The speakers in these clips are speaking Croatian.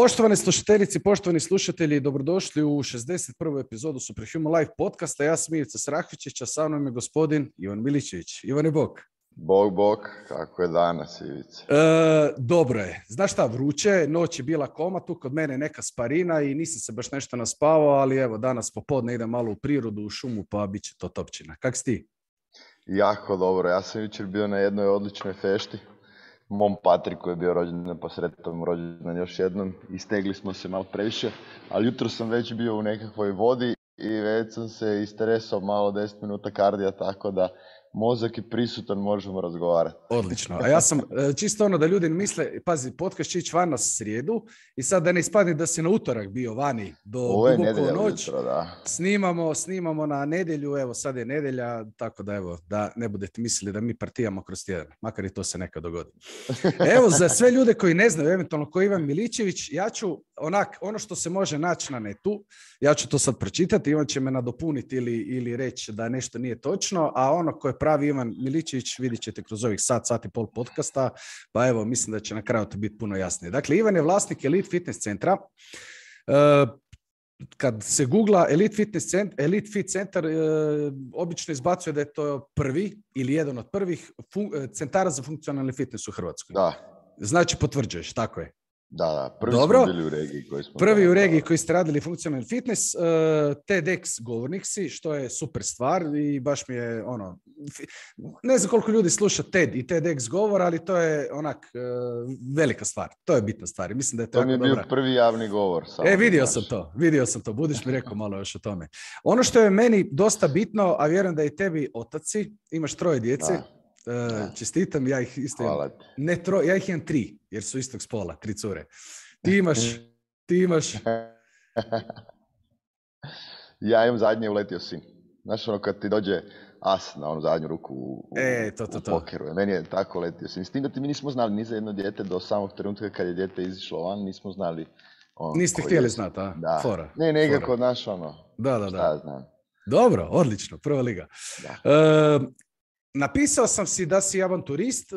Poštovane slušateljice, poštovani slušatelji, dobrodošli u 61. epizodu Superhuman Life podcasta. Ja sam Ivica Srahvičić, a sa mnom je gospodin Ivan Miličević. Ivane, bok. Bog, kako je danas, Ivica? Dobro je. Znaš šta, vruće, noć je bila koma, tu kod mene neka sparina i nisam se baš nešto naspavao, ali evo, danas popodne idem malo u prirodu, u šumu, pa bit će to topčina. Kak si ti? Jako dobro. Ja sam jučer bio na jednoj odličnoj fešti. Mom Patriku je bio rođendan, pa sretom rođendan još jednom. Istegli smo se malo previše, ali jutro sam već bio u nekakvoj vodi i već sam se istresao malo 10 minuta kardija, tako da mozak je prisutan, možemo razgovarati. Odlično. A ja sam čisto ono da ljudi misle, pazi, podcast će ići van na srijedu i sad da ne ispadne da si na utorak bio vani do duboko noć. Jutro, da. Snimamo na nedjelju, evo sad je nedjelja, tako da evo, da ne budete mislili da mi partijamo kroz tjedan, makar i to se nekad dogodi. Evo, za sve ljude koji ne znaju, eventualno ko Ivan Miličević, ja ću ono što se može naći na netu, ja ću to sad pročitati, Ivan će me nadopuniti ili reći da nešto nije točno, a ono ko je pravi Ivan Miličević vidit ćete kroz ovih sat i pol podcasta, pa evo, mislim da će na kraju to biti puno jasnije. Dakle, Ivan je vlasnik Elite Fitness centra. Kad se googla Elite Fit centar, obično izbacuje da je to prvi ili jedan od prvih centara za funkcionalni fitness u Hrvatskoj. Da. Znači, potvrđuješ, tako je. Da, prvi smo bili u regiji koji smo... Prvi u regiji koji ste radili funkcionalni fitness, TEDx govornik si, što je super stvar i baš mi je ne znam koliko ljudi sluša TED i TEDx govor, ali to je velika stvar, to je bitna stvar. Mislim da je to mi je bio prvi javni govor. Vidio sam to, budiš mi rekao malo još o tome. Ono što je meni dosta bitno, a vjerujem da i tebi otaci, imaš 3 djece. Čestitam, ja ih isto imam. Ja ih imam 3, jer su istog spola, 3 cure. Ti imaš... Ja imam zadnje uletio sin. Znaš ono kad ti dođe as na onu zadnju ruku u pokeru. Meni je tako uletio sin. S tim da mi nismo znali ni za jedno dijete do samog trenutka kad je dijete izišlo van, nismo znali... Niste htjeli znati, a? Da. Fora. Ne, nekako naš Da. Šta ja znam. Dobro, odlično, prva liga. Napisao sam si da si avanturist,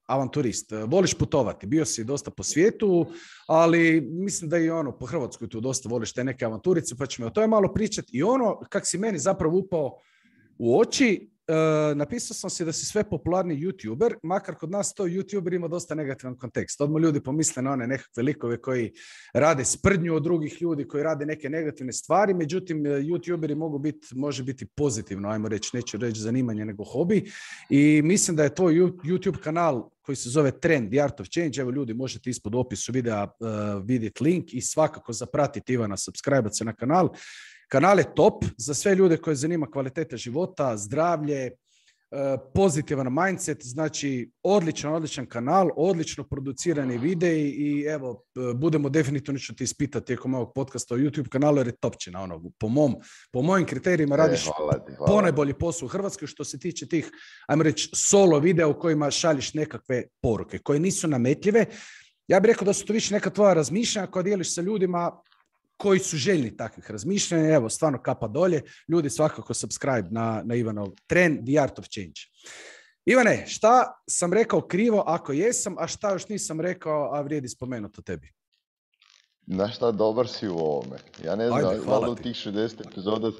avanturist, voliš putovati, bio si dosta po svijetu, ali mislim da i po Hrvatskoj tu dosta voliš te neke avanturice, pa ćemo o tome malo pričati. I kak si meni zapravo upao u oči, napisao sam si da si sve popularni YouTuber, makar kod nas to YouTuber ima dosta negativan kontekst. Odmah ljudi pomisle na one nekakve likove koji rade sprdnju od drugih ljudi, koji rade neke negativne stvari, međutim YouTuberi može biti pozitivno, ajmo reći, neću reći zanimanje nego hobi, i mislim da je tvoj YouTube kanal koji se zove Trend, The Art of Change, evo ljudi možete ispod opisu videa vidjeti link i svakako zapratiti Ivana, subscribe se na kanal. Kanal je top za sve ljude koje zanima kvaliteta života, zdravlje, pozitivan mindset, znači odličan kanal, odlično producirani videi i evo, budemo definitivno ću ti ispitati tijekom ovog podcasta o YouTube kanalu jer je topčina, po mojim kriterijima radiš ponajbolji posao u Hrvatskoj što se tiče tih, ajmo reći, solo videa u kojima šalješ nekakve poruke koje nisu nametljive. Ja bih rekao da su to više neka tvoja razmišljanja koja dijeliš sa ljudima koji su željni takvih razmišljanja. Evo, stvarno kapa dolje. Ljudi, svakako subscribe na Ivanov Trend, The Art of Change. Ivane, šta sam rekao krivo ako jesam, a šta još nisam rekao, a vrijedi spomenuti o tebi? Znaš šta, dobar si u ovome. Ja ne znam, valjda u tih 60 epizoda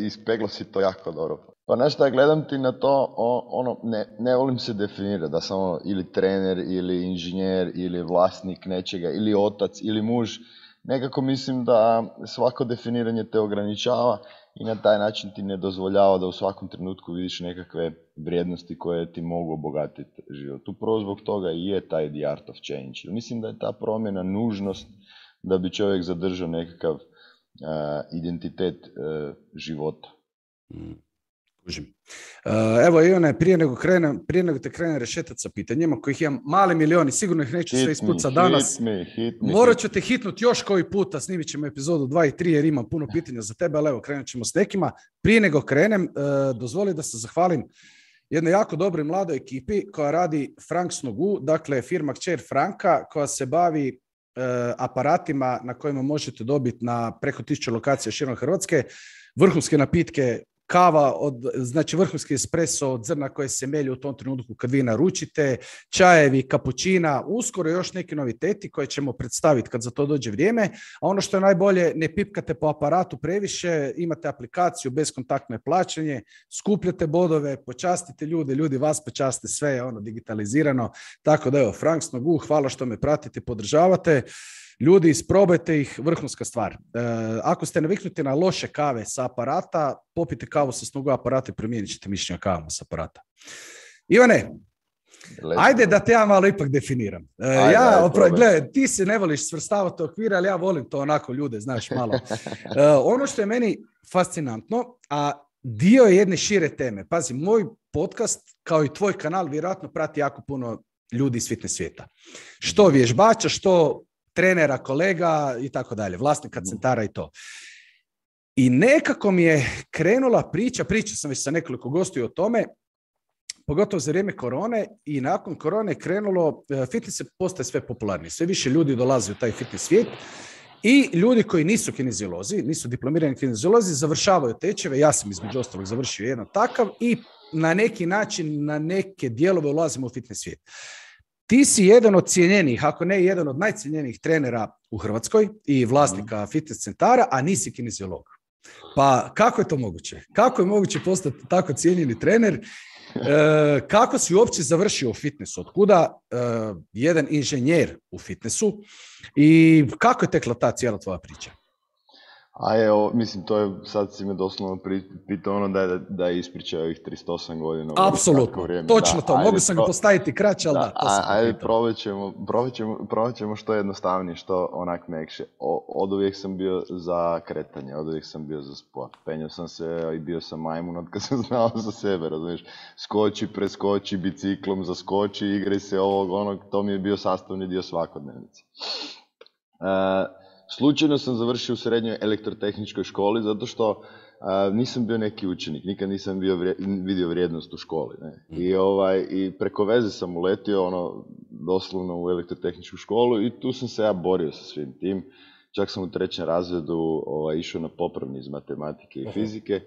ispeglo si to jako dobro. Pa znaš šta, gledam ti na to, ne volim se definirati da sam ili trener, ili inženjer, ili vlasnik nečega, ili otac, ili muž. Nekako mislim da svako definiranje te ograničava i na taj način ti ne dozvoljava da u svakom trenutku vidiš nekakve vrijednosti koje ti mogu obogatiti život. Upravo zbog toga i je taj The Art of Change. Mislim da je ta promjena nužnost da bi čovjek zadržao nekakav identitet života. Evo Ivane, prije nego te krenem rešetati sa pitanjima, kojih imam male milioni, sigurno ih neću sve ispucati danas. Morat ću te hitnuti još koji puta, snimit ćemo epizodu 2 i 3 jer imam puno pitanja za tebe, ali evo krenut ćemo s nekima. Prije nego krenem, dozvoli da se zahvalim jednoj jako dobroj mladoj ekipi koja radi Frank Snogu, dakle firma kćer Franka koja se bavi aparatima na kojima možete dobiti na preko 1000 lokacija širom Hrvatske vrhunske napitke kava, znači vrhunski espresso od zrna koje se melje u tom trenutku kad vi naručite, čajevi, kapućina, uskoro još neki noviteti koje ćemo predstaviti kad za to dođe vrijeme. A ono što je najbolje, ne pipkate po aparatu previše, imate aplikaciju, bezkontaktno je plaćanje, skupljate bodove, počastite ljude, ljudi vas počaste, sve je ono digitalizirano. Tako da evo, Frank Snogu, hvala što me pratite, podržavate. Ljudi, isprobajte ih, vrhunska stvar. Ako ste naviknuti na loše kave sa aparata, popite kavu sa Snogu aparata i promijenit ćete mišljenje o kavama sa aparata. Ivane, ajde da te ja malo ipak definiram. Gledaj, ti se ne voliš svrstavati u okvire, ali ja volim to onako ljude, znaš, malo. Ono što je meni fascinantno, a dio je jedne šire teme. Pazi, moj podcast, kao i tvoj kanal, vjerojatno prati jako puno ljudi iz fitness svijeta. Što vježbača, što trenera, kolega i tako dalje, vlasnika centara i to. I nekako mi je krenula pričao sam već sa nekoliko gostiju o tome, pogotovo za vrijeme korone, i nakon korone je krenulo, fitness se postaje sve popularniji. Sve više ljudi dolazi u taj fitness svijet i ljudi koji nisu kineziolozi, nisu diplomirani kineziolozi, završavaju tečeve. Ja sam između ostalog završio jedan takav i na neki način, na neke dijelove ulazimo u fitness svijet. Ti si jedan od cijenjenih, ako ne jedan od najcijenjenijih trenera u Hrvatskoj i vlasnika fitness centara, a nisi kineziolog. Pa kako je to moguće? Kako je moguće postati tako cijenjeni trener? Kako si uopće završio u fitnessu? Otkuda jedan inženjer u fitnessu i kako je tekla ta cijela tvoja priča? A evo, mislim, to je, sad si me doslovno pitao ono da je ispričao ovih 38 godina. Apsolutno, točno to. Mogu sam ga postaviti kraće, ali ajde, probat ćemo što jednostavnije, što onak mekše. Od uvijek sam bio za kretanje, od uvijek sam bio za sport. Penjao sam se i bio sam majmun od kad sam znao za sebe, razumiješ. Skoči, preskoči, biciklom zaskoči, igraj se ovog, onog, to mi je bio sastavni dio svakodnevnice. Slučajno sam završio u srednjoj elektrotehničkoj školi zato što nisam bio neki učenik, nikad nisam vidio vrijednost u školi. Ne? I preko veze sam uletio doslovno u elektrotehničku školu i tu sam se ja borio sa svim tim. Čak sam u 3. razredu išao na popravni iz matematike i fizike.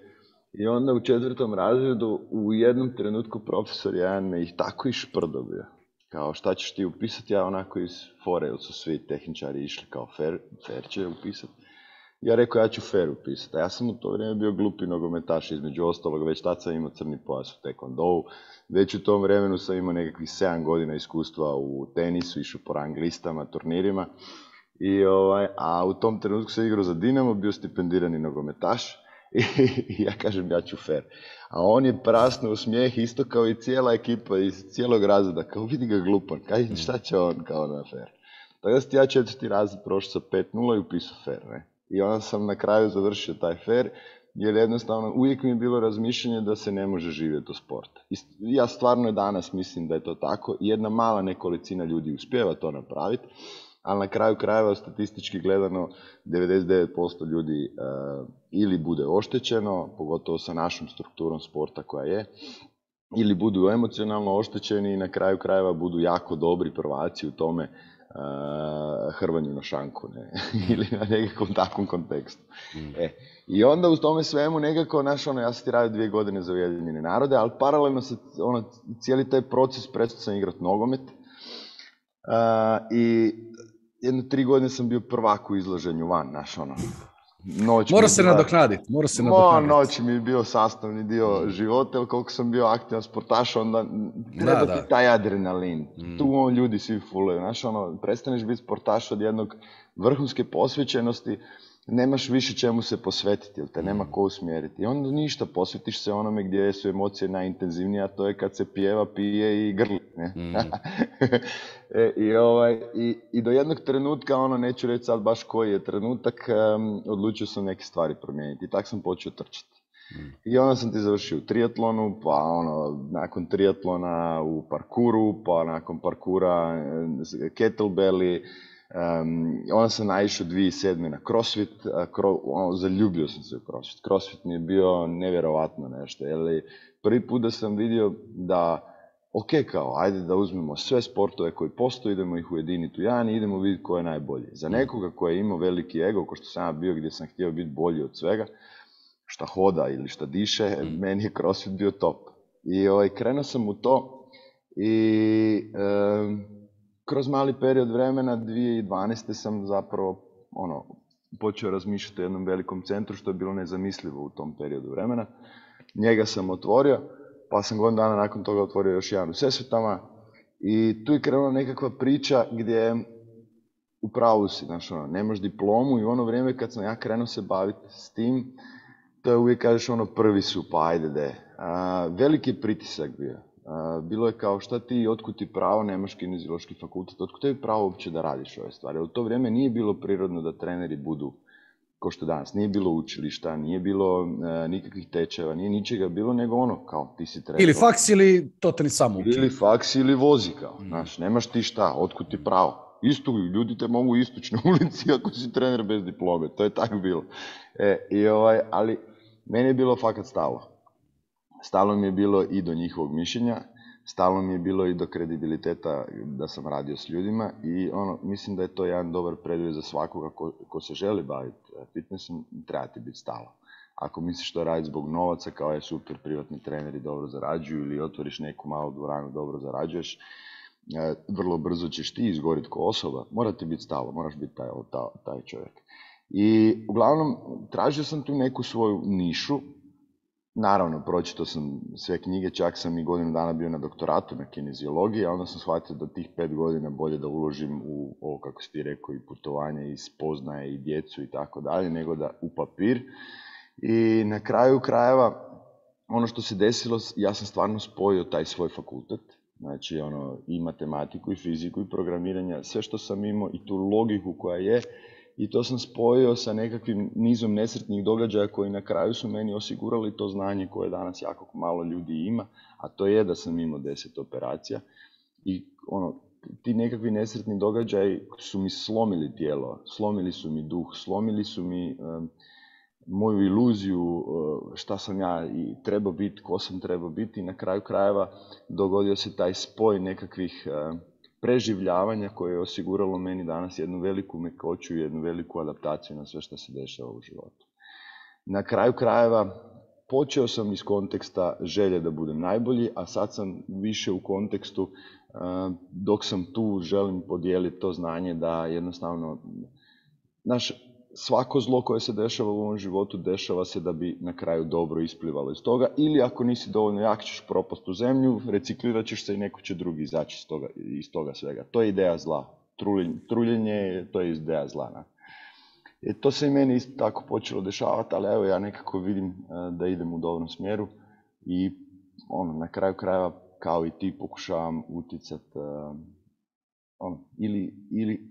I onda u 4. razredu u jednom trenutku profesor jedan me ih tako išprdo bio. Kao, šta ćeš ti upisati? Ja onako iz fore, jer su svi tehničari išli kao fair će upisati. Ja rekao, ja ću fair upisati. A ja sam u to vrijeme bio glupi nogometaš, između ostalog, već tad sam imao crni pojas u taekwondou. Već u tom vremenu sam imao nekakvih 7 godina iskustva u tenisu, išao po rang listama, turnirima. A u tom trenutku sam igrao za Dinamo, bio stipendirani nogometaš. I ja kažem, ja ću fair. A on je prasnuo u smijeh isto kao i cijela ekipa iz cijelog razreda. Kao vidi ga glupan, šta će on kao na fair. Tako da sam ja 4. razred prošao sa 5:0 i upisao fair. Ne? I onda sam na kraju završio taj fair, jer jednostavno uvijek mi je bilo razmišljanje da se ne može živjeti od sporta. I ja stvarno danas mislim da je to tako. Jedna mala nekolicina ljudi uspijeva to napraviti, ali na kraju krajeva statistički gledano 99% ljudi ili bude oštećeno, pogotovo sa našom strukturom sporta koja je, ili budu emocionalno oštećeni i na kraju krajeva budu jako dobri prvaci u tome hrvanju na šanku, ne? Ili na nekakvom takvom kontekstu. I onda u tome svemu nekako, ja sam ti radio 2 godine za Ujedinjene narode, ali paralelno se cijeli taj proces prestao sam igrati nogomet i jedno 3 godine sam bio prvak u izlaženju van, Mora se nadoknaditi. Noć mi je bio sastavni dio života, jer koliko sam bio aktivan sportaš, onda treba ti taj adrenalin. Tu ljudi svi fulaju, prestaneš biti sportaš od jednog vrhunske posvećenosti, nemaš više čemu se posvetiti, jer te nema ko usmjeriti. I onda ništa, posvetiš se onome gdje su emocije najintenzivnije, a to je kad se pjeva, pije i grli. Ne? I do jednog trenutka, neću reći sad baš koji je trenutak, odlučio sam neke stvari promijeniti. I tako sam počeo trčati. I onda sam ti završio u triatlonu, pa nakon triatlona u parkuru, pa nakon parkura kettlebelli. Onda sam naišao 2007. na CrossFit, zaljubio sam se u CrossFit. CrossFit mi je bio nevjerovatno nešto, jer prvi put da sam vidio da, ajde da uzmemo sve sportove koji postoje, idemo ih ujediniti u jedan i idemo vidjeti ko je najbolji. Za nekoga koji je imao veliki ego, ko što sam ja bio, gdje sam htio biti bolji od svega, šta hoda ili šta diše, meni je CrossFit bio top. I krenuo sam u to i kroz mali period vremena, 2012. sam zapravo počeo razmišljati o jednom velikom centru, što je bilo nezamislivo u tom periodu vremena. Njega sam otvorio, pa sam godinu dana nakon toga otvorio još jedan u Sesvetama i tu je krenula nekakva priča gdje u pravu si, nemaš diplomu i u ono vrijeme kad sam ja krenuo se baviti s tim, to je uvijek kažeš prvi su, pa ajde de. Veliki pritisak bio. Bilo je kao šta ti, otkud ti pravo, nemaš kineziološki fakultet, otkud tebi pravo uopće da radiš ove stvari. U to vrijeme nije bilo prirodno da treneri budu ko što danas. Nije bilo učilišta, nije bilo nikakvih tečajeva, nije ničega bilo, nego kao ti si trener. Ili faks ili to te ni samo uči. Ili faks ili vozi kao, nemaš ti šta, otkud ti pravo. Isto, ljudi te mogu istući na ulici ako si trener bez diplome, to je tako bilo. Ali meni je bilo fakat stalo. Stalo mi je bilo i do njihovog mišljenja, stalo mi je bilo i do kredibiliteta da sam radio s ljudima i mislim da je to jedan dobar preduvjet za svakoga ko se želi baviti fitnessom, treba ti biti stalo. Ako misliš to raditi zbog novaca, kao je super, privatni treneri dobro zarađuju ili otvoriš neku malu dvoranu, dobro zarađuješ, vrlo brzo ćeš ti izgoriti ko osoba, mora ti biti stalo, moraš biti taj čovjek. I uglavnom, tražio sam tu neku svoju nišu. Naravno, pročitao sam sve knjige, čak sam i godinu dana bio na doktoratu na kineziologiji, a onda sam shvatio da tih 5 godina bolje da uložim u ovo, kako si ti rekao, i putovanje, i spoznaje, i djecu i tako dalje, nego da u papir. I na kraju krajeva, ono što se desilo, ja sam stvarno spojio taj svoj fakultet, znači i matematiku, i fiziku, i programiranje, sve što sam imao i tu logiku koja je, i to sam spojio sa nekakvim nizom nesretnih događaja koji na kraju su meni osigurali to znanje koje danas jako malo ljudi ima, a to je da sam imao 10 operacija. I ti nekakvi nesretni događaji su mi slomili tijelo, slomili su mi duh, slomili su mi moju iluziju šta sam ja i trebao biti, ko sam trebao biti, i na kraju krajeva dogodio se taj spoj nekakvih preživljavanja koje je osiguralo meni danas jednu veliku mekoću i jednu veliku adaptaciju na sve što se dešava u životu. Na kraju krajeva počeo sam iz konteksta želje da budem najbolji, a sad sam više u kontekstu dok sam tu želim podijeliti to znanje da jednostavno svako zlo koje se dešava u ovom životu dešava se da bi na kraju dobro isplivalo iz toga, ili ako nisi dovoljno jak ćeš propast u zemlju, reciklirat ćeš se i neko će drugi izaći iz toga svega. To je ideja zla. Truljenje, to je ideja zla. To se i meni isto tako počelo dešavati, ali evo ja nekako vidim da idem u dobrom smjeru i na kraju krajeva kao i ti pokušavam utjecati ili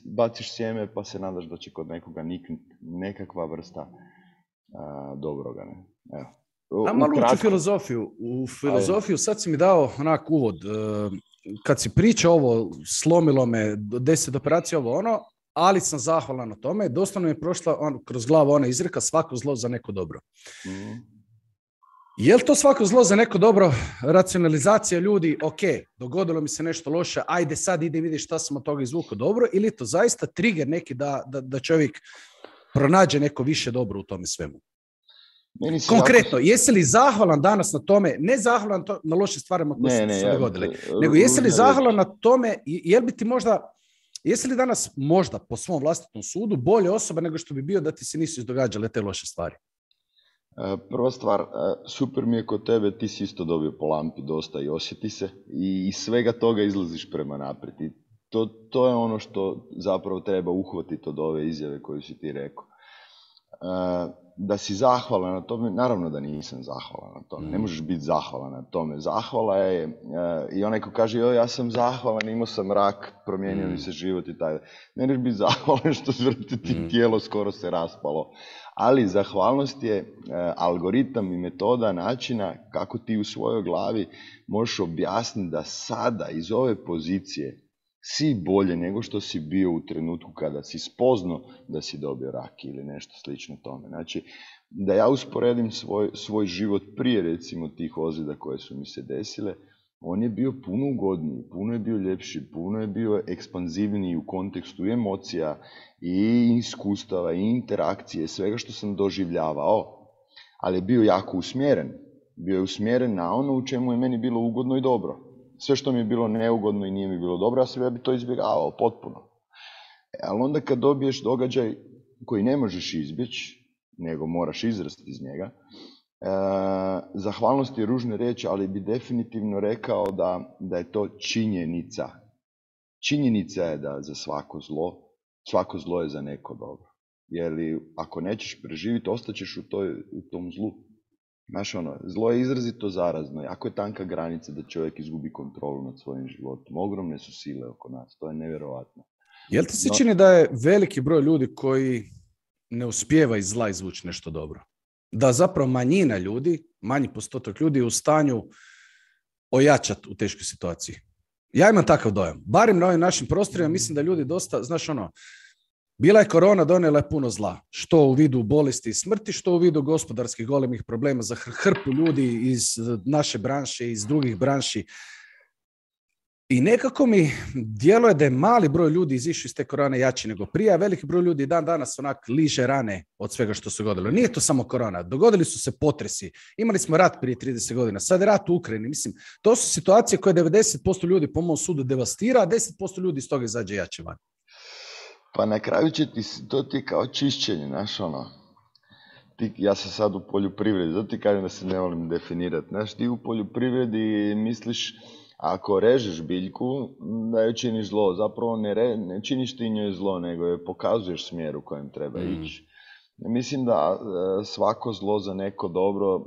baciš sjeme pa se nadaš da će kod nekoga niknuti nekakva vrsta dobroga. Evo. Malo ući filozofiju. U filozofiju sad si mi dao onak uvod. Kad si pričao ovo, slomilo me 10 operacija, ali sam zahvalan na tome. Doslovno mi je prošla kroz glavu ona izreka, svako zlo za neko dobro. Je li to svako zlo za neko dobro? Racionalizacija ljudi, ok, dogodilo mi se nešto loše, ajde sad idem vidjeti šta sam od toga izvukao dobro, ili je to zaista trigger neki da čovjek pronađe neko više dobro u tome svemu? Konkretno, jesi li zahvalan danas na tome, ne zahvalan na loše stvarima koje su se dogodile, nego jesi li zahvalan na tome, jesi li danas možda po svom vlastitom sudu bolje osoba nego što bi bio da ti se nisu izdogađale te loše stvari? Prva stvar, super mi je kod tebe, ti si isto dobio po lampi dosta i osjeti se i iz svega toga izlaziš prema naprijed. I to je ono što zapravo treba uhvatiti od ove izjave koju si ti rekao. Da si zahvalan na tome, naravno da nisam zahvalan na tome, ne možeš biti zahvalan na tome. Zahvala je, i onaj ko kaže, ja sam zahvalan, imao sam rak, promijenio mi se život i tako. Ne možeš biti zahvalan što ti tijelo skoro se raspalo. Ali zahvalnost je algoritam i metoda načina kako ti u svojoj glavi možeš objasniti da sada iz ove pozicije si bolje nego što si bio u trenutku kada si spoznao da si dobio rak ili nešto slično tome. Znači, da ja usporedim svoj život prije recimo tih ozljeda koje su mi se desile, on je bio puno ugodniji, puno je bio ljepši, puno je bio ekspanzivniji u kontekstu emocija i iskustava i interakcije, svega što sam doživljavao. ali je bio jako usmjeren. Bio je usmjeren na ono u čemu je meni bilo ugodno i dobro. Sve što mi je bilo neugodno i nije mi bilo dobro, ja bi to izbjegavao potpuno. Ali onda kad dobiješ događaj koji ne možeš izbjeći, nego moraš izrasti iz njega, zahvalnost je ružne riječi, ali bi definitivno rekao da je to činjenica. Činjenica je da za svako zlo je za neko dobro. Jer ako nećeš preživjeti, ostaćeš u tom zlu. Znaš, zlo je izrazito zarazno. Jako je tanka granica da čovjek izgubi kontrolu nad svojim životom. Ogromne su sile oko nas, to je nevjerojatno. Jel ti se čini da je veliki broj ljudi koji ne uspijeva iz zla izvući nešto dobro? Da zapravo manjina ljudi, manji postotak ljudi je u stanju ojačati u teškoj situaciji. Ja imam takav dojam. Barem na ovim našim prostorima mislim da ljudi dosta, znaš bila je korona, donijela je puno zla. Što u vidu bolesti i smrti, što u vidu gospodarskih golemih problema za hrpu ljudi iz naše branše, iz drugih branši. I nekako mi djeluje da je mali broj ljudi izišao iz te korone jači nego prije, a veliki broj ljudi dan danas onak liže rane od svega što se dogodilo. Nije to samo korona, dogodili su se potresi. Imali smo rat prije 30 godina, sad je rat u Ukrajini. Mislim, to su situacije koje 90% ljudi po mom sudu devastira, a 10% ljudi iz toga izađe jače van. Pa na kraju će to ti kao čišćenje, znaš ja sam sad u poljoprivredi, zato ti kažem da se ne volim definirati. Znaš, ti u poljoprivredi misliš, ako režeš biljku, da joj činiš zlo. Zapravo ne činiš ti njoj zlo, nego joj pokazuješ smjer u kojem treba ići. Mislim da svako zlo za neko dobro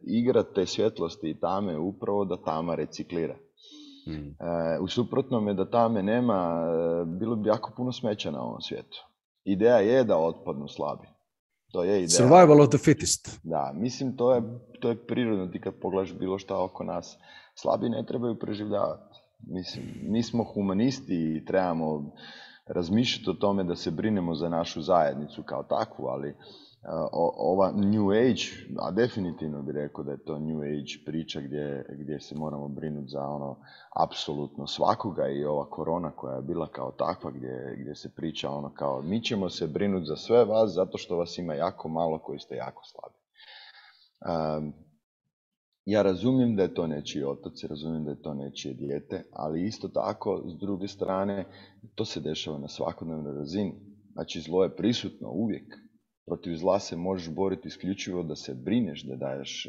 igra te svjetlosti i tame upravo da tama reciklira. U suprotnome da tame nema, bilo bi jako puno smeća na ovom svijetu. Ideja je da otpadnu slabi. To je ideja. Survival of the fittest. Da, mislim to je prirodno. Ti kad pogledaš bilo šta oko nas, slabi ne trebaju preživljavati. Mislim, mi smo humanisti i trebamo razmišljati o tome da se brinemo za našu zajednicu kao takvu, ali ova New Age, a definitivno bih rekao da je to New Age priča gdje se moramo brinuti za apsolutno svakoga, i ova korona koja je bila kao takva gdje se priča kao mi ćemo se brinuti za sve vas zato što vas ima jako malo koji ste jako slabi. Ja razumijem da je to nečiji otac, razumijem da je to nečije dijete, ali isto tako, s druge strane, to se dešava na svakodnevnoj razini. Znači, zlo je prisutno uvijek. Protiv zla se možeš boriti isključivo da se brineš, da daješ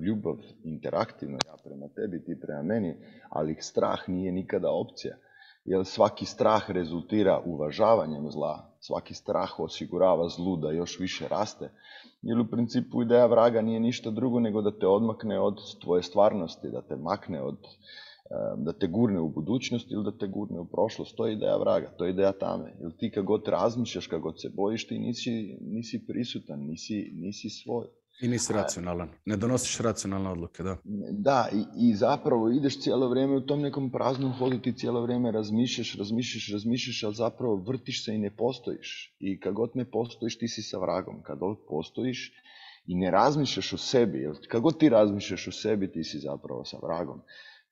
ljubav interaktivno, ja prema tebi, ti prema meni, ali strah nije nikada opcija. Jer svaki strah rezultira uvažavanjem zla, svaki strah osigurava zlu da još više raste. Jer u principu ideja vraga nije ništa drugo nego da te odmakne od tvoje stvarnosti, da te makne da te gurne u budućnost ili da te gurne u prošlost. To je ideja vraga, to je ideja tame. Jer ti kad god razmišljaš, kad god se bojiš, ti nisi prisutan, nisi svoj. I nisi racionalan. Ne donosiš racionalne odluke, da. Da, i zapravo ideš cijelo vrijeme u tom nekom praznom hodu, ti cijelo vrijeme razmišljaš, ali zapravo vrtiš se i ne postojiš. I kad god ne postojiš, ti si sa vragom. Kad god postojiš i ne razmišljaš o sebi, jer kad god ti razmišljaš o sebi, ti si zapravo sa vragom.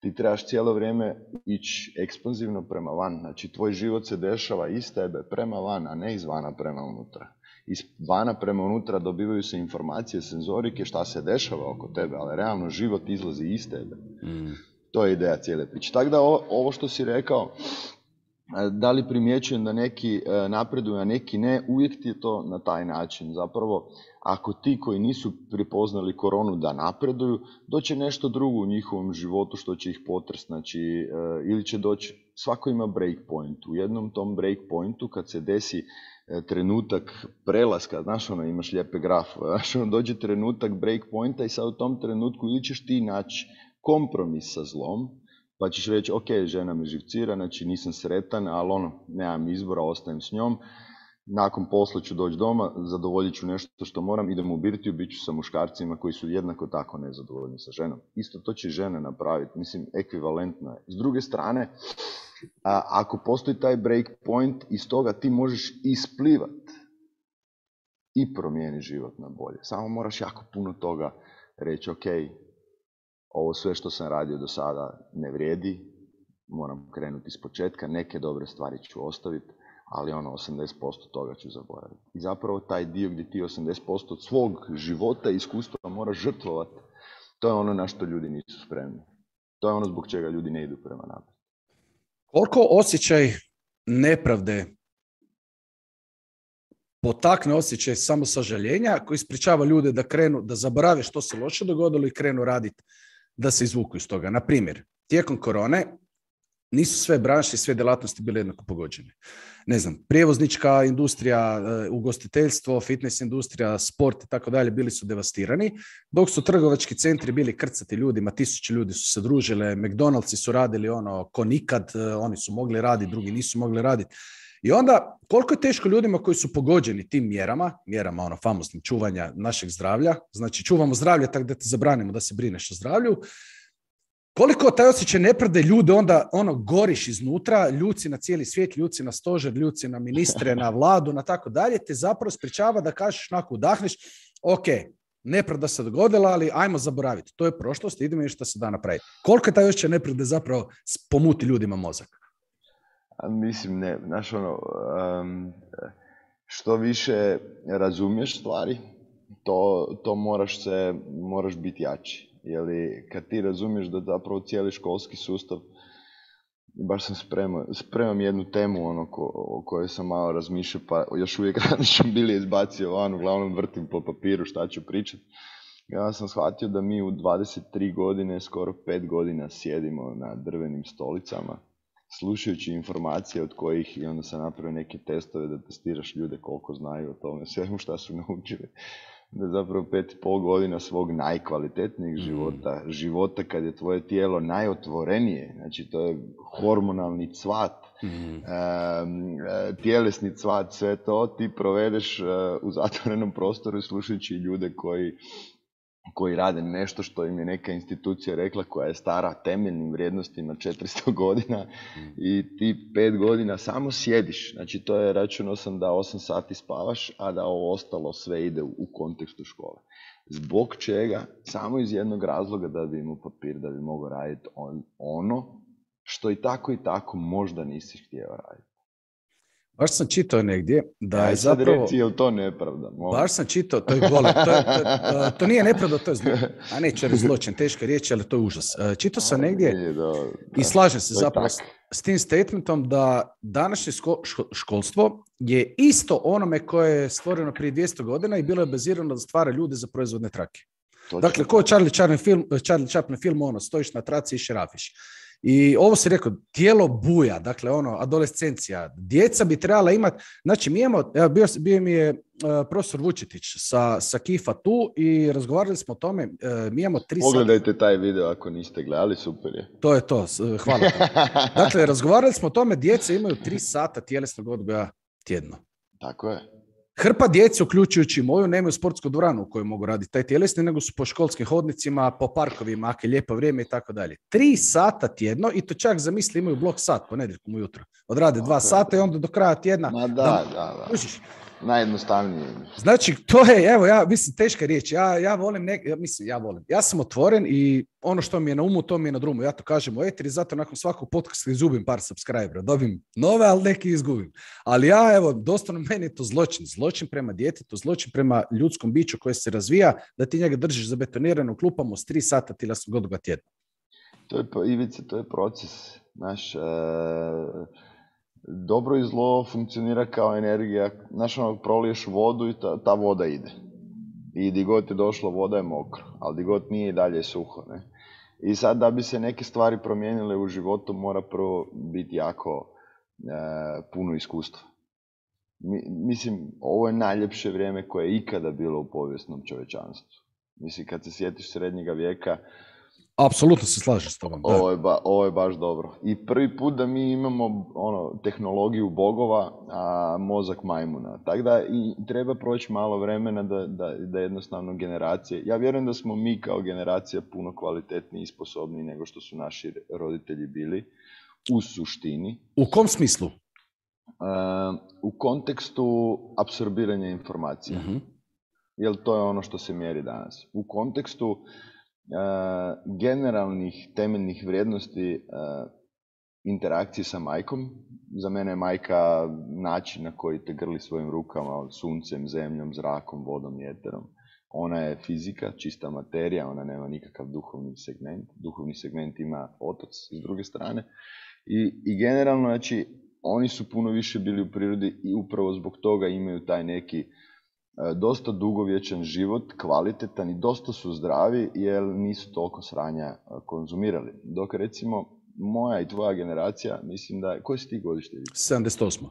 Ti trebaš cijelo vrijeme ići ekspanzivno prema van. Znači, tvoj život se dešava iz tebe prema van, a ne izvana prema unutra. Iz vana prema unutra dobivaju se informacije, senzorike, šta se dešava oko tebe, ali realno život izlazi iz tebe. To je ideja cijele priče. Tako da ovo što si rekao, da li primjećujem da neki napreduju, a neki ne, uvijek ti je to na taj način. Zapravo, ako ti koji nisu prepoznali koronu da napreduju, doće nešto drugo u njihovom životu što će ih potresti. Znači, ili će doći, svako ima break point. U jednom tom break pointu kad se desi trenutak prelaska, znaš imaš lijepe graf, dođe trenutak break pointa i sad u tom trenutku ili ćeš ti naći kompromis sa zlom, pa ćeš reći, ok, žena me živcira, znači nisam sretan, ali nemam izbora, ostajem s njom. Nakon posla ću doći doma, zadovoljit ću nešto što moram, idem u birtiju, bit ću sa muškarcima koji su jednako tako nezadovoljni sa ženom. Isto to će žena napraviti, mislim, ekvivalentno je. S druge strane, ako postoji taj break point, iz toga ti možeš isplivat i promijeniti život na bolje. Samo moraš jako puno toga reći, ok, ovo sve što sam radio do sada ne vrijedi, moram krenuti iz početka, neke dobre stvari ću ostaviti, ali 80% toga ću zaboraviti. I zapravo taj dio gdje ti 80% od svog života i iskustva moraš žrtvovati, to je ono na što ljudi nisu spremni. To je ono zbog čega ljudi ne idu prema naprijed. Koliko osjećaj nepravde potakne osjećaj samosažaljenja koji ispričava ljude da krenu, da zaborave što se loše dogodilo i krenu raditi da se izvuku iz toga. Na primjer, tijekom korone nisu sve branše i sve djelatnosti bile jednako pogođene. Ne znam, prijevoznička industrija, ugostiteljstvo, fitness industrija, sport i tako dalje bili su devastirani, dok su trgovački centri bili krcati ljudima, 1000 ljudi su se družile, McDonald'si su radili ono ko nikad, oni su mogli raditi, drugi nisu mogli raditi. I onda, koliko je teško ljudima koji su pogođeni tim mjerama ono famoznim čuvanja našeg zdravlja, znači čuvamo zdravlje tako da te zabranimo da se brineš o zdravlju, koliko taj osjećaj nepravde ljude onda ono goriš iznutra, ljuci na cijeli svijet, ljuci na stožer, ljuci na ministre, na vladu, na tako dalje, te zapravo sprečava da kažeš onako udahneš, ok, nepravda se dogodila, ali ajmo zaboraviti. To je prošlost, idemo što se da napraviti. Koliko je taj osjećaj nepravde zapravo pomuti ljudima mozak? Mislim, ne, znaš ono, što više razumiješ stvari, to moraš biti jači. Jer kad ti razumiješ da zapravo cijeli školski sustav, baš sam spremam jednu temu o kojoj sam malo razmišljao, pa još uvijek nisam bili izbacio van, uglavnom vrtim po papiru šta ću pričati. Ja sam shvatio da mi u 23 godine, skoro 5 godina sjedimo na drvenim stolicama, slušajući informacije od kojih, i onda sam napravio neke testove da testiraš ljude koliko znaju o tome, svemu šta su naučili. Da zapravo 5,5 godina svog najkvalitetnijeg života kad je tvoje tijelo najotvorenije, znači to je hormonalni cvat, tjelesni cvat, sve to ti provedeš u zatvorenom prostoru i slušajući ljude koji rade nešto što im je neka institucija rekla koja je stara temeljnim vrijednostima 400 godina i ti 5 godina samo sjediš. Znači to je, računao sam da 8 sati spavaš, a da ovo ostalo sve ide u kontekstu škole. Zbog čega? Samo iz jednog razloga da bi imao papir, da bi mogao raditi ono što i tako možda nisi htio raditi. Baš sam čitao negdje da je zapravo... Sad reci, je li to nepravda? Baš sam čitao, to je golem, to nije nepravda, to je a neće reći zločin, teška riječ, ali to je užas. Čitao sam negdje i slažem se zapravo s tim statementom da današnje školstvo je isto onome koje je stvoreno prije 200 godina i bilo je bazirano da stvara ljude za proizvodne trake. Dakle, ko Charlie Chaplin film, ono, stojiš na traci i šerafiš. I ovo si rekao, tijelo buja, dakle ono, adolescencija, djeca bi trebala imati, znači mi imamo, bio mi je profesor Vučetić sa KIF-a tu i razgovarali smo o tome, mi imamo 3 sata. Pogledajte taj video ako niste gledali, super je. To je to, hvala te. Dakle, razgovarali smo o tome, djeca imaju 3 sata tjelesnog odgoja tjedno. Tako je. Hrpa djece, uključujući moju, nemaju sportsku dvoranu u kojoj mogu raditi taj tjelesni, nego su po školskim hodnicima, po parkovima, ako je lijepo vrijeme i tako dalje. 3 sata tjedno i to čak zamisli imaju blok sat ponedjeljkom ujutro. Odrade 2 sata i onda do kraja tjedna... Ma da. Najjednostavnije. Znači, to je, evo, ja mislim, teška riječ. Ja volim, ja sam otvoren i ono što mi je na umu, to mi je na drumu. Ja to kažem u eteri, zato nakon svakog podcasta izgubim par subscribera. Dobim nove, ali neki izgubim. Ali ja, evo, doslovno meni je to zločin. Zločin prema djetetu, zločin prema ljudskom biću koje se razvija, da ti njega držiš zabetonirano u klupama s 3 sata tjelesnog odgoja tjedna. Ivice, to je proces. Znaš, dobro i zlo funkcionira kao energija. Znaš, proliješ vodu i ta voda ide. I di god je došlo, voda je mokra, ali di god nije i dalje je suho. Ne? I sad da bi se neke stvari promijenile u životu, mora prvo biti jako puno iskustva. Mislim, ovo je najljepše vrijeme koje je ikada bilo u povijesnom čovječanstvu. Mislim, kad se sjetiš srednjega vijeka, apsolutno se slažem s tobom. Ovo je baš dobro. I prvi put da mi imamo tehnologiju bogova, a mozak majmuna. Tako da i treba proći malo vremena da jednostavno generacije... Ja vjerujem da smo mi kao generacija puno kvalitetniji i sposobniji nego što su naši roditelji bili u suštini. U kom smislu? U kontekstu apsorbiranja informacija. Jer to je ono što se mjeri danas. U kontekstu generalnih temeljnih vrijednosti interakcije sa majkom. Za mene je majka način na koji te grli svojim rukama, suncem, zemljom, zrakom, vodom i eterom. Ona je fizika, čista materija, ona nema nikakav duhovni segment. Duhovni segment ima otac s druge strane. I generalno, znači, oni su puno više bili u prirodi i upravo zbog toga imaju taj neki dosta dugovječan život, kvalitetan i dosta su zdravi jer nisu toliko sranja konzumirali. Dok recimo moja i tvoja generacija, mislim da... Koji si ti godište? 78.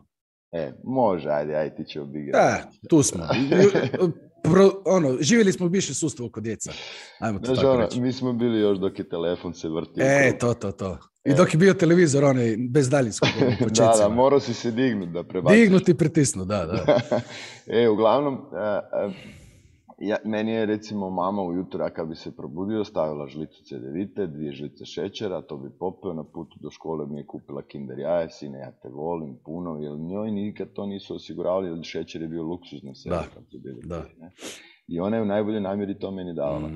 Može, ajde ti ćemo biti generacija. Tu smo. Živjeli smo u bivšem sustavu kod djeca. Ajmo to tako reći. Mi smo bili još dok je telefon se vrtio. To. I dok je bio televizor, onaj bez daljinskog u početcima. Da, morao si se dignuti da prebaciš. Dignuti i pritisnu, da. Uglavnom, meni je recimo mama ujutro, kad bi se probudio, stavila žlicu cedevite, 2 žlice šećera, to bi popeo, na putu do škole mi je kupila Kinder jaje, sine, ja te volim puno, jer njoj nikad to nisu osiguravali, jer šećer je bio luksuzno sve. Da. I ona je u najboljoj namjeri to meni davala.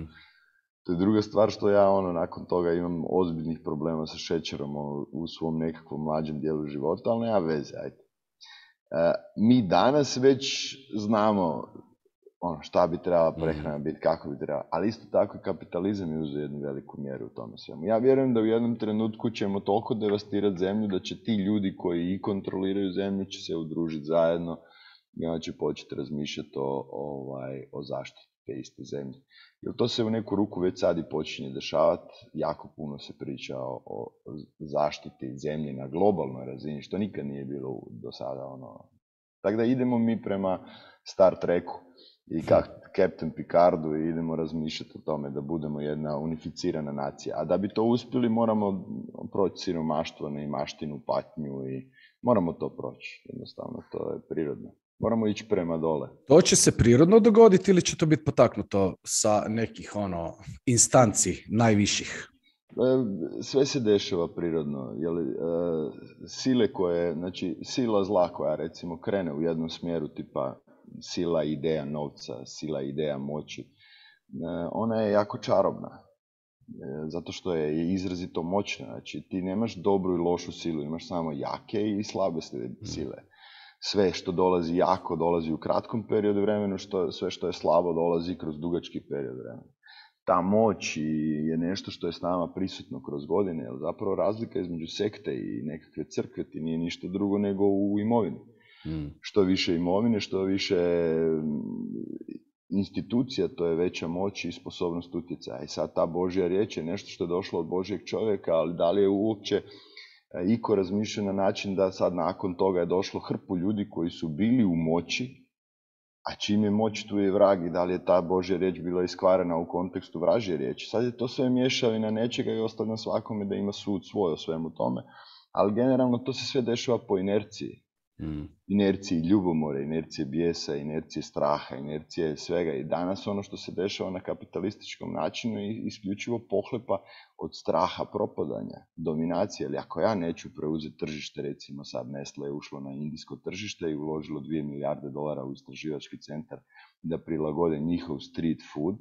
To je druga stvar što ja nakon toga imam ozbiljnih problema sa šećerom u svom nekakvom mlađem dijelu života, ali nema veze, ajde. Mi danas već znamo šta bi trebala prehrana biti, kako bi trebala, ali isto tako i kapitalizam je uzeo jednu veliku mjeru u tome svemu. Ja vjerujem da u jednom trenutku ćemo toliko devastirati zemlju da će ti ljudi koji i kontroliraju zemlju će se udružiti zajedno i onda će početi razmišljati o zaštiti te iste zemlje. Jer to se u neku ruku već sad i počinje dešavati, jako puno se priča o zaštiti zemlje na globalnoj razini, što nikad nije bilo do sada. Tako da idemo mi prema Star Treku i Captain Picardu i idemo razmišljati o tome da budemo jedna unificirana nacija. A da bi to uspjeli moramo proći siromaštvo, neimaštinu, patnju i moramo to proći. Jednostavno, to je prirodno. Moramo ići prema dole. To će se prirodno dogoditi ili će to biti potaknuto sa nekih instanci najviših? Sve se dešava prirodno. Sile koje, znači sila zla koja recimo krene u jednom smjeru tipa sila ideja novca, sila ideja moći, ona je jako čarobna. Zato što je izrazito moćna. Znači ti nemaš dobru i lošu silu, imaš samo jake i slabe sile. Sve što dolazi jako dolazi u kratkom periodu vremena, sve što je slabo dolazi kroz dugački period vremena. Ta moć je nešto što je s nama prisutno kroz godine, jer zapravo razlika između sekte i nekakve crkve ti nije ništa drugo nego u imovini. Što više imovine, što više institucija, to je veća moć i sposobnost utjecaja. I sad ta Božja riječ je nešto što je došlo od Božjeg čovjeka, ali da li je uopće iko razmišlja na način da sad nakon toga je došlo hrpu ljudi koji su bili u moći, a čim je moć tu je vrag i da li je ta Božja riječ bila iskvarena u kontekstu vražje riječi. Sad je to sve miješavina nečega i ostavlja svakome da ima sud svoj o svemu tome. Ali generalno to se sve dešava po inerciji. Inerciji ljubomore, inercije bijesa, inercije straha, inercije svega. I danas ono što se dešava na kapitalističkom načinu je isključivo pohlepa od straha propadanja, dominacije. Ali ako ja neću preuzeti tržište, recimo sad Nestle je ušlo na indijsko tržište i uložilo $2 milijarde u istraživački centar da prilagode njihov street food,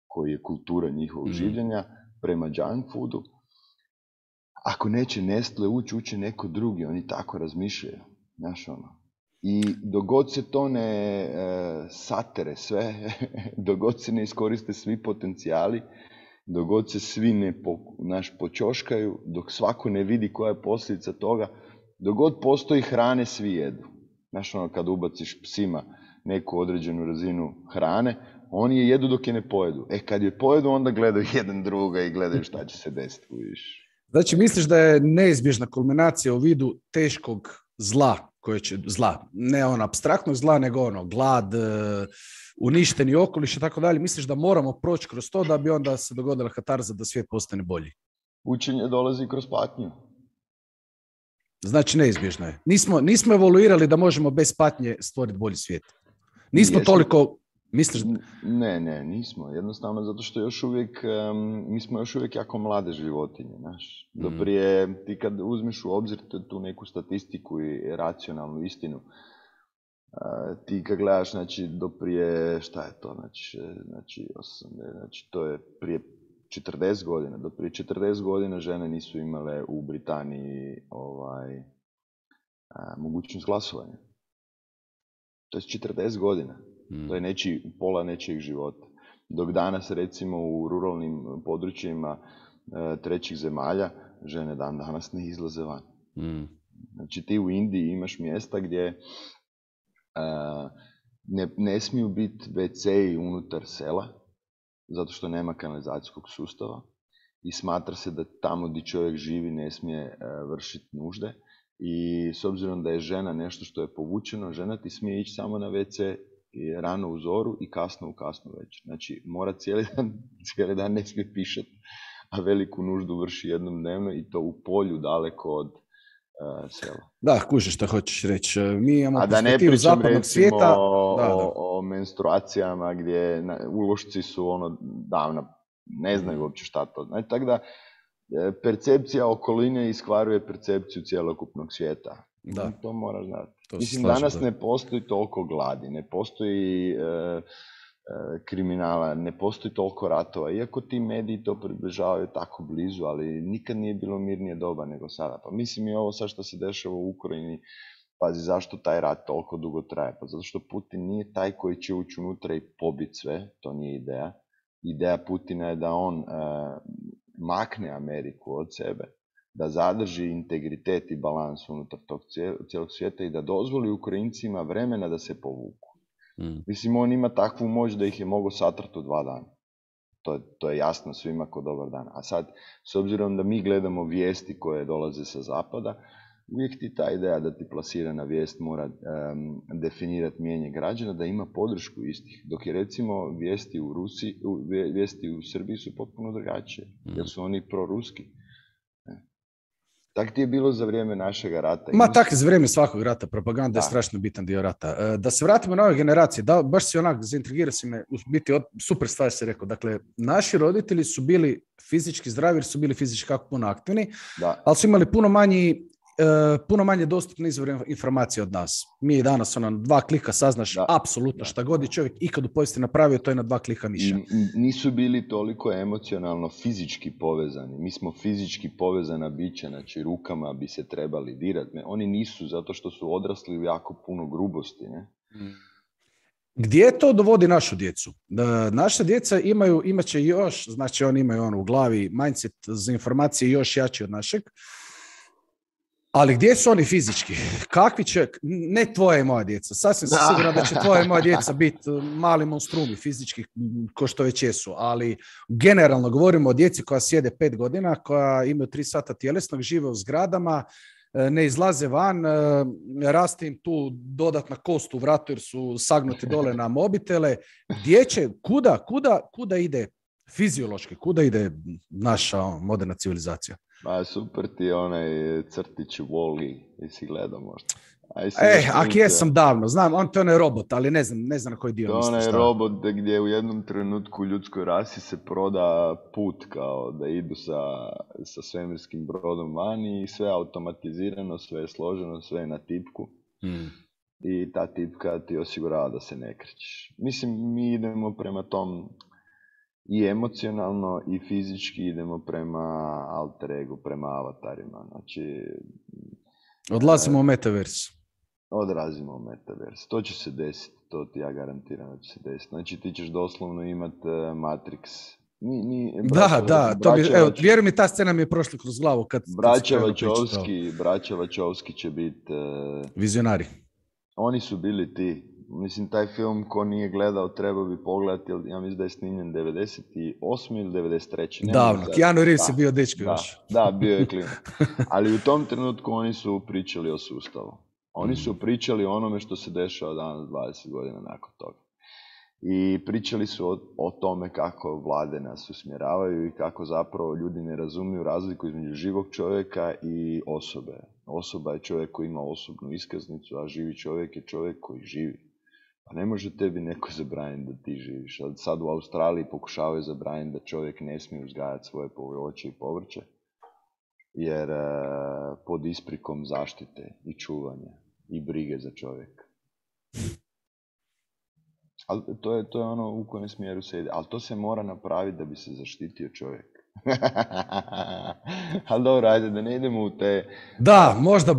koji je kultura njihovog življenja, prema junk foodu. Ako neće Nestle ući neko drugi, oni tako razmišljaju. Znaš I dogod se to ne satere sve, dogod se ne iskoriste svi potencijali, dogod se svi ne počoškaju, dok svako ne vidi koja je posljedica toga, dogod postoji hrane, svi jedu. Znaš kad ubaciš psima neku određenu razinu hrane, oni je jedu dok je ne pojedu. Kad je pojedu, onda gledaju jedan druga i gledaju šta će se desiti. Znači, misliš da je neizbježna kulminacija u vidu teškog zla, ne apstraktnog zla, nego glad, uništeni okoliš i tako dalje. Misliš da moramo proći kroz to da bi onda se dogodila katarza da svijet postane bolji? Učenje dolazi kroz patnju. Znači, neizbježno je. Nismo evoluirali da možemo bez patnje stvoriti bolji svijet. Nismo toliko... Misliš? Ne, nismo. Jednostavno zato što mi smo još uvijek jako mlade životinje, znaš. Doprije, ti kad uzmeš u obzir tu neku statistiku i racionalnu istinu, ti kad gledaš, znači, doprije, šta je to, znači to je prije 40 godina. Do prije 40 godina žene nisu imale u Britaniji mogućnost glasovanja. To je 40 godina. To je pola nečijeg života. Dok danas, recimo, u ruralnim područjima trećih zemalja, žene dan danas ne izlaze van. Znači, ti u Indiji imaš mjesta gdje ne smiju biti WC-i unutar sela, zato što nema kanalizacijskog sustava i smatra se da tamo gdje čovjek živi ne smije vršiti nužde. I s obzirom da je žena nešto što je povučeno, žena ti smije ići samo na WC i rano u zoru i kasno večer. Znači, mora cijeli dan ne smije pišati, a veliku nuždu vrši jednom dnevno i to u polju daleko od sela. Da, kužiš što hoćeš reći. Mi imamo perspektivu zapadnog svijeta. O menstruacijama gdje ulošci su davna, ne znaju uopće šta to. Znači, tako da percepcija okoline iskvaruje percepciju cjelokupnog svijeta. Da. To moraš znati. Mislim, danas ne postoji toliko gladi, ne postoji kriminala, ne postoji toliko ratova. Iako ti mediji to približavaju tako blizu, ali nikad nije bilo mirnije doba nego sada. Pa mislim i ovo sad što se dešava u Ukrajini, pazi zašto taj rat toliko dugo traje. Pa zato što Putin nije taj koji će ući unutra i pobiti sve, to nije ideja. Ideja Putina je da on makne Ameriku od sebe, da zadrži integritet i balans unutar tog cijelog svijeta i da dozvoli Ukrajincima vremena da se povuku. Mislim, on ima takvu moć da ih je mogao satrati u 2 dana. To je jasno svima ko dobar dan. A sad, s obzirom da mi gledamo vijesti koje dolaze sa zapada, uvijek ti ta ideja da ti plasirana vijest mora definirati mijenje građana, da ima podršku istih. Dok je recimo vijesti u Srbiji su potpuno drugačije, jer su oni proruski. Tak ti je bilo za vrijeme našega rata. Tak za vrijeme svakog rata. Propaganda je strašno bitan dio rata. Da se vratimo na ove generacije. Baš si zaintrigirao si me. Biti super stvar si rekao. Dakle, naši roditelji su bili fizički zdravi jer su bili fizički kako puno aktivni, ali su imali puno manje dostupne izvore informacije od nas. Mi danas 2 klika saznaš apsolutno šta god je čovjek ikad u povijesti napravio, to je na 2 klika miša. Nisu bili toliko emocionalno fizički povezani. Mi smo fizički povezana bića, znači rukama bi se trebali dirati. Oni nisu, zato što su odrasli u jako puno grubosti. Ne? Gdje to dovodi našu djecu? Naša djeca imat će još, znači oni imaju u glavi mindset za informacije još jači od našeg. Ali gdje su oni fizički? Kakvi će, ne tvoja i moja djeca, sasvim sam siguran da će tvoja i moja djeca biti mali monstrumi fizički, ko što već jesu, ali generalno govorimo o djeci koja sjede 5 godina, koja imaju 3 sata tjelesnog, žive u zgradama, ne izlaze van, raste im tu dodatna kost u vratu jer su sagnuti dole na mobitele. Gdje će, kuda ide fiziološki, kuda ide naša moderna civilizacija? Ma super ti je onaj crtić Wall-E, jesi gledao možda? Ako jesam davno, znam, on to je onaj robot, ali ne znam na koji dio misliš. To je onaj robot gdje u jednom trenutku u ljudskoj rasi se proda put kao da idu sa svemirskim brodom vani i sve automatizirano, sve je složeno, sve je na tipku. I ta tipka ti osigurava da se ne krećeš. Mislim, mi idemo prema tom i emocionalno i fizički idemo prema alter ego, prema avatarima. Znači, odlazimo u metaverse. Odlazimo u metaverse. To će se desiti, to ti ja garantiram da će se desiti. Znači ti ćeš doslovno imati Matrix. Vjeruj mi, ta scena mi je prošla kroz glavu. Braća Wachowski će biti vizionari. Oni su bili ti. Mislim, taj film ko nije gledao treba bi pogledati, jer ja mislim da je snimljen 98. ili 93. Davno, Keanu Reeves je bio dečko još. Da, bio je klinac. Ali u tom trenutku oni su pričali o sustavu. Oni su pričali o onome što se dešava danas 20 godina nakon toga. I pričali su o tome kako vlade nas usmjeravaju i kako zapravo ljudi ne razumiju razliku između živog čovjeka i osobe. Osoba je čovjek koji ima osobnu iskaznicu, a živi čovjek je čovjek koji živi. Pa ne može tebi neko zabraniti da ti živiš. Sad u Australiji pokušavaju zabraniti da čovjek ne smije uzgajati svoje voće i povrće, jer pod isprikom zaštite i čuvanja i brige za čovjeka. Ali to je ono u kojem smjeru se ide. Ali to se mora napraviti da bi se zaštitio čovjek. Ali dobro, ajde, da ne idemo u te... Da, možda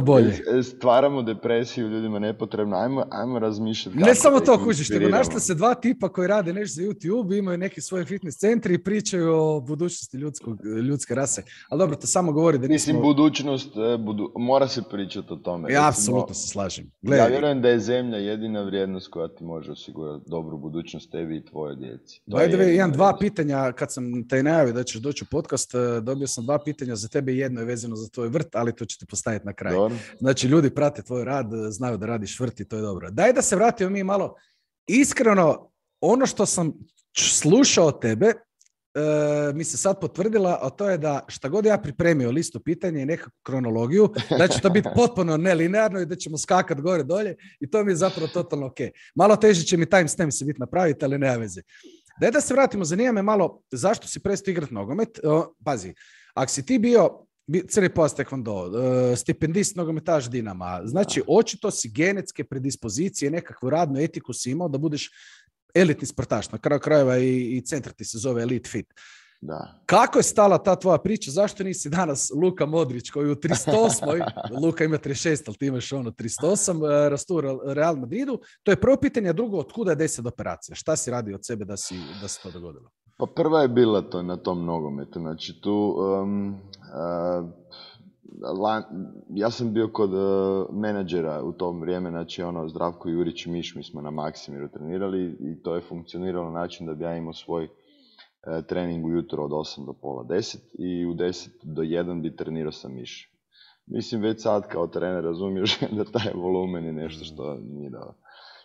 bolje. Stvaramo depresiju ljudima nepotrebno, ajmo razmišljati kako ne samo da to ih kužiš, nego našli se dva tipa koji rade nešto za YouTube, imaju neki svoje fitness centri i pričaju o budućnosti ljudske rase. Ali dobro, to samo govori da nismo... Mislim, budućnost, mora se pričati o tome. Ja apsolutno se slažem. Ja vjerujem da je zemlja jedina vrijednost koja ti može osigurati dobru budućnost tebi i tvoje djeci. Imam dva pitanja, kad sam te najavio da ćeš doći u podcast, dobio sam dva pitanja za tebe, jedno je vezano za tvoj vrt, ali to ću ti postaviti na kraj. Dobro. Znači, ljudi prate tvoj rad, znaju da radiš vrt i to je dobro. Daj da se vratimo mi malo. Iskreno, ono što sam slušao od tebe, mi se sad potvrdila, a to je da šta god ja pripremio listu pitanja i nekakvu kronologiju, da će to biti potpuno nelinearno i da ćemo skakati gore dolje i to mi je zapravo totalno ok. Malo teže će mi timestamp se biti napraviti, ali nema veze. Daj da se vratimo, zanima me malo zašto si prestao igrati nogomet. Pazi, ako si ti bio crni pojas taekwondo, stipendist nogometaš Dinama, znači očito si genetske predispozicije, nekakvu radnu etiku si imao da budeš elitni sportaš, na kraju krajeva i centar ti se zove Elite Fit. Da. Kako je stala ta tvoja priča? Zašto nisi danas Luka Modrić koji u 308. Luka ima 36, ali ti imaš 308, rastu Real Madridu? To je prvo pitanje, a drugo, otkuda je 10 operacija? Šta si radio od sebe da se to dogodilo? Pa prva je bila to na tom nogometu. Znači tu... ja sam bio kod menadžera u tom vrijeme, znači Zdravko Jurić i Miš, mi smo na Maksimiru trenirali i to je funkcioniralo na način da bi ja imao svoj trening ujutro od 8 do pola 10 i u 10 do 1 bi trenirao sa Miš. Mislim, već sad kao trener razumiješ da taj volumen je nešto što nije dobro.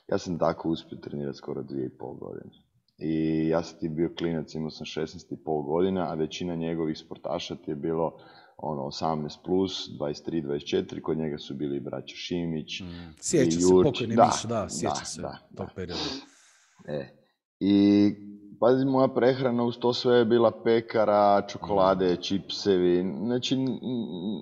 Ja sam tako uspio trenirati skoro 2,5 godine. I ja sam ti bio klinac, imao sam 16,5 godina, a većina njegovih sportaša ti je bilo 18+, 23, 24, kod njega su bili braća Šimić. Sjeća se, pokojni Miš, sjeća se tog perioda. I pazi, moja prehrana uz to sve je bila pekara, čokolade, čipsevi, znači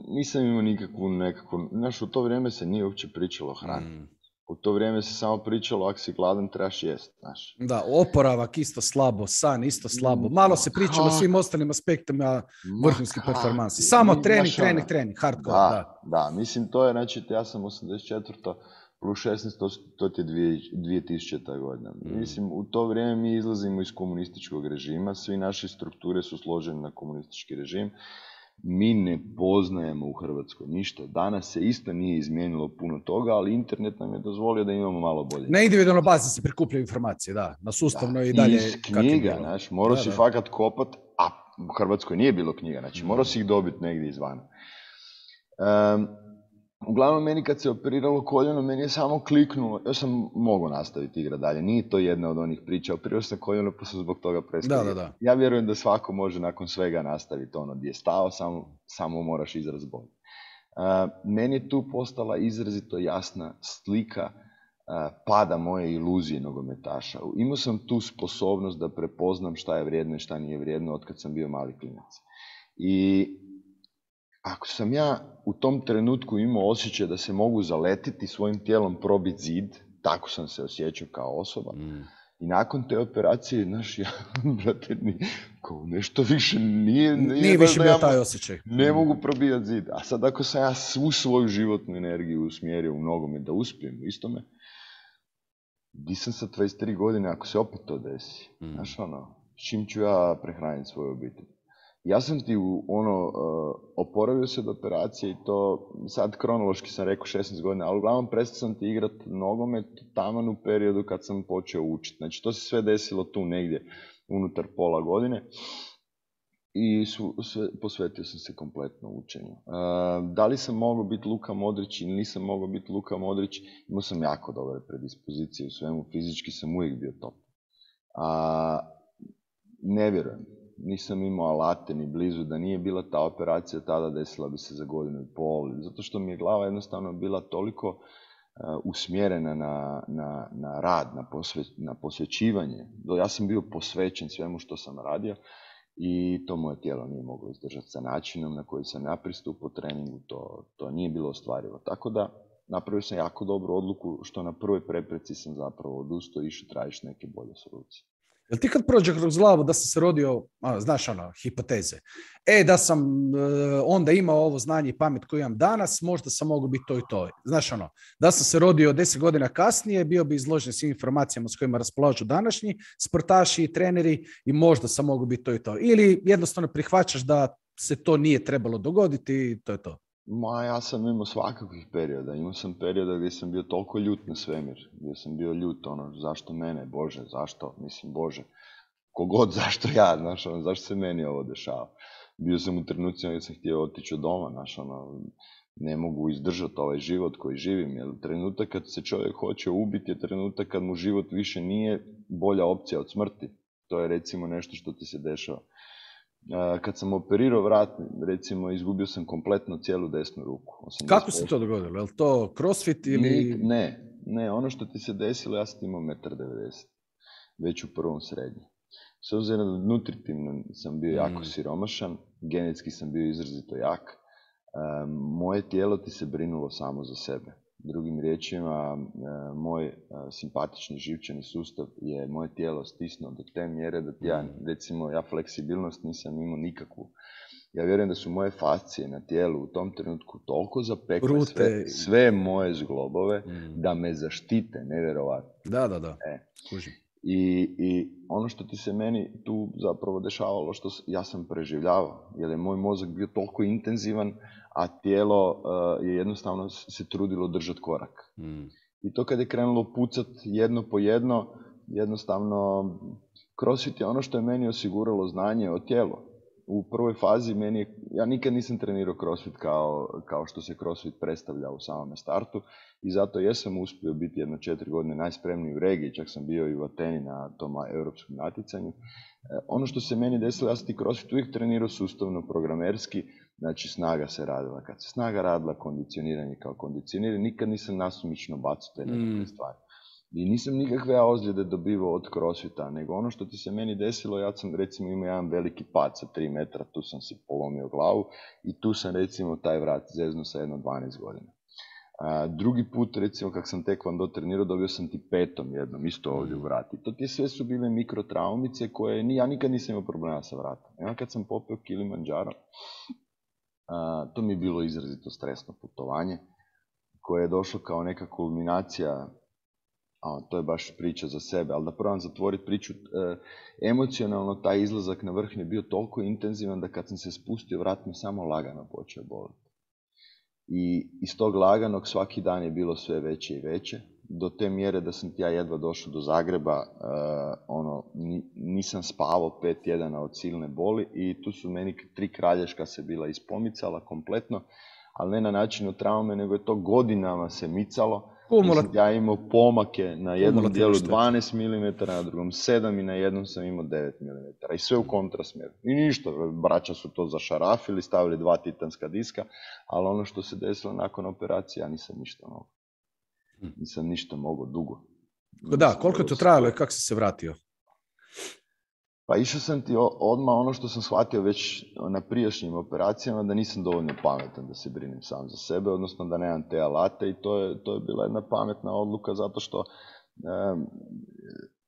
nisam imao nekakvu, znaš, u to vrijeme se nije uopće pričalo o hrani. U to vrijeme se samo pričalo, ako si gladan, trebaš jest, znaš. Da, oporavak isto slabo, san isto slabo. Malo se pričalo o svim ostalim aspektima vrhunskih performansi. Samo trening, hardcore. Da, mislim, to je, znači, ja sam 84. plus 16, to ti je 2000. godina. Mislim, u to vrijeme mi izlazimo iz komunističkog režima, svi naše strukture su složene na komunistički režim. Mi ne poznajemo u Hrvatskoj ništa. Danas se isto nije izmijenilo puno toga, ali internet nam je dozvolio da imamo malo bolje. Na individualnoj bazi se prikupljaju informacije, da. Na sustavno i dalje. Iz knjiga, znaš, morao si fakat kopat, a u Hrvatskoj nije bilo knjiga, znači morao si ih dobiti negdje izvana. Uglavnom, meni kad se operiralo koljeno, meni je samo kliknulo, još sam mogao nastaviti igrati dalje, nije to jedna od onih priča, operirao sam koljeno pa sam zbog toga prestao. Da. Ja vjerujem da svako može nakon svega nastaviti gdje je stao, samo moraš izraz bolje. Meni je tu postala izrazito jasna slika pada moje iluzije nogometaša. Imao sam tu sposobnost da prepoznam šta je vrijedno i šta nije vrijedno od kad sam bio mali klinac. I ako sam ja u tom trenutku imao osjećaj da se mogu zaletiti svojim tijelom probiti zid, tako sam se osjećao kao osoba. I nakon te operacije, znaš, ja, brate, kao nešto više nije više bio taj osjećaj. Ne mogu probijati zid. A sad ako sam ja svu svoju životnu energiju usmjerio u nogomet da uspijem u istome, di sam sa 23 godine ako se opet to desi? Znaš, s čim ću ja prehraniti svoju obitelj? Ja sam ti oporavio se od operacije i to, sad kronološki sam rekao 16 godina, ali uglavnom prestao sam ti igrati nogomet taman u periodu kad sam počeo učiti. Znači to se sve desilo tu negdje unutar pola godine i posvetio sam se kompletno učenju. Da li sam mogao biti Luka Modrić ili nisam mogao biti Luka Modrić, imao sam jako dobre predispozicije u svemu, fizički sam uvijek bio top. Ne vjerujem. Nisam imao alate ni blizu, da nije bila ta operacija tada desila bi se za 1,5 godinu, zato što mi je glava jednostavno bila toliko usmjerena na rad, na posvećivanje. Ja sam bio posvećen svemu što sam radio i to moje tijelo nije moglo izdržati sa načinom na koji sam ja pristupao treningu, to nije bilo ostvarivo. Tako da napravio sam jako dobru odluku što na prvoj prepreci sam zapravo odustao i išao tražiš neke bolje solucije. Jel ti kad prođe kroz glavu da sam se rodio, znaš hipoteze, da sam onda imao ovo znanje i pamet koju imam danas, možda sam mogao biti to i to. Znaš da sam se rodio 10 godina kasnije, bio bi izložen svim informacijama s kojima raspolažu današnji sportaši i treneri i možda sam mogao biti to i to. Ili jednostavno prihvaćaš da se to nije trebalo dogoditi i to je to. Ja sam imao svakakvih perioda. Imao sam perioda gdje sam bio toliko ljut na svemir, gdje sam bio ljut, zašto mene, Bože, zašto, Bože, kogod, zašto ja, zašto se meni ovo dešava. Bio sam u trenucima gdje sam htio otići od doma, ne mogu izdržati ovaj život koji živim, jer trenutak kad se čovjek hoće ubiti je trenutak kad mu život više nije bolja opcija od smrti. To je recimo nešto što ti se dešava. Kad sam operirao vrat, recimo, izgubio sam kompletno cijelu desnu ruku. 80%. Kako se to dogodilo? Je li to crossfit ili... Ne, ono što ti se desilo, ja sam imao 1,90 m, već u prvom srednjem. S obzirom da nutritivno sam bio jako siromašan, genetski sam bio izrazito jak, moje tijelo ti se brinulo samo za sebe. Drugim riječima, moj simpatični živčani sustav je moje tijelo stisnuo do te mjere da ja fleksibilnost nisam imao nikakvu. Ja vjerujem da su moje fascije na tijelu u tom trenutku toliko zapekle sve moje zglobove da me zaštite, nevjerovatno. Da. I ono što ti se meni tu zapravo dešavalo, što ja sam preživljavao, jer je moj mozak bio toliko intenzivan, a tijelo je jednostavno se trudilo držati korak. I to kad je krenulo pucat jedno po jedno, jednostavno CrossFit je ono što je meni osiguralo znanje o tijelu. U prvoj fazi ja nikad nisam trenirao CrossFit kao što se CrossFit predstavlja u samome startu i zato jesam uspio biti jedno 4 godine najspremniji u regiji, čak sam bio i u Ateni na tom europskom natjecanju. Ono što se meni desilo, ja sam ti CrossFit uvijek trenirao sustavno, programerski, znači snaga se radila. Kad se snaga radila, kondicioniranje kao kondicioniranje, nikad nisam nasumično bacao te nekakve stvari. I nisam nikakve ozljede dobivao od CrossFita, nego ono što ti se meni desilo, ja sam recimo imao jedan veliki pad sa 3 metra, tu sam si polomio glavu i tu sam recimo taj vrat zeznuo sa jedno 12 godina. Drugi put, recimo, kak sam tekvando trenirao, dobio sam ti petom jednom, isto ovdje u vrati. To ti sve su bile mikrotraumice koje ja nikad nisam imao problema sa vratom. Ja kad sam popeo Kilimanjaro, to mi je bilo izrazito stresno putovanje, koje je došlo kao neka kulminacija, to je baš priča za sebe, ali da probam zatvoriti priču, emocionalno taj izlazak na vrh je bio toliko intenzivan da kad sam se spustio, vrat mi samo lagano počeo boliti. I iz tog laganog svaki dan je bilo sve veće i veće, do te mjere da sam ja jedva došao do Zagreba, nisam spavao 5 tjedana od silne boli i tu su meni 3 kralješka se bila ispomicala kompletno, ali ne na način od traume, nego je to godinama se micalo. Ja imao pomake na jednom dijelu 12 mm, na drugom 7 i na jednom sam imao 9 mm. I sve u kontrasmjeru. I ništa, braća su to zašarafili, stavili 2 titanska diska, ali ono što se desilo nakon operacije, ja nisam ništa mogao. Nisam ništa mogao dugo. Da, koliko je to trajalo i kako si se vratio? Pa išao sam ti odmah ono što sam shvatio već na prijašnjim operacijama, da nisam dovoljno pametan da se brinem sam za sebe, odnosno da nemam te alate i to je bila jedna pametna odluka zato što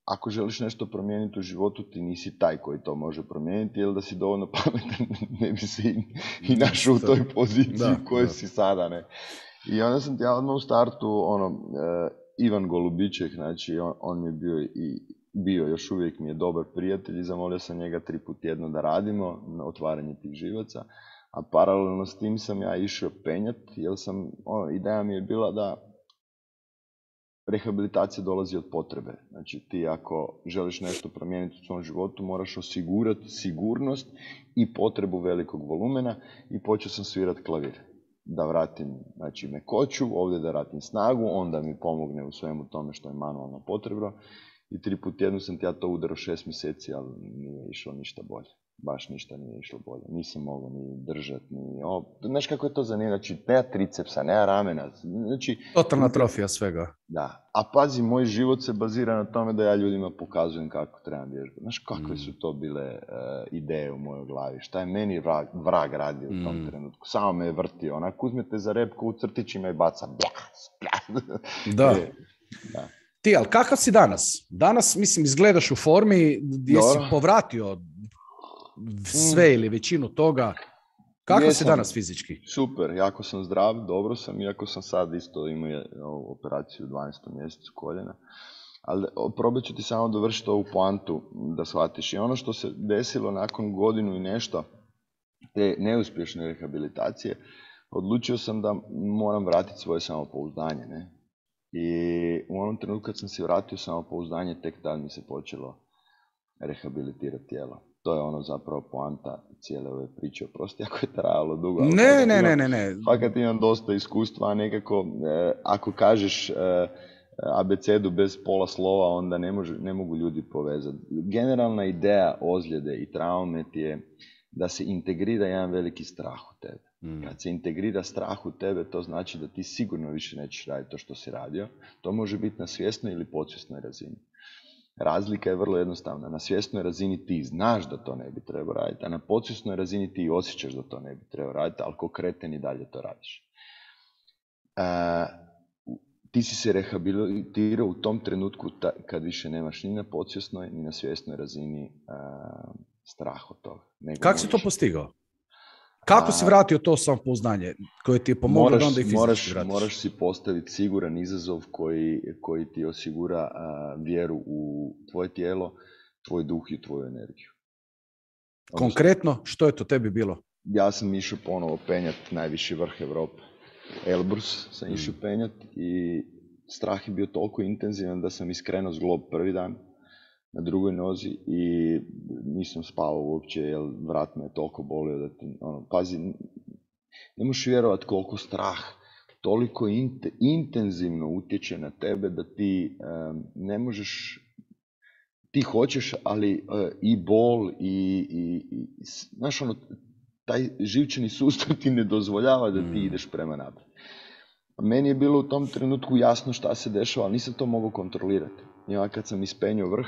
ako želiš nešto promijeniti u životu, ti nisi taj koji to može promijeniti, jer da si dovoljno pametan ne bi se i našao u toj poziciji u kojoj si sada. Ne? I onda sam ti ja odmah u startu, Ivan Golubiček, znači on mi je bio, još uvijek mi je dobar prijatelj i zamolio sam njega 3 puta tjedno da radimo na otvaranje tih živaca, a paralelno s tim sam ja išao penjat, jer ideja mi je bila da rehabilitacija dolazi od potrebe. Znači ti ako želiš nešto promijeniti u svom životu, moraš osigurati sigurnost i potrebu velikog volumena i počeo sam svirati klavir. Da vratim mekoću, ovdje da vratim snagu, onda mi pomogne u svemu tome što je manualno potrebno. I 3 puta tjedno sam ja to udarao 6 mjeseci, ali nije išlo ništa bolje. baš ništa nije išlo bolje. Nisam mogao ni držati, ni ovo. Znaš kako je to zanimljivo? Znači, nema tricepsa, nema ramena. Znači, totalna atrofija svega. Da. A pazi, moj život se bazira na tome da ja ljudima pokazujem kako trebam vježbati. Znaš, kakve su to bile ideje u mojoj glavi? Šta je meni vrag radio u tom trenutku? Samo me je vrtio. Onak, uzmete za repku u crtićima i baca. Da. Da. Ti, ali kakav si danas? Danas, mislim, izgledaš u formi gdje si povratio sve ili većinu toga. Kako si danas fizički? Super, jako sam zdrav, dobro sam, iako sam sad isto imao operaciju u 12. mjesecu koljena. Ali probat ću ti samo dovršiti ovu poantu da shvatiš. I ono što se desilo nakon godinu i nešto te neuspješne rehabilitacije, odlučio sam da moram vratiti svoje samopouzdanje. Ne? I u onom trenutku kad sam si vratio samopouzdanje, tek tad mi se počelo rehabilitirati tijelo. To je ono zapravo poanta cijele ove priče. Oprosti ako je trajalo dugo. Ne. Fakat imam dosta iskustva, nekako ako kažeš abecedu bez pola slova, onda ne mogu ljudi povezati. Generalna ideja ozljede i traume ti je da se integrira jedan veliki strah u tebe. Kad se integrira strah u tebe, to znači da ti sigurno više nećeš raditi to što si radio. To može biti na svjesnoj ili podsvjesnoj razini. Razlika je vrlo jednostavna. Na svjesnoj razini ti znaš da to ne bi trebao raditi, a na podsvjesnoj razini ti osjećaš da to ne bi trebao raditi, ali ko kreten i dalje to radiš. Ti si se rehabilitirao u tom trenutku kad više nemaš ni na podsvjesnoj, ni na svjesnoj razini strah od toga. Kako si to postigao? Kako si vratio to samopouzdanje koje ti je pomoglo da onda i fizički vratiš? Moraš si postaviti siguran izazov koji ti osigura vjeru u tvoje tijelo, tvoj duh i tvoju energiju. Konkretno, što je to tebi bilo? Ja sam išao ponovo penjati najviši vrh Europe. Elbrus sam išao penjati i strah je bio toliko intenzivan da sam iskrenuo zglob prvi dan na drugoj nozi i nisam spavao uopće jer vrat me je toliko bolio da ti, pazi, ne možeš vjerovati koliko strah toliko intenzivno utječe na tebe da ti ne možeš, ti hoćeš, ali i bol i znaš taj živčani sustav ti ne dozvoljava da ti ideš prema naprijed. Meni je bilo u tom trenutku jasno šta se dešava, ali nisam to mogao kontrolirati. I kad sam ispenio vrh,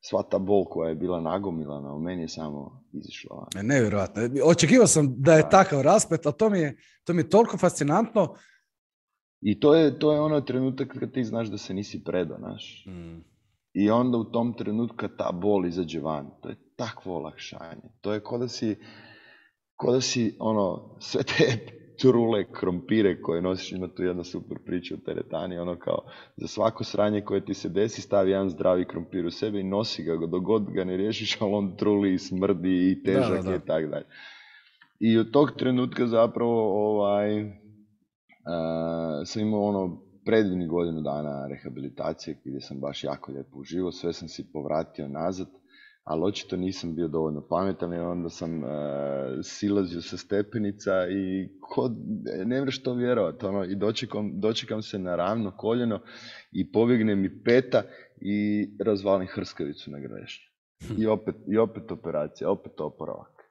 sva ta bol koja je bila nagomilana, u meni je samo izišla. Nevjerojatno. Očekivao sam da je takav rasplet, ali to mi je toliko fascinantno. I to je ono trenutak kad ti znaš da se nisi predao, znaš. I onda u tom trenutku kad ta bol izađe van, to je takvo olakšanje. To je ko da si sve te trule krompire koje nosiš, ima tu jedna super priča u teretani, kao za svako sranje koje ti se desi stavi jedan zdravi krompir u sebe i nosi ga, dok god ga ne riješiš, ali on truli i smrdi i težak je i tako dalje. I od tog trenutka zapravo sam imao predivnih godinu dana rehabilitacije gdje sam baš jako lijepo uživao, sve sam si povratio nazad, ali očito nisam bio dovoljno pametan i onda sam silazio sa stepenica i ne možeš to vjerovati, i dočekam se na ravno koljeno i pobjegne mi peta i razvalim hrskavicu na grešnju. I opet operacija, opet oporavak.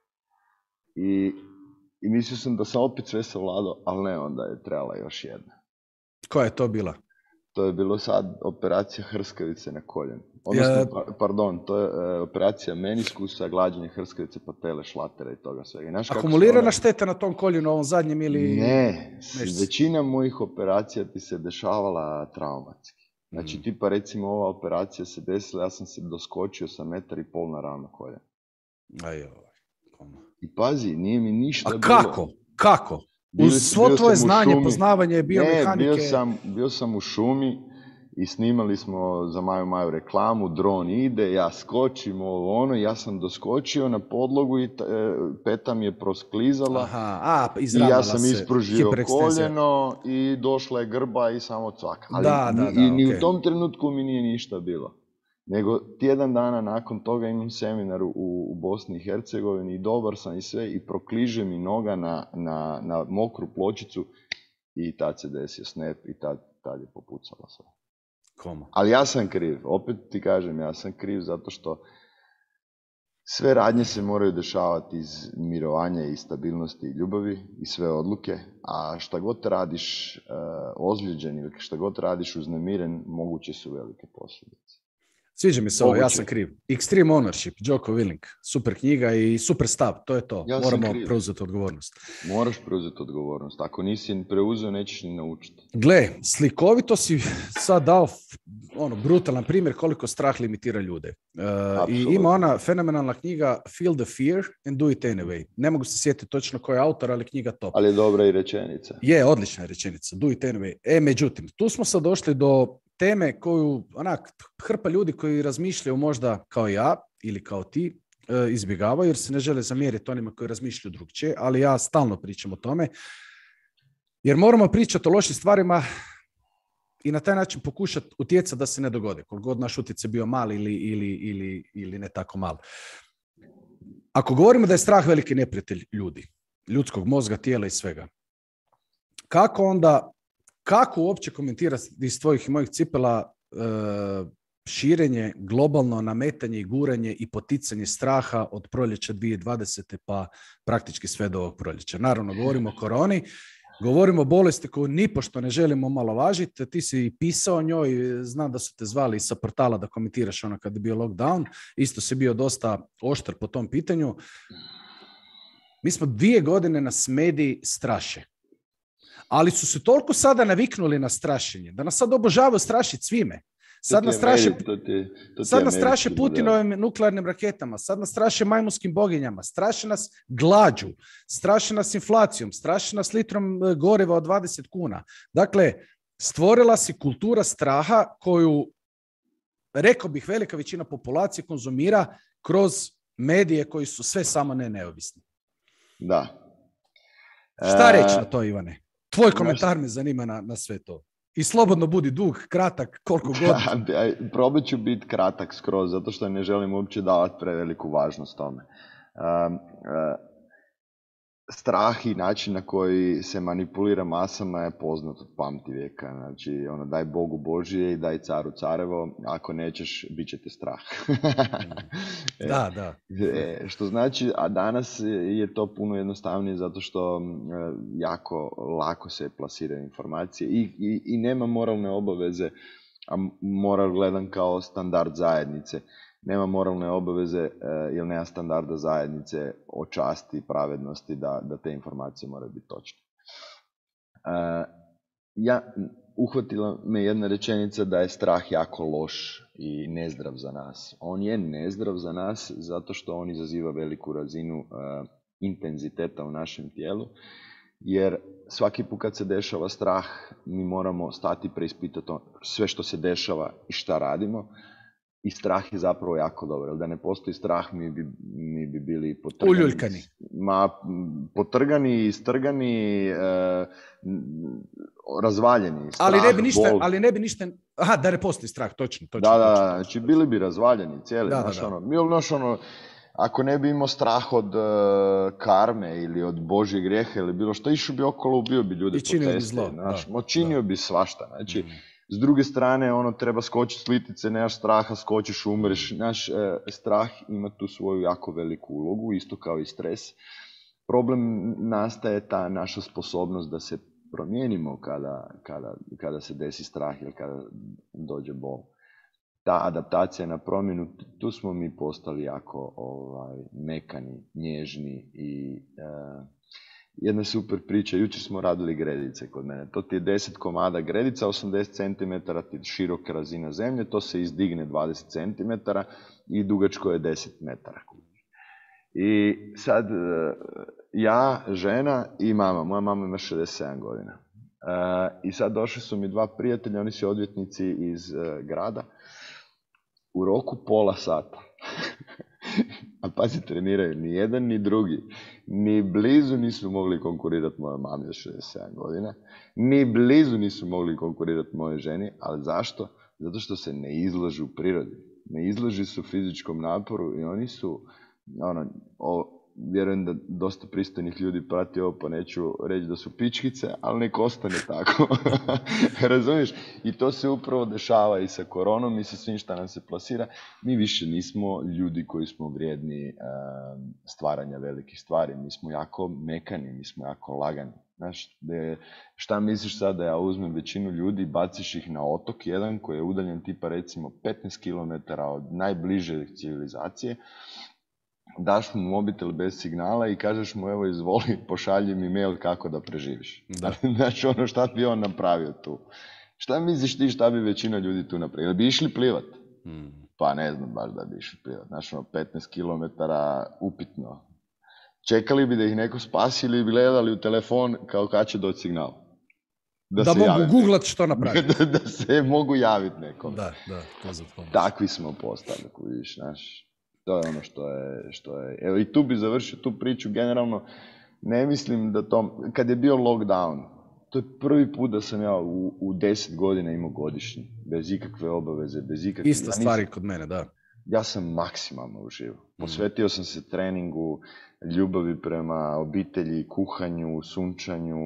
I mislio sam da sam opet sve savladao, ali ne, onda je trebala još jedna. Koja je to bila? To je bilo sad operacija hrskavice na koljenu. Odnosno, to je operacija meniskusa, glađenje hrskavice, patele, šlatera i toga svega. Akumulirana šteta na tom koljenu, ovom zadnjem ili... Ne, većina mojih operacija ti se dešavala traumatski. Znači, tipa recimo ova operacija se desila, ja sam se doskočio sa 1,5 m na ravno koljeno. I pazi, nije mi ništa bilo... A kako? Uz svo tvoje znanje, poznavanje biomehanike... Bio sam u šumi i snimali smo za Maju reklamu, dron ide, ja skočim ja sam doskočio na podlogu i peta mi je prosklizala i ja sam ispružio koljeno i došla je grba i samo cvaka. Ali ni u tom trenutku mi nije ništa bilo. Nego tjedan dana nakon toga imam seminar u Bosni i Hercegovini i dobar sam i sve i prokliže mi noga na mokru pločicu i tad se desio snap i tad je popucalo sve. Ali ja sam kriv, opet ti kažem, ja sam kriv zato što sve radnje se moraju dešavati iz mirovanja i stabilnosti i ljubavi i sve odluke, a šta god radiš ozlijeđen ili šta god radiš uznemiren, moguće su velike posljedice. Sviđa mi se ovo, ja sam kriv. Extreme Ownership, Jocko Willink, super knjiga i super stav, to je to. Moramo preuzeti odgovornost. Moraš preuzeti odgovornost. Ako nisi preuzeo, nećeš ni naučiti. Gle, slikovito si sad dao brutalan primjer koliko strah limitira ljude. I ima ona fenomenalna knjiga Feel the Fear and Do It Anyway. Ne mogu se sjetiti točno ko je autor, ali knjiga top. Ali je dobra i rečenica. Je, odlična je rečenica. Do It Anyway. Međutim, tu smo sad došli do teme koju, hrpa ljudi koji razmišljaju možda kao ja ili kao ti, izbjegavaju jer se ne žele zamjeriti onima koji razmišljaju drugčije, ali ja stalno pričam o tome, jer moramo pričati o lošim stvarima i na taj način pokušati utjecati da se ne dogode, koliko god naš utjecaj bio mali ili ne tako mal. Ako govorimo da je strah veliki neprijatelj ljudi, ljudskog mozga, tijela i svega, kako uopće komentirati iz tvojih i mojih cipela širenje, globalno nametanje i guranje i poticanje straha od proljeća 2020. pa praktički sve do ovog proljeća? Naravno, govorimo o koroni, govorimo o bolesti koju nipošto ne želimo omalovažiti. Ti si pisao o njoj, znam da su te zvali sa portala da komentiraš kad je bio lockdown. Isto si bio dosta oštar po tom pitanju. Mi smo 2 godine nas mediji straše. Ali su se toliko sada naviknuli na strašenje, da nas sad obožavaju strašiti svime. Sad nas straše Putinovim nuklearnim raketama, sad nas straše majmunskim boginjama, straše nas glađu, straše nas inflacijom, straše nas litrom goriva od 20 kuna. Dakle, stvorila se kultura straha koju, rekao bih, velika većina populacije konzumira kroz medije koji su sve samo ne neovisni. Da. Šta reći na to, Ivane? Tvoj komentar me zanima na sve to. I slobodno budi dug, kratak, koliko god. Probat ću biti kratak skroz, zato što ne želim uopće davati preveliku važnost tome. Strah i način na koji se manipulira masama je poznat od pamtivijeka. Znači, daj Bogu Božije i daj caru carevo, ako nećeš, bit će te strah. Da. Što znači, a danas je to puno jednostavnije zato što jako lako se plasiraju informacije i nema moralne obaveze, a moral gledam kao standard zajednice. Nema moralne obaveze jer nema standarda zajednice o časti i pravednosti da te informacije moraju biti točne. Uhvatila me jedna rečenica da je strah jako loš i nezdrav za nas. On je nezdrav za nas zato što on izaziva veliku razinu intenziteta u našem tijelu, jer svaki put kad se dešava strah, mi moramo stati i preispitati sve što se dešava i šta radimo. I strah je zapravo jako dobro, jer da ne postoji strah, mi bi bili potrgani. Uljuljkani. Potrgani, istrgani, razvaljeni. Strah, ali ne bi ništa... Aha, da ne postoji strah, točno. Da, znači bili bi razvaljeni cijeli. Ako ne bi imao strah od karme ili od Božjeg grijeha ili bilo što, išao bi okolo, ubio bi ljude po cesti. Činio bi svašta. Znači, s druge strane, treba skočiti s litice, nemaš straha, skočiš, umreš. Naš strah ima tu svoju jako veliku ulogu, isto kao i stres. Problem nastaje ta naša sposobnost da se promijenimo kada se desi strah ili kada dođe bol. Ta adaptacija na promjenu, tu smo mi postali jako mekani, nježni i jedna super priča. Jučer smo radili gredice kod mene. To ti je 10 komada gredica, 80 cm ti široka razina zemlje, to se izdigne 20 cm i dugačko je 10 metara. I sad ja, žena i mama. Moja mama ima 67 godina. I sad došli su mi 2 prijatelja, oni su odvjetnici iz grada. U roku pola sata. A pazi, treniraju ni jedan ni drugi. Ni blizu nisu mogli konkurirati mojoj mami za 67 godina. Ni blizu nisu mogli konkurirati mojoj ženi. Ali zašto? Zato što se ne izlažu prirodi. Ne izlažu su fizičkom naporu i oni su vjerujem da dosta pristojnih ljudi prati ovo, pa neću reći da su pičkice, ali nek ostane tako. Razumiješ? I to se upravo dešava i sa koronom i sa svim šta nam se plasira. Mi više nismo ljudi koji smo vrijedni stvaranja velikih stvari. Mi smo jako mekani, mi smo jako lagani. Znaš, šta misliš sad da ja uzmem većinu ljudi, baciš ih na otok jedan koji je udaljen tipa recimo 15 km od najbliže civilizacije, daš mu mobitel bez signala i kažeš mu evo izvoli, pošalji mi mail kako da preživiš. Znači ono šta bi on napravio tu. Šta misliš ti šta bi većina ljudi tu napravila? Bi išli plivat? Pa ne znam baš da bi išli plivat. Znači 15 km upitno. Čekali bi da ih neko spasi ili bi gledali u telefon kao kad će doći signal. Da mogu googlat što napraviti. Da se mogu javiti nekom. Da, to za pomoć. Takvi smo postali, vidiš, znaš. To je ono što je. Evo i tu bi završio tu priču, generalno ne mislim da to, kad je bio lockdown, to je prvi put da sam ja u 10 godina imao godišnji, bez ikakve obaveze, bez ikakve... Ista stvari kod mene, da. Ja sam maksimalno uživao. Posvetio sam se treningu, ljubavi prema obitelji, kuhanju, sunčanju,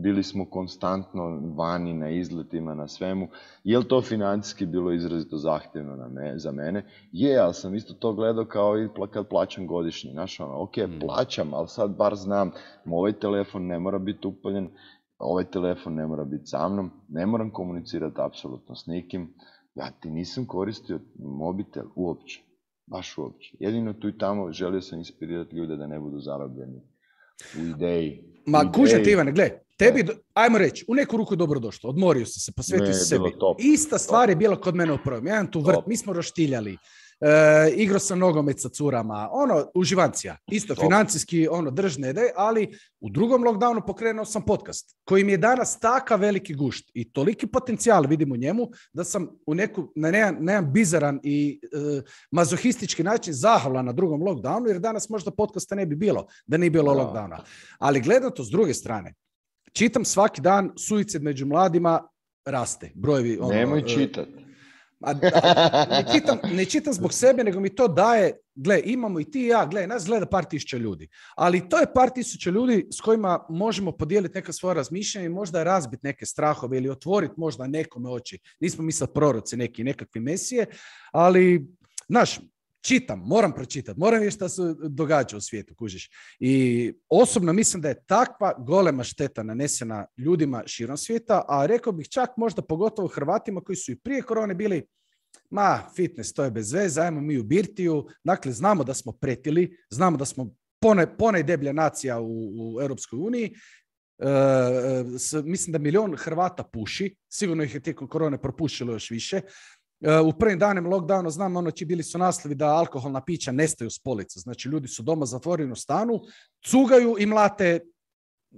bili smo konstantno vani na izletima, na svemu. Je li to financijski bilo izrazito zahtjevno za mene? Je, ali sam isto to gledao kao i kad plaćam godišnji. Znaš, ok, plaćam, ali sad bar znam, ovaj telefon ne mora biti upaljen, ovaj telefon ne mora biti sa mnom, ne moram komunicirati apsolutno s nikim. Ja ti nisam koristio mobitel uopće. Baš uopće. Jedino tu i tamo želio sam inspirirati ljude da ne budu zarobljeni u ideji. Kužem ti, Ivane, gle, tebi, ajmo reći, u neku ruku je dobro došlo, odmorio si se, posvetio si sebi. Ista stvar je bila kod mene u prvom. Jedan tu vrt, mi smo roštiljali, igrao sam nogomet sa curama, uživancija, isto financijski, držne ideje, ali u drugom lockdownu pokrenuo sam podcast, koji mi je danas takav veliki gušt i toliki potencijal vidim u njemu, da sam na jedan bizaran i mazohistički način zahvalan na drugom lockdownu, jer danas možda podcasta ne bi bilo, da nije bilo lockdowna. Ali gledam to s druge strane, čitam svaki dan suicid među mladima raste, brojevi... Nemoj čitati. Ne čitam zbog sebe, nego mi to daje, gle, imamo i ti i ja, gle, nas gleda par tisuća ljudi, ali to je par tisuća ljudi s kojima možemo podijeliti neka svoja razmišljanja i možda razbiti neke strahove ili otvoriti možda nekome oči. Nismo mi sad proroci nekakvi mesije, ali, znaš, čitam, moram pročitati, moram vidjeti šta se događa u svijetu, kužiš. I osobno mislim da je takva golema šteta nanesena ljudima širom svijeta, a rekao bih čak možda pogotovo Hrvatima koji su i prije korone bili, fitness, to je bez veze, ajmo mi u birtiju. Dakle, znamo da smo pretili, znamo da smo ponajdeblja nacija u Europskoj uniji. Mislim da 1 milion Hrvata puši, sigurno ih je tijekom korone propušilo još više. U prvim danima lockdowna znam, bili su naslovi da alkoholna pića nestaju s polica. Znači, ljudi su doma zatvoreni u stanu, cugaju i mlate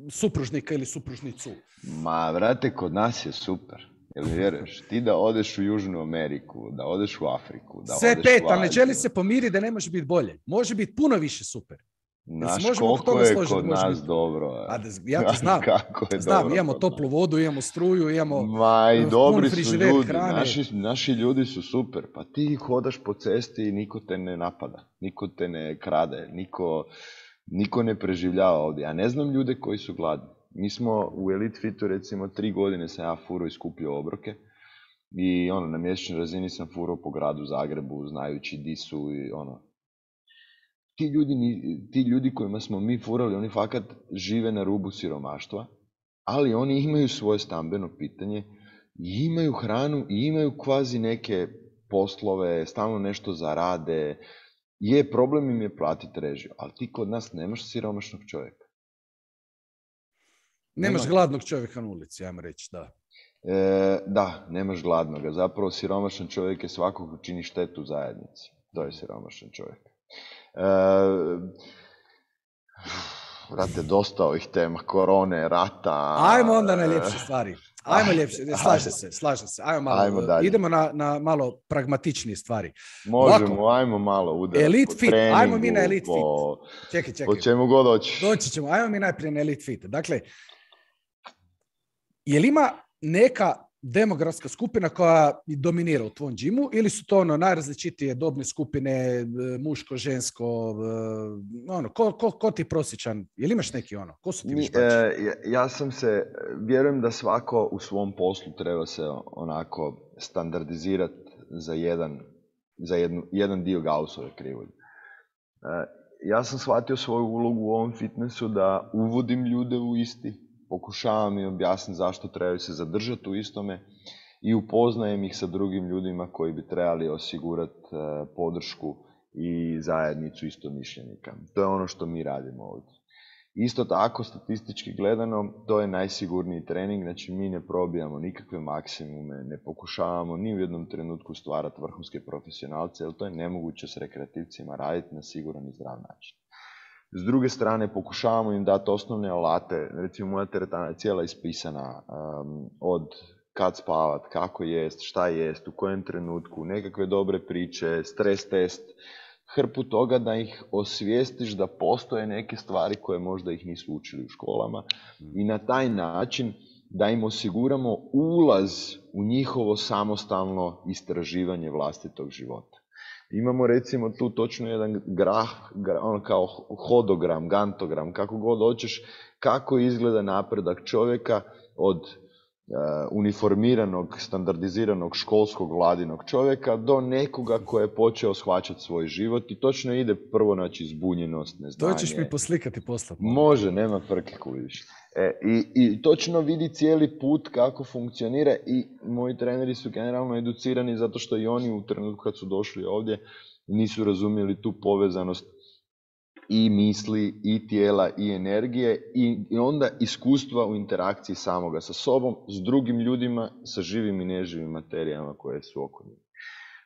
supružnika ili supružnicu. Ma, vrate, kod nas je super. Jel mi vjeruješ? Ti da odeš u Južnu Ameriku, da odeš u Afriku, da sve odeš pet, u ali ne želi se pomiriti da ne može biti bolje. Može biti puno više super. Znaš koliko je kod nas dobro. Ja to znam. Znam, imamo toplu vodu, imamo struju, imamo dobri su ljudi. Naši ljudi su super. Pa ti hodaš po cesti i niko te ne napada. Niko te ne krade. Niko ne preživljava ovdje. Ja ne znam ljude koji su gladni. Mi smo u Elite Fitu recimo 3 godine sam ja furao i skupljao obroke. I na mjesečnoj razini sam furao po gradu Zagrebu, znajući di su i Ti ljudi kojima smo mi furali, oni fakat žive na rubu siromaštva, ali oni imaju svoje stambeno pitanje, i imaju hranu i imaju kvazi neke poslove, stalno nešto zarade. Problem im je platiti režiju, ali ti kod nas nemaš siromašnog čovjeka. Nemaš gladnog čovjeka na ulici, ajmo reći, da. Da, nemaš gladnoga. Zapravo siromašan čovjek je svakog ko čini štetu zajednici. To je siromašan čovjek. Vrate, dosta ovih tema, korone, rata... Ajmo onda na ljepše stvari. Ajmo ljepše, slažem se. Ajmo dalje. Idemo na malo pragmatičnije stvari. Možemo, ajmo malo udarati Elite po Fit, treningu, ajmo mi na Elite Fit. Čekaj. Po čemu god hoćeš. Doći ćemo, ajmo mi najprije na Elite Fit. Dakle, je li ima neka demografska skupina koja dominira u tvom džimu ili su to najrazličitije dobne skupine, muško, žensko, ko ti je prosječan? Jel imaš neki ko su ti vežbači? Vjerujem da svako u svom poslu treba se onako standardizirati za jedan dio Gaussove krivulje. Ja sam shvatio svoju ulogu u ovom fitnessu da uvodim ljude u isti, pokušavam im objasniti zašto trebaju se zadržati u istome i upoznajem ih sa drugim ljudima koji bi trebali osigurati podršku i zajednicu istomišljenika. To je ono što mi radimo ovdje. Isto tako, statistički gledano, to je najsigurniji trening, znači mi ne probijamo nikakve maksimume, ne pokušavamo ni u jednom trenutku stvarati vrhunske profesionalce, jer to je nemoguće s rekreativcima raditi na siguran i zdrav način. S druge strane, pokušavamo im dati osnovne alate, recimo moja teretana je cijela ispisana od kad spavat, kako jest, šta jest, u kojem trenutku, nekakve dobre priče, stres test, hrpu toga da ih osvijestiš da postoje neke stvari koje možda ih nisu učili u školama i na taj način da im osiguramo ulaz u njihovo samostalno istraživanje vlastitog života. Imamo recimo tu točno jedan graf, ono kao hodogram, gantogram, kako god hoćeš, kako izgleda napredak čovjeka od uniformiranog, standardiziranog školskog vladinog čovjeka do nekoga koji je počeo shvaćati svoj život i točno ide prvo, znači, zbunjenost, neznanje. To ćeš mi poslikati poslati. Može, nema frke vidiš. I točno vidi cijeli put kako funkcionira i moji treneri su generalno educirani zato što i oni u trenutku kad su došli ovdje nisu razumjeli tu povezanost i misli, i tijela, i energije i onda iskustva u interakciji samoga sa sobom, s drugim ljudima, sa živim i neživim materijama koje su oko njih.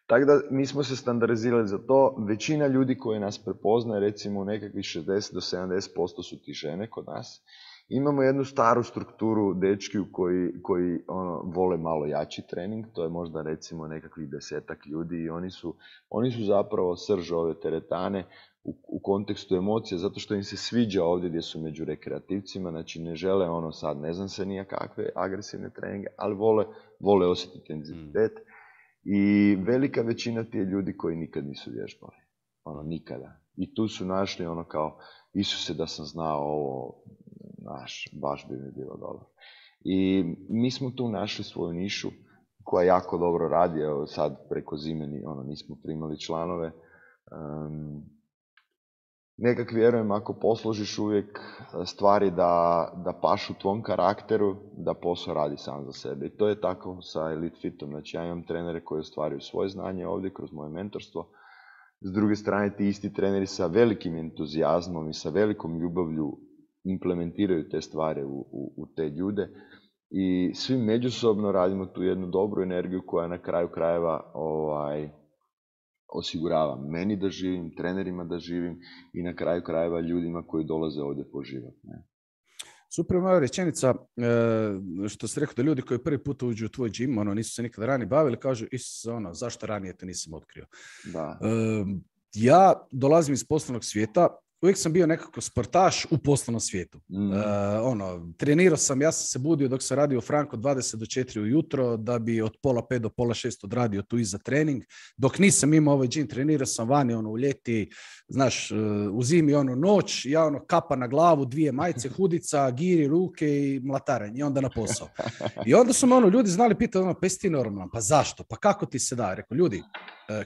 Tako da mi smo se standardizirali za to. Većina ljudi koji nas prepoznaje, recimo nekakvih 60 do 70% su ti žene kod nas. Imamo jednu staru strukturu dečkiju koji vole malo jači trening, to je možda recimo nekakvih 10-ak ljudi i oni su zapravo srž ove teretane u kontekstu emocija, zato što im se sviđa ovdje gdje su među rekreativcima, znači ne žele sad, ne znam se nijakakve agresivne treninge, ali vole osjetiti intenzitet. I velika većina ti je ljudi koji nikad nisu vježbali, nikada. I tu su našli kao, Isuse da sam znao ovo, baš bi mi bilo dobro. I mi smo tu našli svoju nišu koja jako dobro radi, evo sad preko zime nismo primali članove. Nekak vjerujem, ako posložiš uvijek stvari da pašu tvom karakteru, da posao radi sam za sebe. I to je tako sa Elite Fitom. Znači ja imam trenere koji ostvaruju svoje znanje ovdje kroz moje mentorstvo. S druge strane, ti isti treneri sa velikim entuzijazmom i sa velikom ljubavlju implementiraju te stvari u te ljude. I svi međusobno radimo tu jednu dobru energiju koja na kraju krajeva osigurava meni da živim, trenerima da živim i na kraju krajeva ljudima koji dolaze ovdje po život. Ne? Super, moja rečenica, što si rekao da ljudi koji prvi put uđu u tvoj džim, nisu se nikada ranije bavili, kažu, zašto ranije te nisam otkrio? Da. Ja dolazim iz poslovnog svijeta, uvijek sam bio nekako sportaš u poslovnom svijetu. Trenirao sam, ja sam se budio dok sam radio u Franko 20 do 4 ujutro, da bi od 4:30 do 5:30 odradio tu iza trening. Dok nisam imao ovaj džim, trenirao sam vani u ljeti, znaš, u zimi noć, ja kapa na glavu, 2 majice, hudica, giri, ruke i mlatarenje i onda na posao. I onda su me ljudi znali pitati, pa jesi ti normalan, pa zašto, pa kako ti se da? Rekao, ljudi,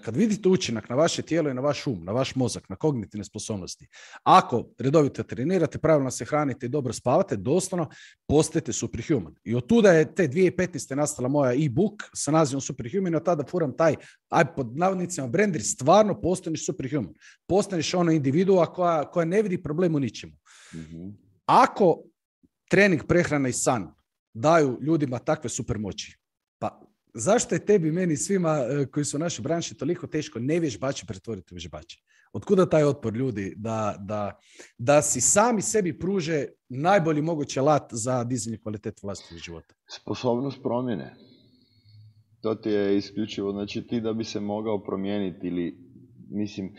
kad vidite učinak na vaše tijelo i na vaš um, na vaš mozak, na kognitivne sposobnosti, ako redovito trenirate, pravilno se hranite i dobro spavate, doslovno postajete superhuman. I od tuda je te 2015. nastala moja e-book sa nazivom Superhuman, od tada furam taj, pod navodnicima, brand, stvarno postaneš superhuman. Postaneš individua koja ne vidi problem u ničemu. Mm-hmm. Ako trening, prehrana i san daju ljudima takve supermoći, pa zašto je tebi, meni, svima koji su u našoj branši toliko teško nevježbači pretvoriti u vježbače? Otkuda taj otpor ljudi da si sami sebi pruže najbolji mogući alat za dizanje kvalitete vlastitog života? Sposobnost promjene. To ti je isključivo. Znači ti da bi se mogao promijeniti ili, mislim,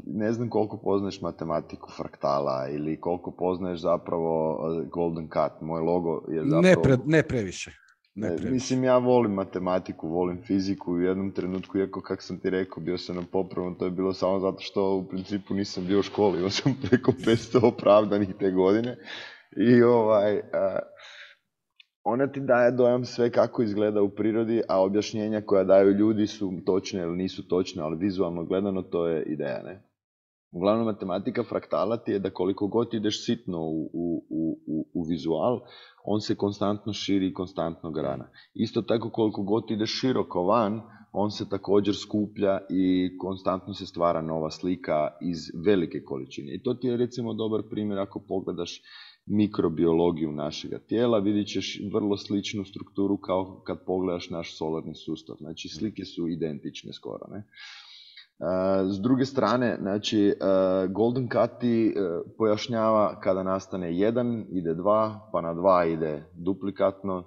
ne znam koliko poznaješ matematiku fraktala ili koliko poznaješ zapravo Golden Cut. Moj logo je zapravo... Ne previše. Mislim, ja volim matematiku, volim fiziku u jednom trenutku, iako kako sam ti rekao, bio sam na popravnom, to je bilo samo zato što u principu nisam bio u školi, imao sam preko 500 opravdanih te godine i ona ti daje dojam sve kako izgleda u prirodi, a objašnjenja koja daju ljudi su točne ili nisu točne, ali vizualno gledano to je ideja, ne? Uglavnom, matematika fraktala ti je da koliko god ideš sitno u vizual, on se konstantno širi i konstantno grana. Isto tako koliko god ideš široko van, on se također skuplja i konstantno se stvara nova slika iz velike količine. I to ti je recimo dobar primjer ako pogledaš mikrobiologiju našega tijela, vidit ćeš vrlo sličnu strukturu kao kad pogledaš naš solarni sustav. Znači slike su identične skoro, ne? S druge strane, znači, Golden Cut ti pojašnjava kada nastane 1, ide 2, pa na 2 ide duplikatno,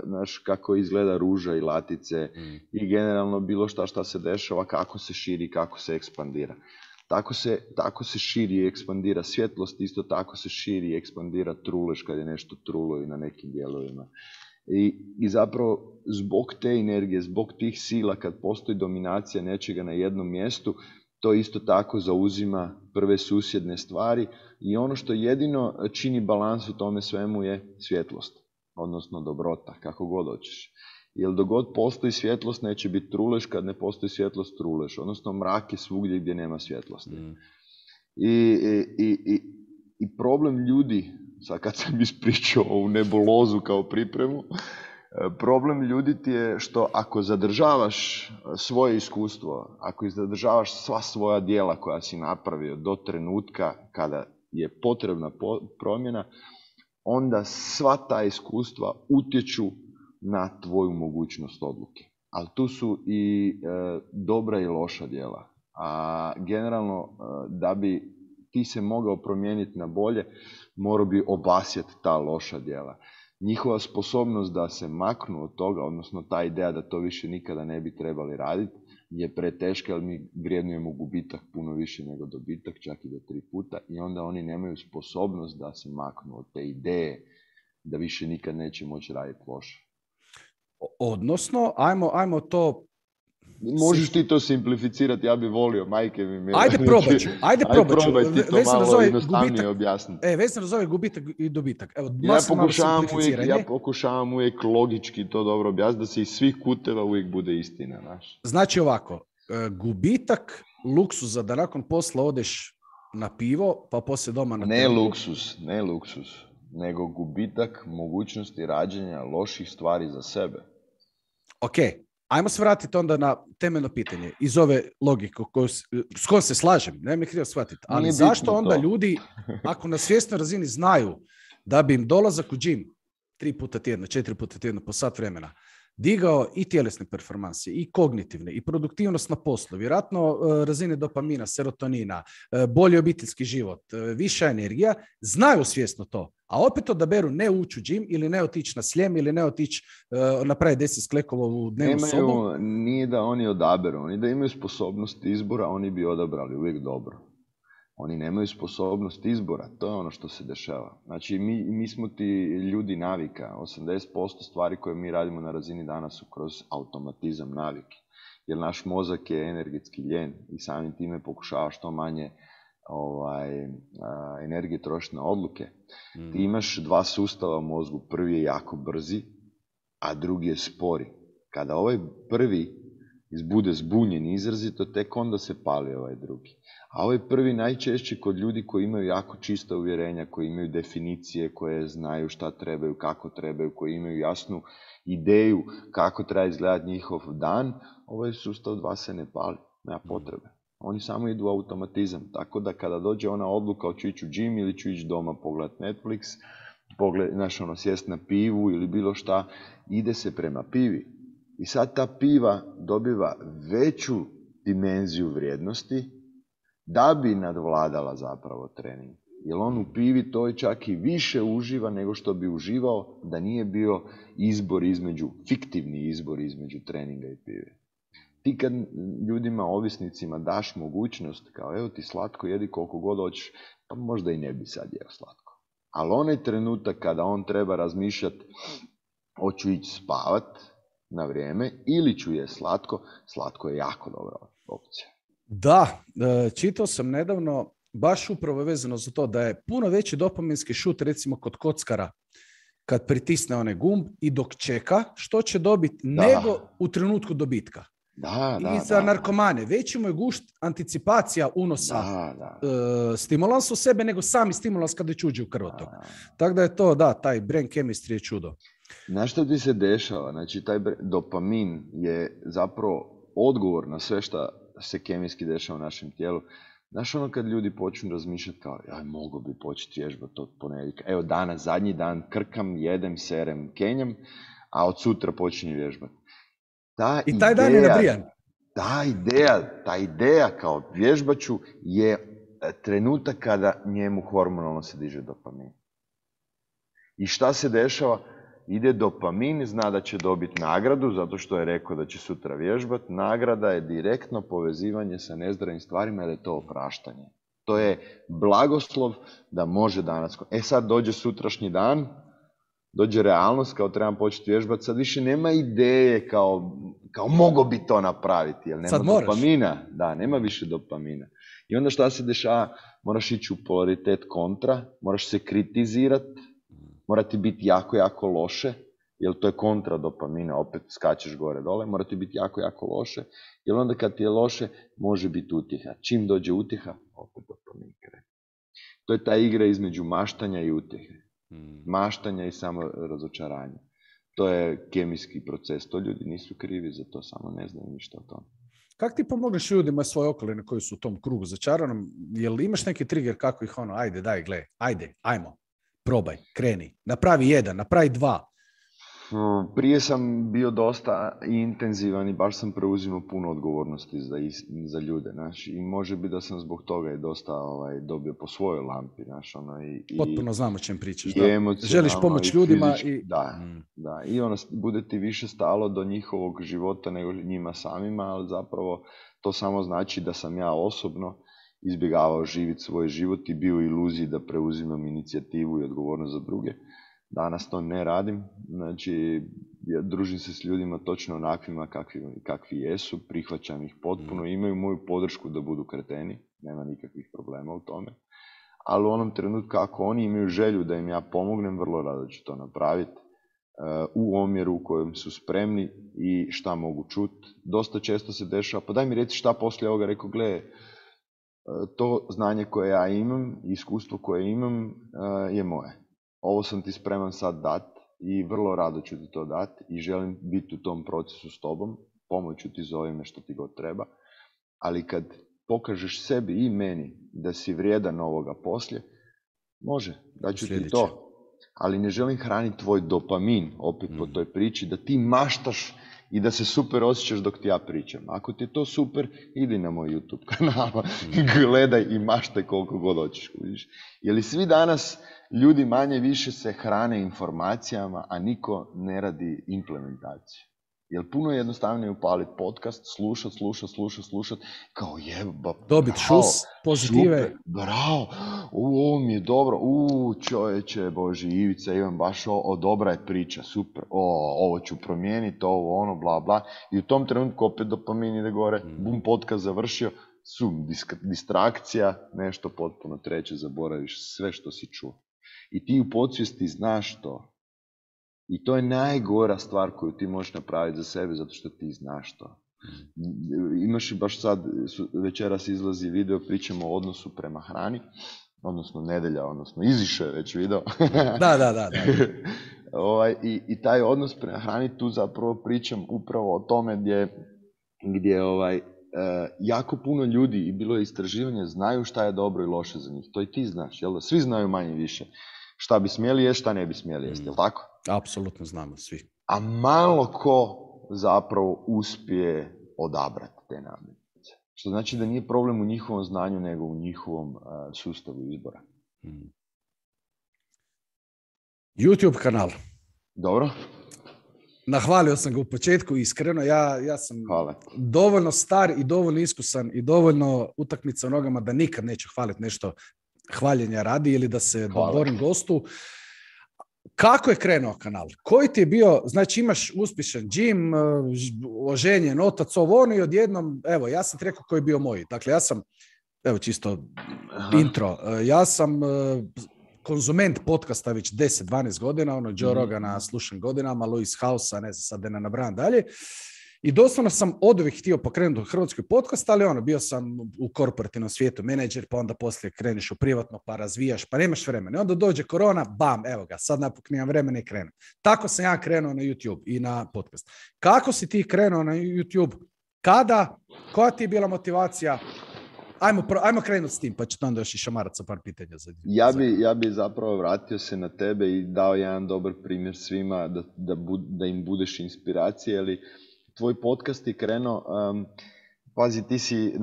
znaš kako izgleda ruža i latice i generalno bilo šta se dešava, kako se širi, kako se ekspandira. Tako se širi i ekspandira svjetlost, isto tako se širi i ekspandira trulež kad je nešto trulo i na nekim dijelovima. I zapravo zbog te energije, zbog tih sila, kad postoji dominacija nečega na jednom mjestu, to isto tako zauzima prve susjedne stvari i ono što jedino čini balans u tome svemu je svjetlost, odnosno dobrota, kako god hoćeš. Jer dok god postoji svjetlost neće biti trulež, kad ne postoji svjetlost trulež, odnosno mrak je svugdje gdje nema svjetlosti. I problem ljudi, sad kad sam ispričao ovu nebulozu kao pripremu, problem ljudi ti je što ako zadržavaš svoje iskustvo, ako zadržavaš sva svoja djela koja si napravio do trenutka kada je potrebna promjena, onda sva ta iskustva utječu na tvoju mogućnost odluke. Ali tu su i dobra i loša djela. A generalno, da bi ti se mogao promijeniti na bolje, morao bi obasjeti ta loša djela. Njihova sposobnost da se maknu od toga, odnosno ta ideja da to više nikada ne bi trebali raditi, je preteška, jer mi vrijednujemo gubitak puno više nego dobitak, čak i do 3 puta, i onda oni nemaju sposobnost da se maknu od te ideje da više nikad neće moći raditi loše. Odnosno, ajmo to... Možeš ti to simplificirati, ja bih volio, majke mi. Ajde probat ću. Probaj ti to malo jednostavnije objasniti. Vezano za ovaj gubitak i dobitak. Evo, ja pokušavam uvijek logički to dobro objasniti, da se iz svih kuteva uvijek bude istina. Naš. Znači ovako, gubitak luksuza da nakon posla odeš na pivo, pa poslije doma na ne luksus, nego gubitak mogućnosti rađenja loših stvari za sebe. Ok, ajmo se vratiti onda na temeljno pitanje iz ove logike s kojom se slažem, ne mi krivo shvatiti, ali zašto onda ljudi, ako na svjesnoj razini znaju da bi im dolazak u džim 3 puta tjedno, 4 puta tjedno po sat vremena digao i tjelesne performanse, i kognitivne, i produktivnost na poslu, vjerojatno razine dopamina, serotonina, bolji obiteljski život, viša energija, znaju svjesno to. A opet odaberu ne ući u džim ili ne otići na Sljem ili ne otići napraviti 10 sklekova u dnevnu sobu. Nije da oni odaberu, oni da imaju sposobnost izbora, oni bi odabrali uvijek dobro. Oni nemaju sposobnost izbora, to je ono što se dešava. Znači, mi smo ti ljudi navika. 80% stvari koje mi radimo na razini dana su kroz automatizam navike. Jer naš mozak je energetski ljen i samim time pokušava što manje energije trošiti na odluke. Ti imaš 2 sustava u mozgu. Prvi je jako brzi, a drugi je spori. Kada ovaj prvi bude zbunjen izrazito, tek onda se pali ovaj drugi. A ovaj prvi najčešće kod ljudi koji imaju jako čista uvjerenja, koji imaju definicije, koje znaju šta trebaju, kako trebaju, koji imaju jasnu ideju kako treba izgledati njihov dan, ovaj sustav 2 se ne pali, nema potrebe. Oni samo idu u automatizam, tako da kada dođe ona odluka hoću ići u džim ili ću ići doma pogledati Netflix, sjest na pivu ili bilo šta, ide se prema pivi. I sad ta piva dobiva veću dimenziju vrijednosti da bi nadvladala zapravo trening. Jer on u pivi to čak i više uživa nego što bi uživao da nije bio fiktivni izbor između treninga i pive. Ti kad ljudima, ovisnicima daš mogućnost kao evo ti slatko, jedi koliko god hoćeš, pa možda i ne bi sad jeo slatko. Ali onaj trenutak kada on treba razmišljati hoću ići spavat na vrijeme ili ću je slatko. Slatko je jako dobra opcija. Da, čitao sam nedavno, baš upravo vezano za to da je puno veći dopaminski šut recimo kod kockara kad pritisne onaj gumb i dok čeka što će dobiti nego u trenutku dobitka. I za narkomane. Veći mu je gušt anticipacija unosa stimulansa u sebe nego sami stimulans kada već uđe u krvotok. Tako da je to, taj brain chemistry je čudo. Znaš što ti se dešava? Znači, taj dopamin je zapravo odgovor na sve što se kemijski dešava u našem tijelu. Znaš ono kad ljudi počnu razmišljati kao, mogu bi početi vježbati od ponedjeljka. Evo danas, zadnji dan, krkam, jedem, serem, kenjam, a od sutra počinje vježbati. I taj dan je nabrijan. Ta ideja kao vježbaću je trenutak kada njemu hormonalno se diže dopamin. I šta se dešava? Ide dopamin, zna da će dobiti nagradu, zato što je rekao da će sutra vježbati. Nagrada je direktno povezivanje sa nezdravim stvarima, jer je to opraštanje. To je blagoslov da može danas... sad dođe sutrašnji dan, dođe realnost, kao trebam početi vježbati, sad više nema ideje kao mogo bi to napraviti, jer nema dopamina. Da, nema više dopamina. I onda šta se dešava? Moraš ići u polaritet kontra, moraš se kritizirati, mora ti biti jako, jako loše, jer to je kontra dopamina, opet skačeš gore dole, mora ti biti jako, jako loše, jer onda kad ti je loše, može biti utjeha. Čim dođe utjeha, opet dopamin krene. To je ta igra između maštanja i utjehe. Maštanja i samo razočaranja. To je kemijski proces, to ljudi nisu krivi za to, samo ne znaju ništa o tome. Kako ti pomogneš ljudima svoje okoline koji su u tom krugu začaranom? Jel imaš neki trigger kako ih ajde, daj, gle, ajmo. Probaj, kreni, napravi 1, napravi 2. Prije sam bio dosta intenzivan i baš sam preuzimao puno odgovornosti za ljude, znaš, i može biti da sam zbog toga i dosta dobio po svojoj lampi, znaš, potpuno znam o čem pričaš, da. Želiš pomoć ljudima i... Da, i bude ti više stalo do njihovog života nego njima samima, ali zapravo to samo znači da sam ja osobno izbjegavao živjeti svoj život i bio u iluziji da preuzimam inicijativu i odgovornost za druge. Danas to ne radim, znači ja družim se s ljudima točno onakvima kakvi jesu, prihvaćam ih potpuno, imaju moju podršku da budu kreteni, nema nikakvih problema u tome. Ali u onom trenutku ako oni imaju želju da im ja pomognem, vrlo rado ću to napraviti u omjeru u kojem su spremni i šta mogu čuti. Dosta često se dešava, pa daj mi reci šta poslije ovoga, rekao, gle, to znanje koje ja imam, iskustvo koje imam je moje. Ovo sam ti spreman sad dati i vrlo rado ću ti to dati i želim biti u tom procesu s tobom, pomoću ti za ovime što ti god treba, ali kad pokažeš sebi i meni da si vrijedan ovoga poslije, može, daću ti to, ali ne želim hraniti tvoj dopamin opet po toj priči, da ti maštaš i da se super osjećaš dok ti ja pričam. Ako ti je to super, idi na moj YouTube kanal, gledaj i maštaj koliko god hoćeš. Jer svi danas ljudi manje više se hrane informacijama, a niko ne radi implementaciju. Jer puno je jednostavnije upaliti podcast, slušat, kao jeba, dobit šus, pozitive. Super, bravo, ovo mi je dobro, čovječe, Boži, Ivica, imam baš dobra je priča, super, ovo ću promijeniti, ovo, ono, bla, bla. I u tom trenutku opet dopamin ide gore, bum, podcast završio, distrakcija, nešto potpuno treće, zaboraviš sve što si čuo. I ti u podsvijesti znaš to. I to je najgora stvar koju ti možeš napraviti za sebe, zato što ti znaš to. Imaš i baš sad, večeras izlazi video, pričamo o odnosu prema hrani, odnosno nedelja, odnosno izišao je već video. Da. I taj odnos prema hrani, tu zapravo pričam upravo o tome gdje jako puno ljudi, i bilo je istraživanje, znaju šta je dobro i loše za njih. To i ti znaš, jel da? Svi znaju manje više šta bi smjeli jesti, šta ne bi smjeli jesti, jel tako? Apsolutno znamo svi. A malo ko zapravo uspije odabrati te namirnice. Što znači da nije problem u njihovom znanju, nego u njihovom sustavu izbora. YouTube kanal. Dobro. Nahvalio sam ga u početku, iskreno. Ja sam dovoljno star i dovoljno iskusan i dovoljno utakmica u nogama da nikad neću hvaliti nešto hvaljenja radi ili da se dodvorim gostu. Kako je krenuo kanal? Koji ti je bio, znači imaš uspješan gym, oženjen, otac, ovo ono i odjednom, evo, ja sam ti rekao koji je bio moj. Dakle, ja sam, evo čisto intro, ja sam konzument podcasta već 10-12 godina, ono Joe Rogana slušam godinama, Louis Housea, ne znam sad da ne nabrajam dalje. I doslovno sam oduvijek htio pokrenuti u Hrvatskoj podcast, ali ono, bio sam u korporativnom svijetu menadžer, pa onda poslije kreneš u privatno, pa razvijaš, pa nemaš vremena. I onda dođe korona, bam, evo ga, sad napok nemam vremena i krenem. Tako sam ja krenuo na YouTube i na podcast. Kako si ti krenuo na YouTube? Kada? Koja ti je bila motivacija? Ajmo krenuti s tim, pa ću onda još i šamarat sa par pitanja. Ja bi zapravo vratio se na tebe i dao jedan dobar primjer svima da im budeš inspiracija, ali tvoj podcast je krenuo, pazi, ti si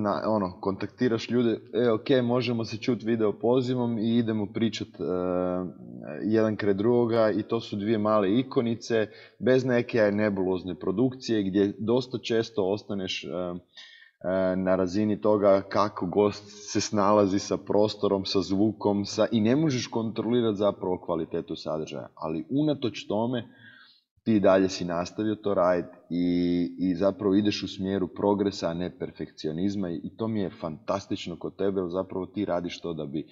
kontaktiraš ljude, ok, možemo se čuti video pozivom i idemo pričat jedan kraj drugoga i to su dvije male ikonice, bez neke nebulozne produkcije gdje dosta često ostaneš na razini toga kako gost se snalazi sa prostorom, sa zvukom i ne možeš kontrolirati zapravo kvalitetu sadržaja, ali unatoč tome ti dalje si nastavio to raditi i zapravo ideš u smjeru progresa, a ne perfekcionizma i to mi je fantastično kod tebe, jer zapravo ti radiš to da bi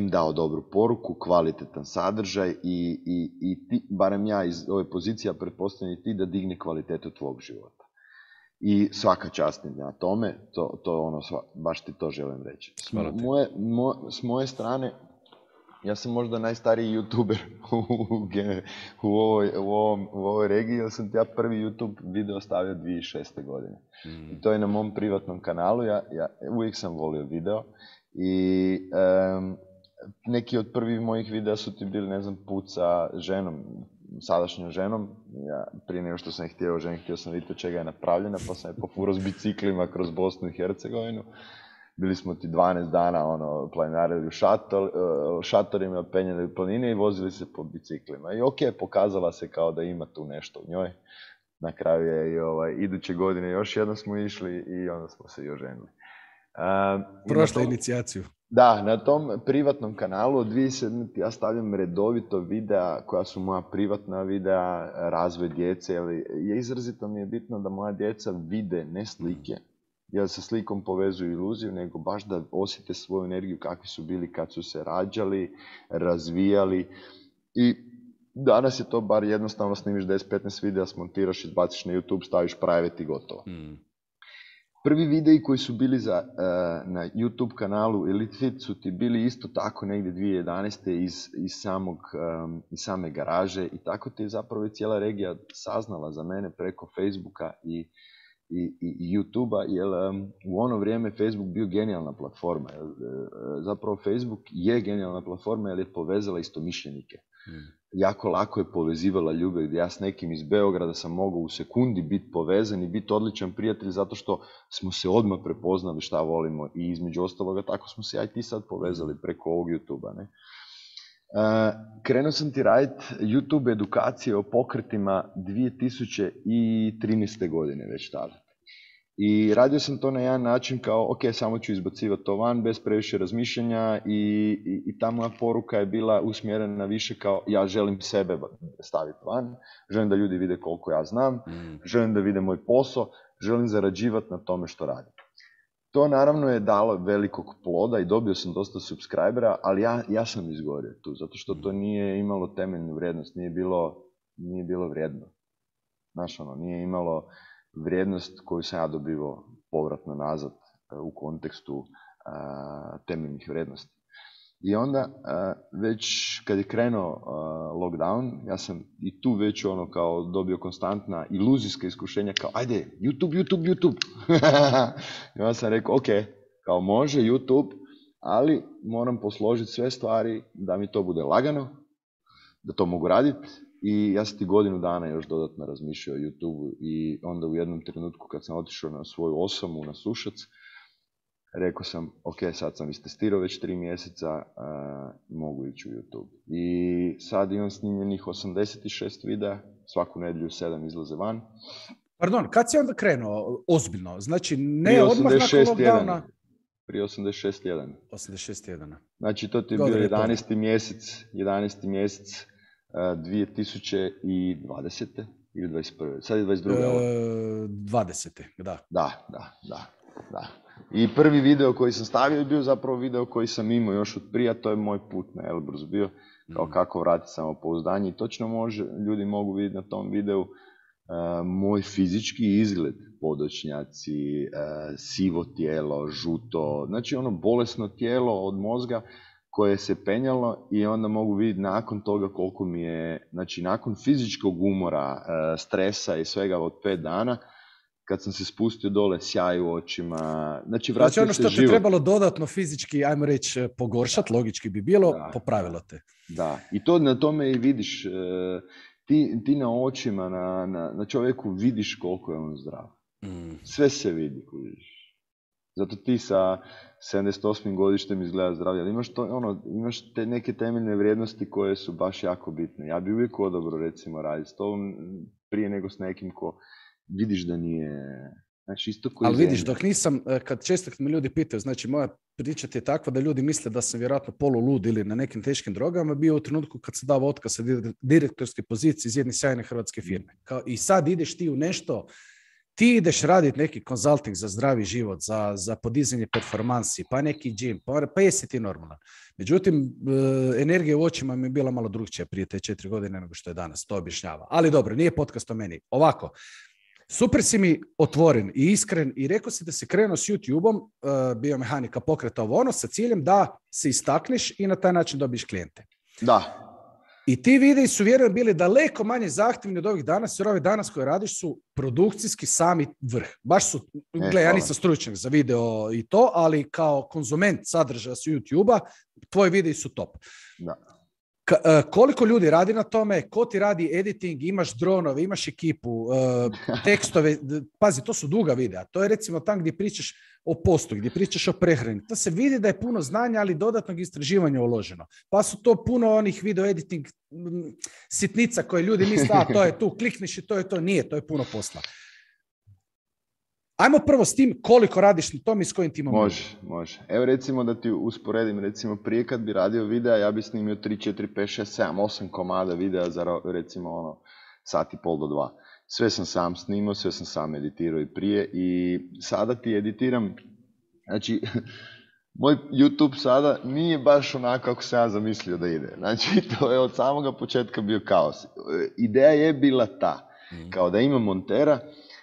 dao dobru poruku, kvalitetan sadržaj i ti, barem ja iz ove pozicije, pretpostavljam i ti da digne kvalitetu tvog života. I svaka čast na tome, to baš ti to želim reći. S moje strane, ja sam možda najstariji youtuber u ovoj regiji, jer sam ja prvi YouTube video stavio 2006. godine. I to je na mom privatnom kanalu, ja uvijek sam volio video i neki od prvih mojih videa su ti bili, ne znam, put sa ženom, sadašnjom ženom. Ja, prije nego što sam htio oženiti, htio sam vidjeti od čega je napravljena, pa sam je pofurao s biciklima kroz Bosnu i Hercegovinu. Bili smo ti 12 dana planinarili u šatorima, penjali u planine i vozili se po biciklima. I ok, pokazala se kao da ima tu nešto u njoj. Na kraju je i iduće godine još jednom smo išli i onda smo se i oženili. Prošla inicijaciju. Da, na tom privatnom kanalu od 2007. ja stavljam redovito videa koja su moja privatna videa, razvoj djece, ali izrazito mi je bitno da moja djeca vide ne slike, jer sa slikom povezuju iluziju, nego baš da osjete svoju energiju kakvi su bili kad su se rađali, razvijali. I danas je to bar jednostavno, snimiš 10-15 videa, smontiraš, izbaciš na YouTube, staviš private i gotovo. Prvi videi koji su bili na YouTube kanalu Elite Fit su ti bili isto tako negdje 2011. iz same garaže i tako ti je zapravo i cijela regija saznala za mene preko Facebooka i YouTube-a, jer u ono vrijeme Facebook bio genijalna platforma. Zapravo Facebook je genijalna platforma jer je povezala istomišljenike. Jako lako je povezivala ljubav, gdje ja s nekim iz Beograda sam mogao u sekundi biti povezan i biti odličan prijatelj zato što smo se odmah prepoznali šta volimo i između ostaloga tako smo se ja i ti sad povezali preko ovog YouTube-a. Ne? Krenuo sam ti raditi YouTube edukacije o pokretima 2013. godine već tada. I radio sam to na jedan način kao, ok, samo ću izbacivati to van bez previše razmišljanja i ta moja poruka je bila usmjerena više kao ja želim sebe staviti van, želim da ljudi vide koliko ja znam, želim da vide moj posao, želim zarađivati na tome što radim. To naravno je dalo velikog ploda i dobio sam dosta subscribera, ali ja sam izgorio tu, zato što to nije imalo temeljnu vrijednost, nije bilo vrijedno. Znaš, nije imalo vrijednost koju sam ja dobivao povratno nazad u kontekstu temeljnih vrijednosti. I onda, već kad je krenuo lockdown, ja sam i tu već kao dobio konstantna iluzijska iskušenja kao, ajde, YouTube. I onda sam rekao, ok, kao može YouTube, ali moram posložiti sve stvari da mi to bude lagano, da to mogu raditi. I ja sam ti godinu dana još dodatno razmišljao o YouTube i onda u jednom trenutku kad sam otišao na svoju osamu na Sušac, rekao sam, ok, sad sam istestirao već 3 mjeseca, mogu ići u YouTube. I sad imam snimljenih 86 videa, svaku nedjelju 7 izlaze van. Pardon, kad si onda krenuo ozbiljno? Znači, ne odmah nakon lockdowna? Prije 86.1. 86.1. Znači, to ti je bio 11. mjesec 2020. ili 21. Sad je 22. 20. Da. Da. I prvi video koji sam stavio je bio zapravo video koji sam imao još od prije, to je moj put na Elbrus bio, kao kako vratiti samopouzdanje. I točno ljudi mogu vidjeti na tom videu moj fizički izgled, podočnjaci, sivo tijelo, žuto, znači ono bolesno tijelo od mozga koje se penjalo i onda mogu vidjeti nakon toga koliko mi je, znači nakon fizičkog umora, stresa i svega od 5 dana, kad sam se spustio dole, sjaj u očima, znači vratio se život. Znači ono što te trebalo dodatno fizički, ajmo reći, pogoršati, logički bi bilo, popravilo te. Da, i to na tome i vidiš, ti na očima, na čovjeku vidiš koliko je on zdrav. Sve se vidi, kužiš. Zato ti sa 78. godištem izgleda zdravlje, ali imaš te neke temeljne vrijednosti koje su baš jako bitne. Ja bi uvijek odobro, recimo, raditi s tobom prije nego s nekim ko vidiš da nije... Znači, isto koji ali vidiš, dok nisam, često kad me ljudi pitaju, znači moja priča je takva da ljudi misle da sam vjerojatno polulud ili na nekim teškim drogama, bio u trenutku kad se dao otkaz sa direktorske pozicije iz jedne sjajne hrvatske firme. I sad ideš ti u nešto, ti ideš raditi neki konzulting za zdravi život, za podizanje performansi, pa neki gym, pa jesi ti normalan. Međutim, energija u očima mi je bila malo drugčija prije te 4 godine nego što je danas, to objašnjava. Ali dobro, nije podcast o meni. Ovako, super si mi otvoren i iskren i rekao si da si krenuo s YouTube-om, biomehanika pokreta ovo sa ciljem da se istakneš i na taj način dobiješ klijente. Da. I ti videi su, vjerujem, bili daleko manje zahtjevni od ovih danas, jer ovih danas koje radiš su produkcijski sami vrh. Baš su, ja nisam stručnjak za video i to, ali kao konzument sadržaja s YouTube-a, tvoji videi su top. Da. Koliko ljudi radi na tome, ko ti radi editing, imaš dronove, imaš ekipu, tekstove, pazi, to su duga videa. To je recimo tam gdje pričaš o postu, gdje pričaš o prehrani. To se vidi da je puno znanja, ali dodatnog istraživanja uloženo. Pa su to puno onih video editing sitnica koje ljudi misle, to je tu, klikniš i to je to. Nije, to je puno posla. Ajmo prvo s tim koliko radiš na tom i s kojim timom. Može. Evo recimo da ti usporedim, recimo prije kad bi radio videa, ja bi snimio 3, 4, 5, 6, 7, 8 komada videa za recimo sat i pol do 2. Sve sam sam snimao, sve sam sam editirao i prije i sada ti editiram, znači moj YouTube sada nije baš onako kako sam ja zamislio da ide. Znači to je od samoga početka bio kaos. Ideja je bila ta, kao da imam montera,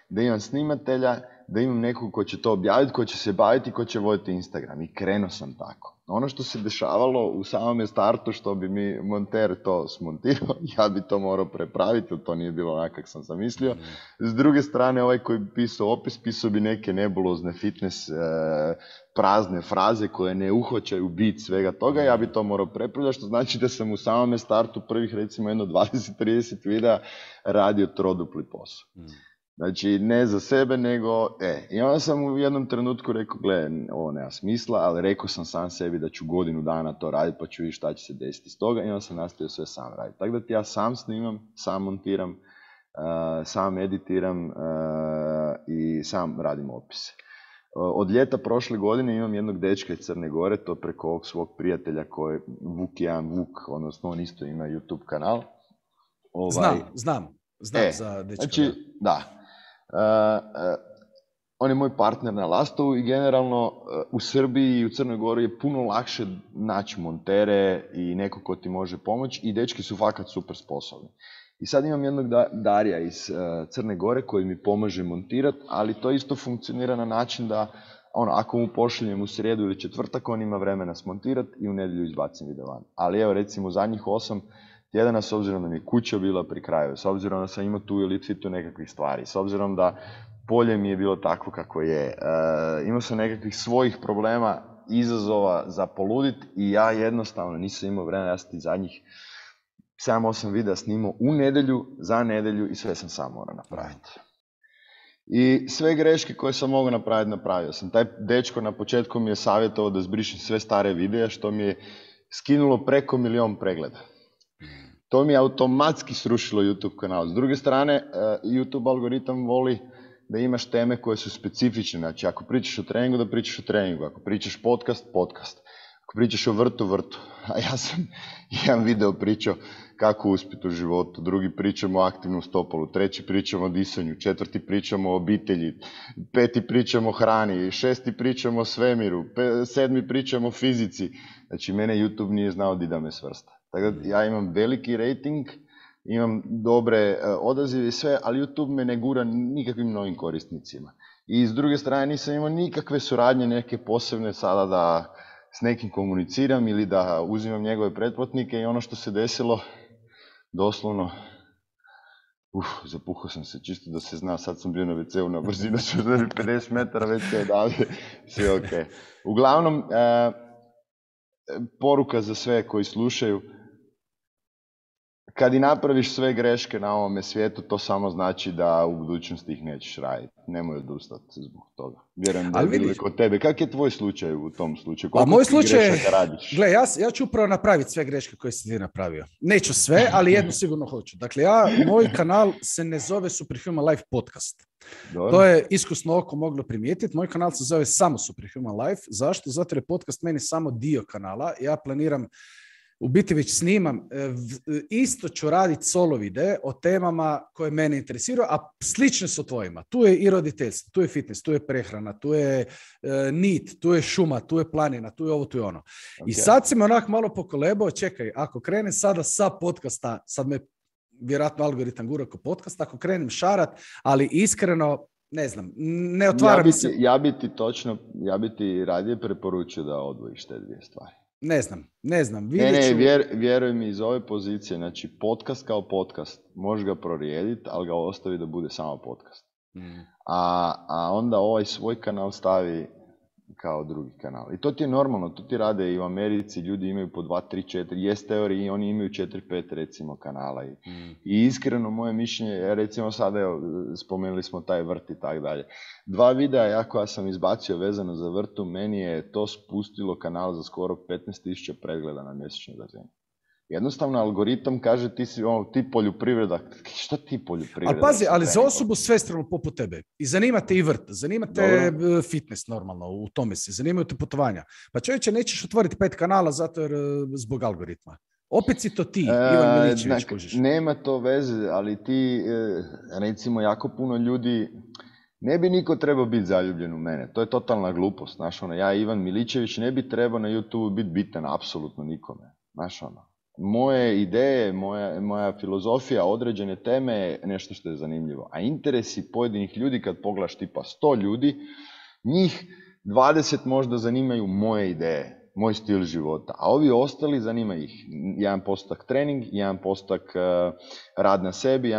da imam snimatelja, da imam nekog ko će to objaviti, ko će se baviti, ko će voditi Instagram. I krenuo sam tako. Ono što se dešavalo u samome startu, što bi mi monter to smontirao, ja bi to morao prepraviti, to nije bilo onako kako sam zamislio. S druge strane, ovaj koji bi pisao opis, pisao bi neke nebulozne fitness prazne fraze koje ne uhvaćaju bit svega toga, ja bi to morao prepravljati, što znači da sam u samome startu prvih recimo 20-30 videa radio trodupli posao. Znači, ne za sebe, nego, i onda sam u jednom trenutku rekao, ovo nema smisla, ali rekao sam sam sebi da ću godinu dana to raditi, pa ću vidjeti šta će se desiti iz toga, i onda sam nastavio sve sam raditi. Tako da ti ja sam snimam, sam montiram, sam editiram i sam radim opise. Od ljeta prošle godine imam jednog dečka iz Crne Gore, to preko ovog svog prijatelja koji je Vuk, odnosno on isto ima YouTube kanal. Znam za dečka. Znači, da. On je moj partner na Lastovu i generalno u Srbiji i u Crnoj Gori je puno lakše naći montere i neko ko ti može pomoći i dečki su fakat super sposobni. I sad imam jednog Darija iz Crne Gore koji mi pomaže montirati, ali to isto funkcionira na način da ako mu pošaljem u srijedu ili četvrtak, on ima vremena smontirati i u nedjelju izbacim video van. Ali evo recimo zadnjih 8 tjedana, s obzirom da mi je kuća bila pri kraju, s obzirom da sam imao tu ili tu nekakvih stvari, s obzirom da polje mi je bilo takvo kako je, imao sam nekakvih svojih problema, izazova za poludit i ja jednostavno nisam imao vremena, ja sam ti zadnjih 7-8 videa snimao u nedjelju, za nedjelju i sve sam sam morao napraviti. I sve greške koje sam mogao napraviti, napravio sam. Taj dečko na početku mi je savjetovao da zbrišem sve stare videa, što mi je skinulo preko 1 milion pregleda. To mi je automatski srušilo YouTube kanal. S druge strane, YouTube algoritam voli da imaš teme koje su specifične. Znači, ako pričaš o treningu, da pričaš o treningu. Ako pričaš podcast, Ako pričaš o vrtu, a ja sam jedan video pričao kako uspjeti u životu, drugi pričamo o aktivnom stopolu, treći pričamo o disanju, četvrti pričamo o obitelji, peti pričamo o hrani, šesti pričamo o svemiru, sedmi pričamo o fizici. Znači, mene YouTube nije znao di da me svrsta. Tako da ja imam veliki rating, imam dobre odazive i sve, ali YouTube me ne gura nikakvim novim korisnicima. I s druge strane nisam imao nikakve suradnje neke posebne sada da s nekim komuniciram ili da uzimam njegove pretplatnike i ono što se desilo, doslovno, zapuhao sam se, čisto da se zna, sad sam bio na WC-u na brzinu, su 50 metara WC odavde, sve ok. Uglavnom, poruka za sve koji slušaju, kad i napraviš sve greške na ovome svijetu, to samo znači da u budućnosti ih nećeš raditi. Nemoj odustati zbog toga. Vjerujem da je bilo kod tebe. Kak je tvoj slučaj u tom slučaju? Koliko moj slučaj, gle, ja ću upravo napraviti sve greške koje si ti napravio. Neću sve, ali jednu sigurno hoću. Dakle, moj kanal se ne zove Superhuman Life Podcast. Dobro. To je iskusno oko moglo primijetiti. Moj kanal se zove samo Superhuman Life. Zašto? Zato jer je podcast meni samo dio kanala. Ja planiram, u biti već snimam, isto ću raditi solo videe o temama koje mene interesiraju, a slične su tvojima. Tu je i roditeljstvo, tu je fitness, tu je prehrana, tu je nit, tu je šuma, tu je planina, tu je ovo, tu je ono. Okay. I sad si me onak malo pokolebao, čekaj, ako krenem sada sa podcasta, sad me vjerojatno algoritam gura ko podcast, ako krenem šarat, ali iskreno, ne znam, ne otvaram se. Ja bi ti radije preporučio da odvojiš te dvije stvari. Ne znam. Vjeruj mi iz ove pozicije, znači podcast kao podcast, možeš ga prorijediti, ali ga ostavi da bude samo podcast. A onda ovaj svoj kanal stavi kao drugi kanal. I to ti je normalno, to ti rade i u Americi, ljudi imaju po 2, 3, 4, jest teoriji, oni imaju 4, 5 recimo kanala. I iskreno moje mišljenje, recimo sada spomenuli smo taj vrt i tak dalje. 2 videa koja sam izbacio vezano za vrtu, meni je to spustilo kanal za skoro 15.000 pregleda na mjesečnoj razini. Jednostavno, algoritam kaže ti poljoprivreda. Šta ti poljoprivreda? Ali pazi, ali za osobu svestranu poput tebe. I zanima te i vrt, zanima te fitness normalno, u tome si, zanimaju te putovanja. Pa čovječe, nećeš otvoriti 5 kanala zato jer zbog algoritma. Opet si to ti, Ivan Miličević, kužiš. Nema to veze, ali ti, recimo, jako puno ljudi, ne bi niko trebao biti zaljubljen u mene. To je totalna glupost. Znaš, ja, Ivan Miličević, ne bi trebao na YouTube biti bitan apsolutno nikome. Znaš, moje ideje, moja filozofija, određene teme je nešto što je zanimljivo. A interesi pojedinih ljudi, kad pogledaš tipa 100 ljudi, njih 20 možda zanimaju moje ideje, moj stil života. A ovi ostali zanima ih 1% trening, 1% rad na sebi.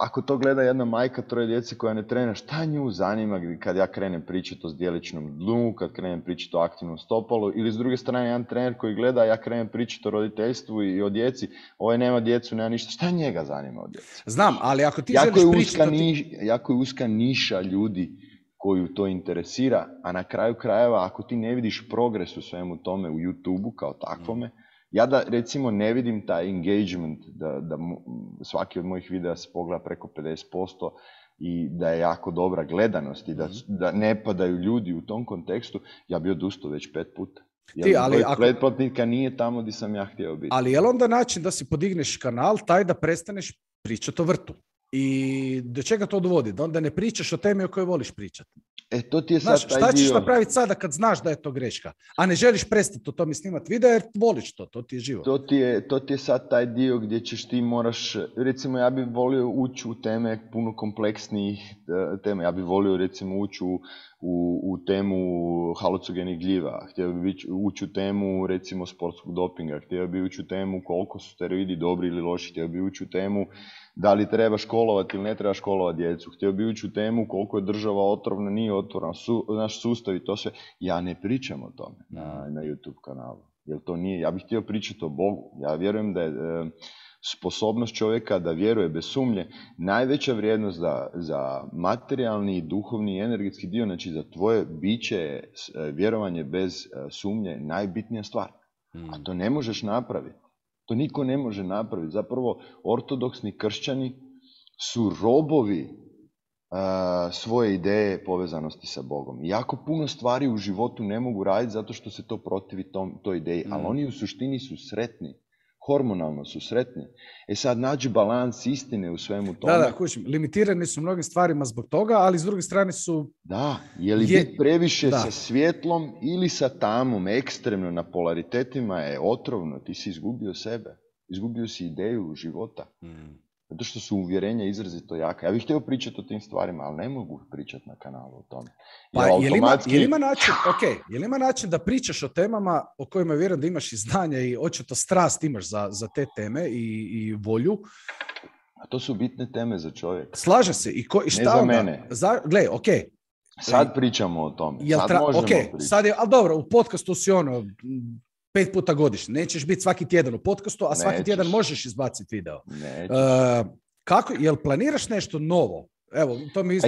Ako to gleda jedna majka 3 djece koja ne trenira, šta nju zanima kad ja krenem pričati o zdjeličnom dnu, kad krenem pričati o aktivnom stopalu, ili s druge strane jedan trener koji gleda, ja krenem pričati o roditeljstvu i o djeci, ovaj nema djecu, nema ništa, šta njega zanima o djeci? Znam, ali ako ti želiš pričati... Jako je uska niša ljudi koju to interesira, a na kraju krajeva, ako ti ne vidiš progres u svemu tome u YouTube-u kao takvome, ja da recimo ne vidim taj engagement, da svaki od mojih videa se pogleda preko 50% i da je jako dobra gledanost i da ne padaju ljudi u tom kontekstu, ja bi odustao već 5 puta. Jer pretplatnika nije tamo gdje sam ja htio biti. Ali je li onda način da si podigneš kanal taj da prestaneš pričati o vrtu? I do čega to dovodi? Da onda ne pričaš o temi o kojoj voliš pričati. To ti je sad taj dio. Šta ćeš napraviti sada kad znaš da je to greška? A ne želiš prestati o tome snimati video jer voliš to ti je život. To ti je sad taj dio gdje ćeš ti moraš, recimo ja bih volio ući u teme puno kompleksnijih tema. Ja bih volio recimo ući u temu halucogenih gljiva, htio bih ući u temu recimo sportskog dopinga, htio bih ući u temu koliko su steroidi dobri ili loši, htio bih ući u temu da li treba školovati ili ne treba školovati djecu, htio bih ući u temu koliko je država otrovna, nije otvorena, naš sustav i to sve. Ja ne pričam o tome na YouTube kanalu, jer to nije, ja bih htio pričati o Bogu. Ja vjerujem da je sposobnost čovjeka da vjeruje bez sumnje najveća vrijednost za materijalni, duhovni i energetski dio, znači za tvoje biće vjerovanje bez sumnje najbitnija stvar. A to ne možeš napraviti. To niko ne može napraviti. Zapravo, ortodoksni kršćani su robovi svoje ideje povezanosti sa Bogom. Jako puno stvari u životu ne mogu raditi zato što se to protivi toj ideji, ali oni u suštini su sretni. Hormonalno su sretni. Sad nađi balans istine u svemu tome. Da, kućim. Limitirani su mnogim stvarima zbog toga, ali s druge strane su... Da, je li biti previše sa svjetlom ili sa tamom, ekstremno na polaritetima je otrovno. Ti si izgubio sebe. Izgubio si ideju života. Zato što su uvjerenja izrazito jaka. Ja bih htio pričati o tim stvarima, ali ne mogu pričati na kanalu o tome. Pa je li ima način da pričaš o temama o kojima vjerujem da imaš i znanja i očito strast imaš za te teme i volju? A to su bitne teme za čovjeka. Slaže se. I šta ne za onda? mene. Gle, okej. Sad pričamo o tome. Sad možemo pričati. Sad je, ali dobro, u podcastu si 5 puta godišnje. Nećeš biti svaki tjedan u podcastu, a svaki tjedan možeš izbaciti video. Jel planiraš nešto novo? Evo, to mi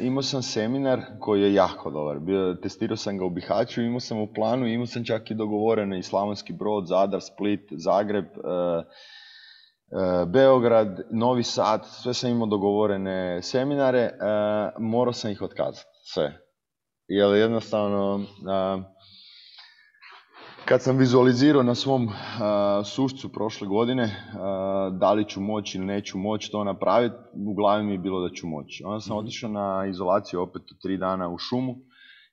imao sam seminar koji je jako dobar. Testirao sam ga u Bihaću, imao sam u planu, imao sam čak i dogovorene i Slavonski Brod, Zadar, Split, Zagreb, Beograd, Novi Sad, sve sam imao dogovorene seminare, morao sam ih otkazati, sve. Jer jednostavno... Kad sam vizualizirao na svom sušcu prošle godine da li ću moći ili neću moći to napraviti, u glavi mi je bilo da ću moći. Onda sam otišao na izolaciju opet 3 dana u šumu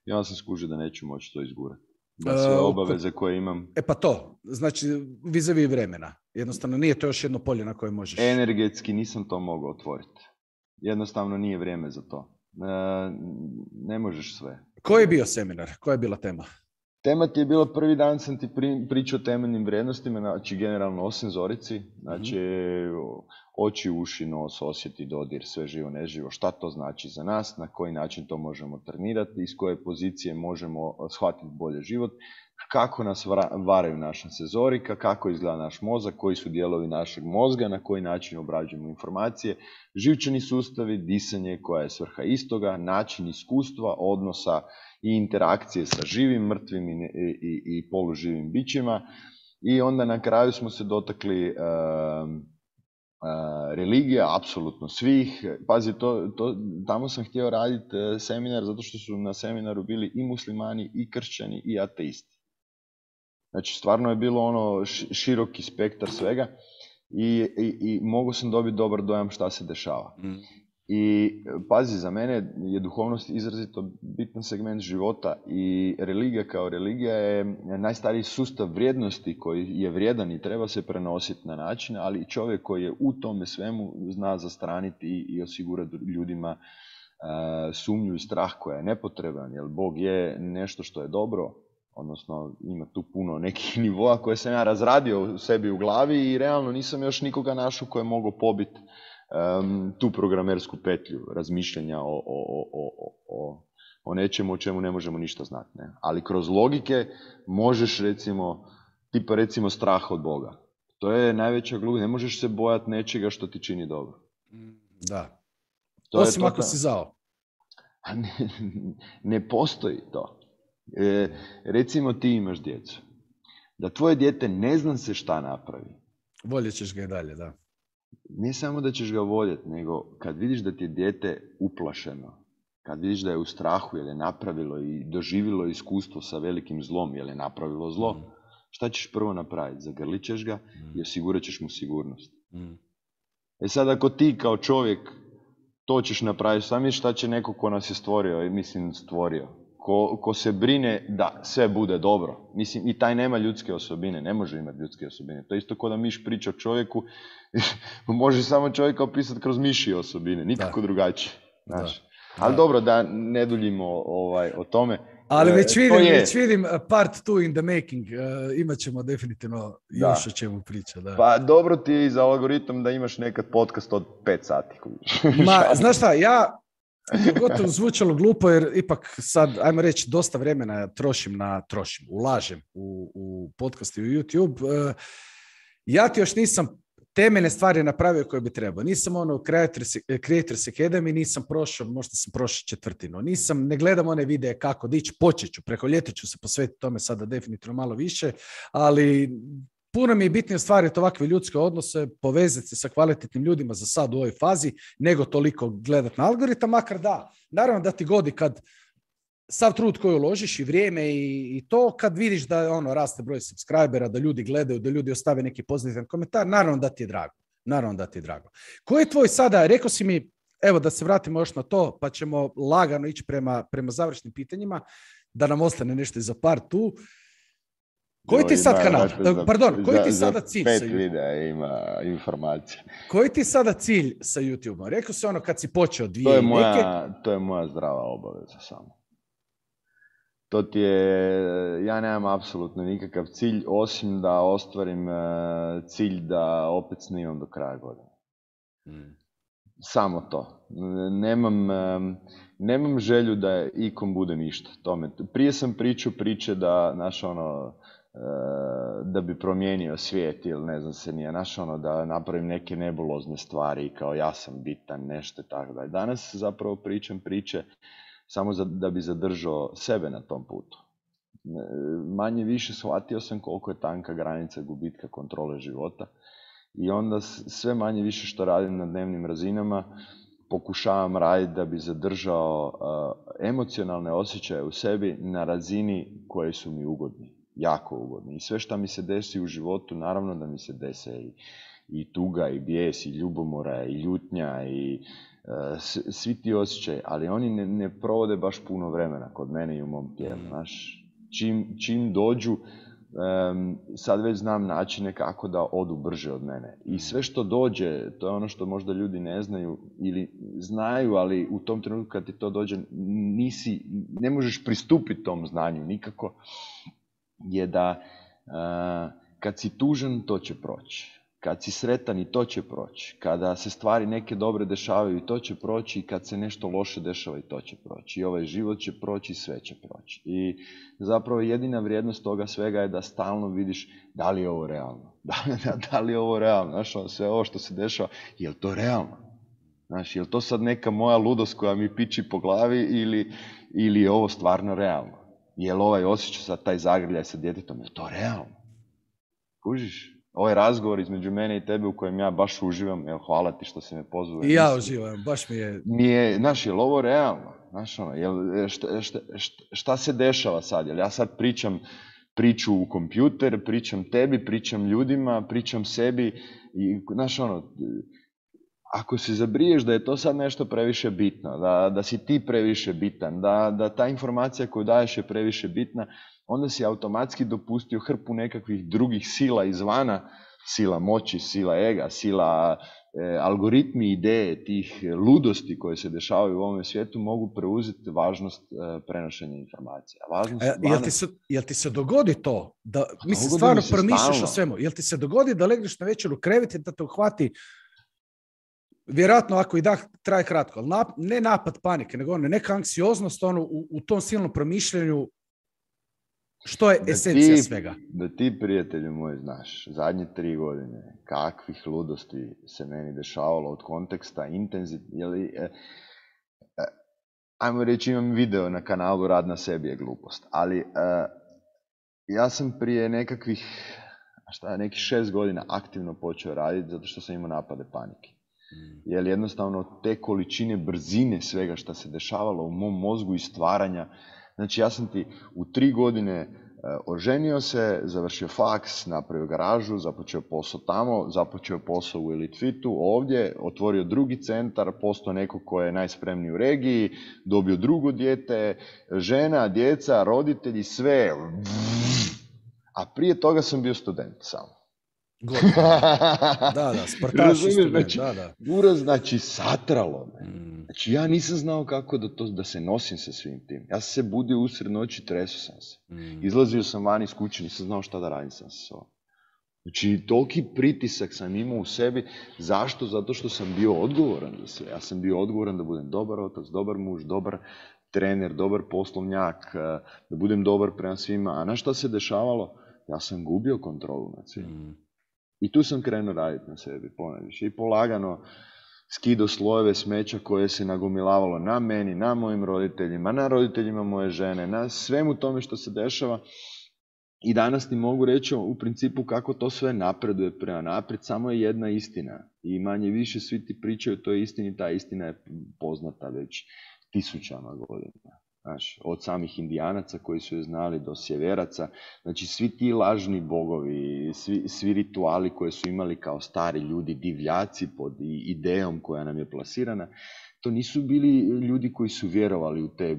i onda sam skužio da neću moći to izgurati. Da sve obaveze koje imam... Pa to, znači vis-a-vis vremena. Jednostavno nije to još jedno polje na koje možeš... Energetski nisam to mogao otvoriti. Jednostavno nije vrijeme za to. Ne možeš sve. Koji je bio seminar? Koja je bila tema? Tema ti je bila, prvi dan sam ti pričao o temeljnim vrijednostima, znači generalno o senzorici, znači oči, uši, nos, osjeti, dodir, sve živo, neživo, šta to znači za nas, na koji način to možemo trenirati, iz koje pozicije možemo shvatiti bolje život, kako nas varaju naša senzorika, kako izgleda naš mozak, koji su dijelovi našeg mozga, na koji način obrađujemo informacije, živčani sustavi, disanje koja je svrha istoga, način iskustva, odnosa i interakcije sa živim, mrtvim i poluživim bićima. I onda na kraju smo se dotakli religija, apsolutno svih. Pazi, tamo sam htio raditi seminar zato što su na seminaru bili i muslimani, i kršćani, i ateisti. Znači, stvarno je bilo široki spektar svega i mogu sam dobiti dobar dojam šta se dešava. I pazi, za mene je duhovnost izrazito bitan segment života i religija kao religija je najstariji sustav vrijednosti koji je vrijedan i treba se prenositi na način, ali čovjek koji je u tome svemu zna zastraniti i osigurati ljudima sumnju i strah koja je nepotreban, jer Bog je nešto što je dobro, odnosno ima tu puno nekih nivoa koje sam ja razradio u sebi u glavi i realno nisam još nikoga našao koje je mogao pobiti tu programersku petlju razmišljanja o nečemu o čemu ne možemo ništa znati. Ne? Ali kroz logike možeš recimo strah od Boga. To je najveća glupost. Ne možeš se bojati nečega što ti čini dobro. Da. Osim ako si zao. Ne postoji to. Recimo ti imaš djecu. Da tvoje dijete ne zna se šta napravi. Voljet ćeš ga i dalje, da. Ne samo da ćeš ga voljeti, nego kad vidiš da ti je dijete uplašeno, kad vidiš da je u strahu jer je napravilo i doživjelo iskustvo sa velikim zlom jer je napravilo zlo, šta ćeš prvo napraviti? Zagrlit ćeš ga i osigurat ćeš mu sigurnost. E sad ako ti kao čovjek to ćeš napraviti, sami šta će neko ko nas je stvorio, ko se brine da sve bude dobro. Mislim, i taj nema ljudske osobine, ne može imati ljudske osobine. To je isto kao da miš priča o čovjeku, može samo čovjeka opisati kroz mišije osobine, nikako drugačije. Ali dobro, da ne duljimo o tome. Ali već vidim part 2 in the making, imat ćemo definitivno još o čemu priča. Da. Pa dobro ti je i za algoritam da imaš nekad podcast od 5 sati. Znaš šta, ja gotovo zvučalo glupo jer ipak sad, ajmo reći, dosta vremena ulažem u podcast i u YouTube. Ja ti još nisam temeljne stvari napravio koje bi trebao. Nisam Creators Academy, nisam prošao, možda sam prošao 1/4. Ne gledam one videe kako dići, počet ću, preko ljeta ću se posvetiti tome sada definitivno malo više, ali puno mi je bitnije stvariti ovakve ljudske odnose, povezati se sa kvalitetnim ljudima za sad u ovoj fazi, nego toliko gledati na algoritam, makar da. Naravno da ti godi kad sav trud koji uložiš i vrijeme i to, kad vidiš da raste broj subscribera, da ljudi gledaju, da ljudi ostave neki pozitivan komentar, naravno da ti je drago. Naravno da ti je drago. Koji je tvoj sada, rekao si mi, evo da se vratimo još na to, pa ćemo lagano ići prema završnim pitanjima, da nam ostane nešto za par tu. Koji ti sad kanal? Koji ti sada cilj sa YouTube? 5 videa ima informacija. Koji ti sada cilj sa YouTube-om? Rekao si kad si počeo To je moja zdrava obaveza samo. To ti je, ja nemam apsolutno nikakav cilj, osim da ostvarim cilj da opet snimam do kraja godine. Samo to. Nemam želju da ikom bude ništa. Prije sam pričao priče da, da bi promijenio svijet ili ne znam se nije, da napravim neke nebulozne stvari kao ja sam bitan, nešto tako da. Danas zapravo pričam priče samo da bi zadržao sebe na tom putu. Manje više shvatio sam koliko je tanka granica gubitka kontrole života i onda sve manje više što radim na dnevnim razinama pokušavam raditi da bi zadržao emocionalne osjećaje u sebi na razini koje su mi ugodni, jako ugodni. I sve što mi se desi u životu, naravno da mi se dese i tuga, i bijes, i ljubomora, i ljutnja, i svi ti osjećaji, ali oni ne provode baš puno vremena kod mene i u mom tijelu. Čim dođu, sad već znam načine kako da odu brže od mene. I sve što dođe, to je ono što možda ljudi ne znaju ili znaju, ali u tom trenutku kad ti to dođe, ne možeš pristupiti tom znanju nikako, je da kad si tužan, to će proći. Kad si sretan, i to će proći. Kada se stvari neke dobre dešavaju, i to će proći. I kad se nešto loše dešava, i to će proći. I ovaj život će proći, i sve će proći. I zapravo jedina vrijednost toga svega je da stalno vidiš da li je ovo realno. Da li je ovo realno? Znaš, sve ovo što se dešava, je li to realno? Znaš, je li to sad neka moja ludost koja mi piči po glavi ili je ovo stvarno realno? Je li ovaj osjećaj sad taj zagrljaj sa djetetom, je to realno? Kužiš? Ovaj razgovor između mene i tebe u kojem ja baš uživam, evo, hvala ti što si me pozvao. I ja uživam, baš mi je... Znaš, je li ovo realno? Znaš, šta se dešava sad? Jel ja sad pričam priču u kompjuter, pričam tebi, pričam ljudima, pričam sebi i, znaš, ako se zabriješ da je to sad nešto previše bitno, da si ti previše bitan, da ta informacija koju daješ je previše bitna, onda si automatski dopustio hrpu nekakvih drugih sila izvana, sila moći, sila ega, sila algoritmi, ideje, tih ludosti koje se dešavaju u ovom svijetu mogu preuzeti važnost prenošenja informacija. Jel ti se dogodi to? Mislim, stvarno promišljaš o svemu. Jel ti se dogodi da legneš na večer u krevet i da te uhvati, vjerojatno ako i dah traje kratko, ali ne napad panike, nego neka anksioznost u tom silnom promišljanju. Što je esencija svega? Da ti, prijatelju moj, znaš, zadnje 3 godine, kakvih ludosti se meni dešavalo od konteksta, ajmo reći, imam video na kanalu Rad na sebi je glupost, ali ja sam prije nekih 6 godina aktivno počeo raditi zato što sam imao napade panike. Jer jednostavno te količine brzine svega što se dešavalo u mom mozgu i stvaranja. Znači, ja sam ti u 3 godine oženio se, završio faks, napravio garažu, započeo posao tamo, započeo posao u Elite Fitu ovdje, otvorio drugi centar, postao neko ko je najspremniji u regiji, dobio drugo dijete, žena, djeca, roditelji, sve. A prije toga sam bio student samo. Da, sportaš i student, Znači, satralo me. Znači, ja nisam znao kako da se nosim sa svim tim. Ja sam se budio usred noći, treso sam se. Izlazio sam van iz kuće, nisam znao šta da radim sam se sobom. Znači, toliki pritisak sam imao u sebi. Zašto? Zato što sam bio odgovoran za sve. Ja sam bio odgovoran da budem dobar otac, dobar muž, dobar trener, dobar poslovnjak, da budem dobar prema svima. A na šta se dešavalo? Ja sam gubio kontrolu nad svim. I tu sam krenuo raditi na sebi, ponajviše. I polagano skidao slojeve smeća koje se nagomilavalo na meni, na mojim roditeljima, na roditeljima moje žene, na svemu tome što se dešava. I danas ti mogu reći u principu kako to sve napreduje prema naprijed, samo je jedna istina. I manje više svi ti pričaju o toj istini, ta istina je poznata već tisućama godina. Znaš, od samih Indijanaca koji su je znali do sjeveraca, znači svi ti lažni bogovi, svi rituali koje su imali kao stari ljudi, divljaci pod idejom koja nam je plasirana, to nisu bili ljudi koji su vjerovali u te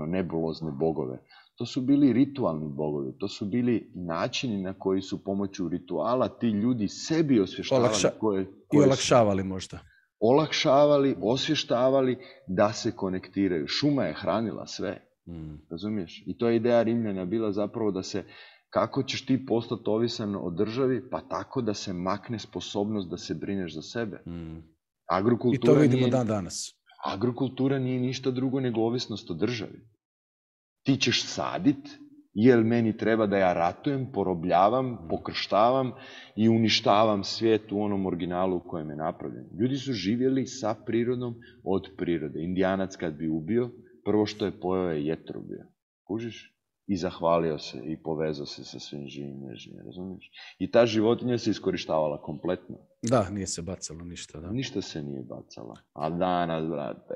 nebulozne bogove. To su bili ritualni bogovi, to su bili načini na koji su pomoću rituala ti ljudi sebi osvještavali i olakšavali možda. Olakšavali, osvještavali da se konektiraju. Šuma je hranila sve, razumiješ? I to je ideja Rimljana bila zapravo da se, kako ćeš ti postati ovisan o državi, pa tako da se makne sposobnost da se brineš za sebe. I to vidimo dan danas. Agrokultura nije ništa drugo nego ovisnost o državi. Ti ćeš sadit, jer meni treba da ja ratujem, porobljavam, pokrštavam i uništavam svijet u onom originalu u kojem je napravljen. Ljudi su živjeli sa prirodom od prirode. Indijanac kad bi ubio, prvo što je pojeo je jetru bio. Kužiš? I zahvalio se i povezao se sa svim živim nežnjim, razumiješ? I ta životinja se iskorištavala kompletno. Da, nije se bacalo ništa, da. Ništa se nije bacalo. A danas, brate...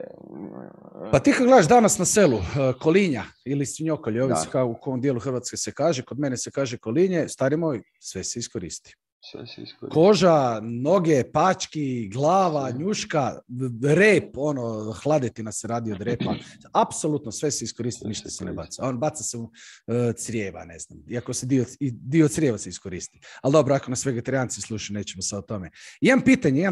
Pa ti kad gledaš danas na selu, kolinja ili svinjokolje, ovisi kao u kom dijelu Hrvatske se kaže, kod mene se kaže kolinje, stari moj, sve se iskoristi. Koža, noge, pački, glava, njuška, rep, hladetina se radi od repa. Apsolutno sve se iskoristi, ništa se ne baca. On baca se u crijeva, ne znam. Iako se dio crijeva se iskoristi. Ali dobro, ako nas vegetarijanci slušaju, nećemo sad o tome. Imam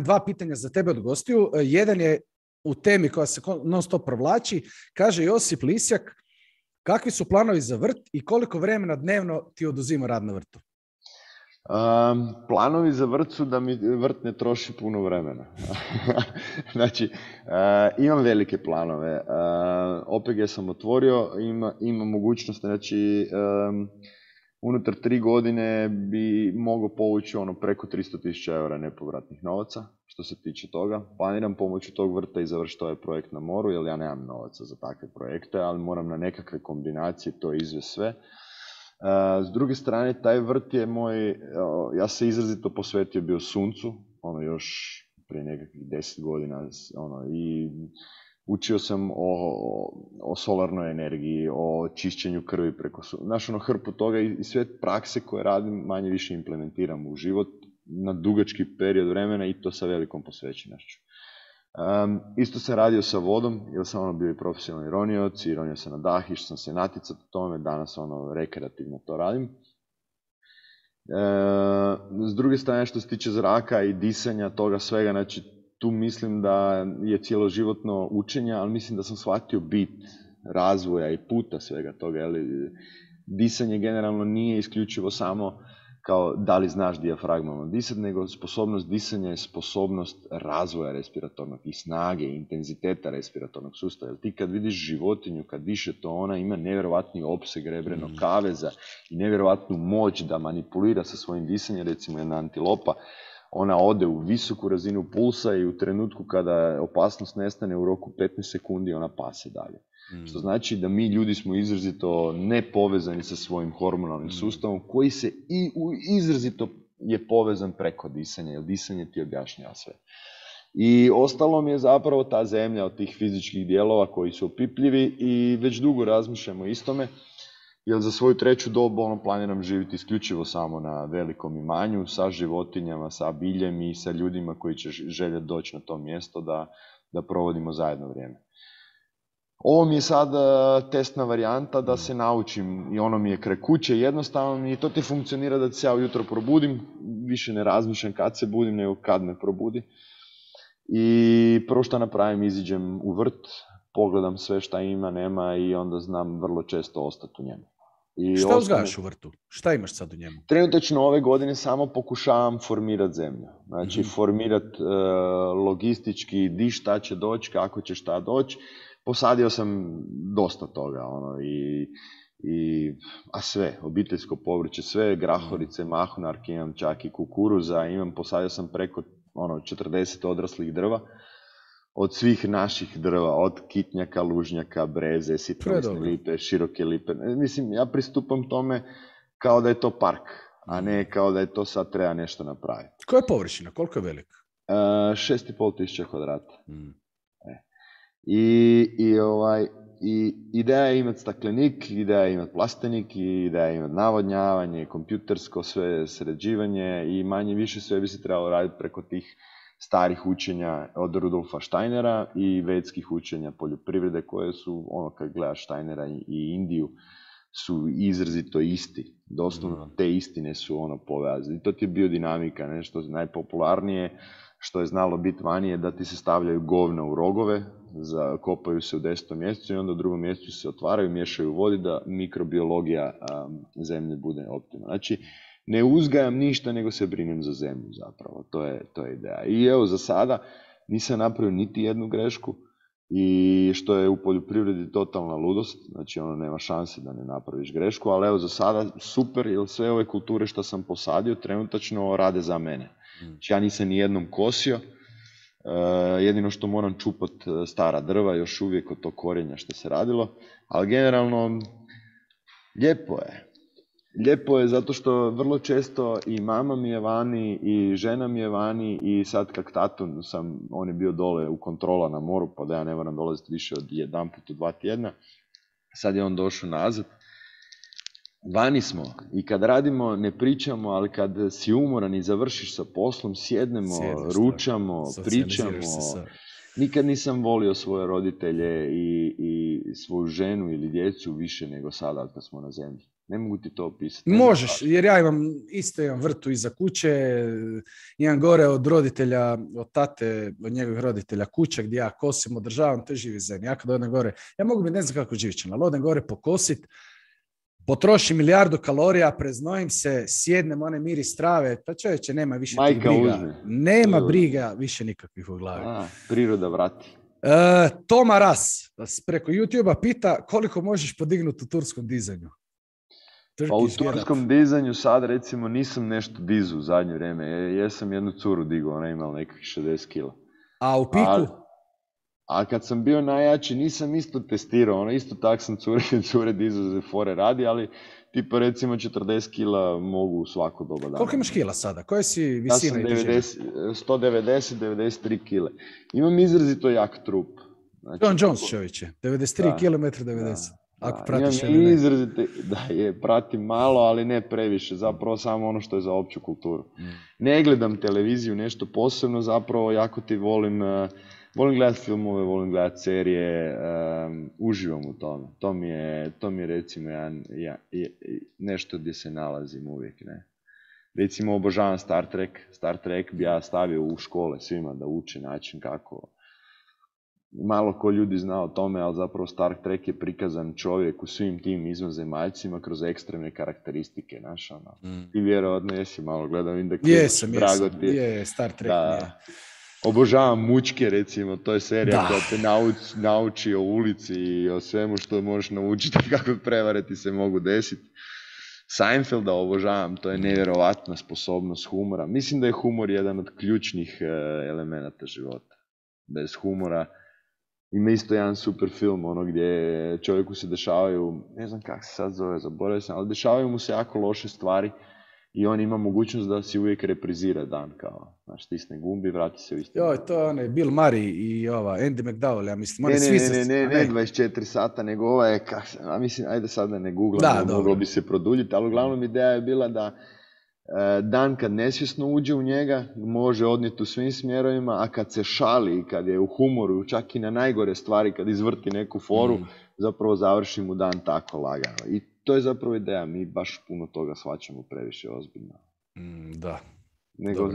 dva pitanja za tebe od gostiju. Jedan je u temi koja se non stop provlači. Kaže Josip Lisjak, kakvi su planovi za vrt i koliko vremena dnevno ti oduzima rad na vrtu? Planovi za vrt su da mi vrt ne troši puno vremena. Znači, imam velike planove. OPG sam otvorio, ima mogućnost, znači, unutar 3 godine bi mogao povući preko 300.000 eura nepovratnih novaca, što se tiče toga. Planiram pomoću tog vrta i završiti ovaj projekt na moru, jer ja nemam novaca za takve projekte, ali moram na nekakve kombinacije to izvesti sve. S druge strane, taj vrt je moj, ja se izrazito posvetio bio suncu, još prije nekakvih 10 godina, i učio sam o solarnoj energiji, o čišćenju krvi preko sunca, hrpu toga i sve prakse koje radim manje više implementiram u život na dugački period vremena i to sa velikom posvećenošću. Isto sam radio sa vodom, jer sam bio i profesionalni ronioc i ronio sam na dah, išao sam se natjecati u tome, danas rekreativno to radim. S druge strane, što se tiče zraka i disanja toga svega, znači tu mislim da je cjeloživotno učenje, ali mislim da sam shvatio bit razvoja i puta svega toga. Disanje generalno nije isključivo samo kao da li znaš dijafragmama disati, nego sposobnost disanja je sposobnost razvoja respiratornog i snage, intenziteta respiratornog sustava. Jer ti kad vidiš životinju, kad diše to, ona ima nevjerovatni opseg rebrenog kaveza i nevjerovatnu moć da manipulira sa svojim disanjem. Recimo jedna antilopa, ona ode u visoku razinu pulsa i u trenutku kada opasnost nestane u roku 15 sekundi ona pase dalje. Što znači da mi ljudi smo izrazito nepovezani sa svojim hormonalnim sustavom koji se izrazito je povezan preko disanja, jer disanje ti objašnjava sve. I ostalo mi je zapravo ta zemlja od tih fizičkih dijelova koji su opipljivi i već dugo razmišljamo istome, jer za svoju 3. dobu planiram živjeti isključivo samo na velikom imanju, sa životinjama, sa biljem i sa ljudima koji će željeti doći na to mjesto da provodimo zajedno vrijeme. Ovo mi je sad testna varijanta da se naučim i mi je kraj kuće jednostavno i to ti funkcionira da se ja ujutro probudim, više ne razmišljam kad se budim nego kad me probudi. I prvo što napravim, iziđem u vrt, pogledam sve šta ima, nema i onda znam vrlo često ostati u njemu. Šta uzgajaš u vrtu? Šta imaš sad u njemu? Trenutačno ove godine samo pokušavam formirati zemlju. Znači formirati logistički di šta će doći, kako će šta doći. Posadio sam dosta toga, a sve, obiteljsko povrće, sve, grahorice, mahunarke, imam čak i kukuruza, posadio sam preko 40 odraslih drva, od svih naših drva, od kitnjaka, lužnjaka, breze, sitnolisne lipe, široke lipe. Mislim, ja pristupam tome kao da je to park, a ne kao da je to sad treba nešto napraviti. Koja je površina? Koliko je velik? 6.500 kvadrata. I ideja je imati staklenik, ideja je imati plastenik, ideja je imati navodnjavanje, kompjutersko sve sređivanje i manje više sve bi se trebalo raditi preko tih starih učenja od Rudolfa Steinera i vedskih učenja poljoprivrede koje su, kad gledaš Steinera i Indiju, su izrazito isti. Doslovno te istine su povezane. I to ti je biodinamika, nešto najpopularnije što je znalo biti vani je da ti se stavljaju govna u rogove, kopaju se u 10. mjesecu i onda u 2. mjesecu se otvaraju, miješaju u vodi da mikrobiologija zemlje bude optimalna. Znači, ne uzgajam ništa, nego se brinem za zemlju zapravo. To je ideja. I evo, za sada nisam napravio niti jednu grešku i što je u poljoprivredi totalna ludost. Znači, nema šanse da ne napraviš grešku, ali evo, za sada super, jer sve ove kulture što sam posadio trenutačno rade za mene. Znači, ja nisam ni jednom kosio, jedino što moram čupat stara drva, još uvijek od tog korenja što se radilo, ali generalno lijepo je. Lijepo je zato što vrlo često i mama mi je vani i žena mi je vani i sad kak tatu on je bio dole u kontrola na moru pa da ja ne moram dolaziti više od jedan put u 2 tjedna. Sad je on došao nazad. Vani smo i kad radimo ne pričamo, ali kad si umoran i završiš sa poslom, sjednemo, ručamo, pričamo. Nikad nisam volio svoje roditelje i svoju ženu ili djecu više nego sada kad smo na zemlji. Ne mogu ti to opisati. Možeš, jer ja imam vrtu iza kuće, imam gore od roditelja, od tate, od njegovih roditelja kuća gdje ja kosim, održavam, to je živi zen. Ja kad odem gore, ja mogu biti ne znam kako živit ćem, ali odem gore pokosit, potrošim 1.000.000 kalorija, preznojim se, sjednem, one miris trave, pa čovječe, nema više tih briga. Uzme. Nema briga više nikakvih u glavi. Priroda vrati. Toma Ras preko YouTube-a pita koliko možeš podignuti u turskom dizanju. Pa u turskom dizanju sad recimo nisam nešto dizu u zadnje vrijeme. Jesam jednu curu digao, ona imala nekakvih 60 kila. A u piku? A kad sam bio najjači nisam isto testirao, isto tak sam cure dizu za fore radi, ali tipa recimo 40 kila mogu u svako doba dana. Koliko imaš kila sada? Koje si visina? Ja sam 190-93 kile. Imam izrazito jak trup. Znači, John Jones čovječe, 93 km 90. Ako pratiš pratim malo, ali ne previše, zapravo samo ono što je za opću kulturu. Ne gledam televiziju, nešto posebno, zapravo jako ti volim gledati filmove, volim gledati serije, uživam u tome. To mi je recimo nešto gdje se nalazim uvijek, ne. Recimo obožavam Star Trek. Star Trek bi ja stavio u škole svima da uče način kako. Malo ko ljudi zna o tome, ali zapravo Star Trek je prikazan čovjek u svim tim izvanzemaljcima kroz ekstremne karakteristike, znaš, Ti vjerojatno jesi malo gledao Indeks. Jesam, Star Trek. Da. Obožavam Mučke, recimo, to je serija koja te nauči o ulici i o svemu što možeš naučiti, kako prevare ti se mogu desiti. Seinfelda obožavam, to je nevjerovatna sposobnost humora. Mislim da je humor jedan od ključnih elemenata života. Bez humora ima isto jedan super film, gdje čovjeku se dešavaju, ne znam kako se sad zove, zaboravio sam, ali dešavaju mu se jako loše stvari i on ima mogućnost da si uvijek reprizira dan, kao, znaš, stisne gumbi, vrati se u isti. Joj, to je Bill Murray i Andy McDowell, ja mislim. Ne 24 sata, nego ova je, mislim, ajde sad da ne googlam, moglo bi se produljiti, ali uglavnom ideja je bila da dan kad nesvjesno uđe u njega, može odnijeti u svim smjerovima, a kad se šali, kad je u humoru, čak i na najgore stvari, kad izvrti neku foru, zapravo završi mu dan tako lagano. I to je zapravo ideja, mi baš puno toga shvaćamo previše ozbiljno. Da. Nego,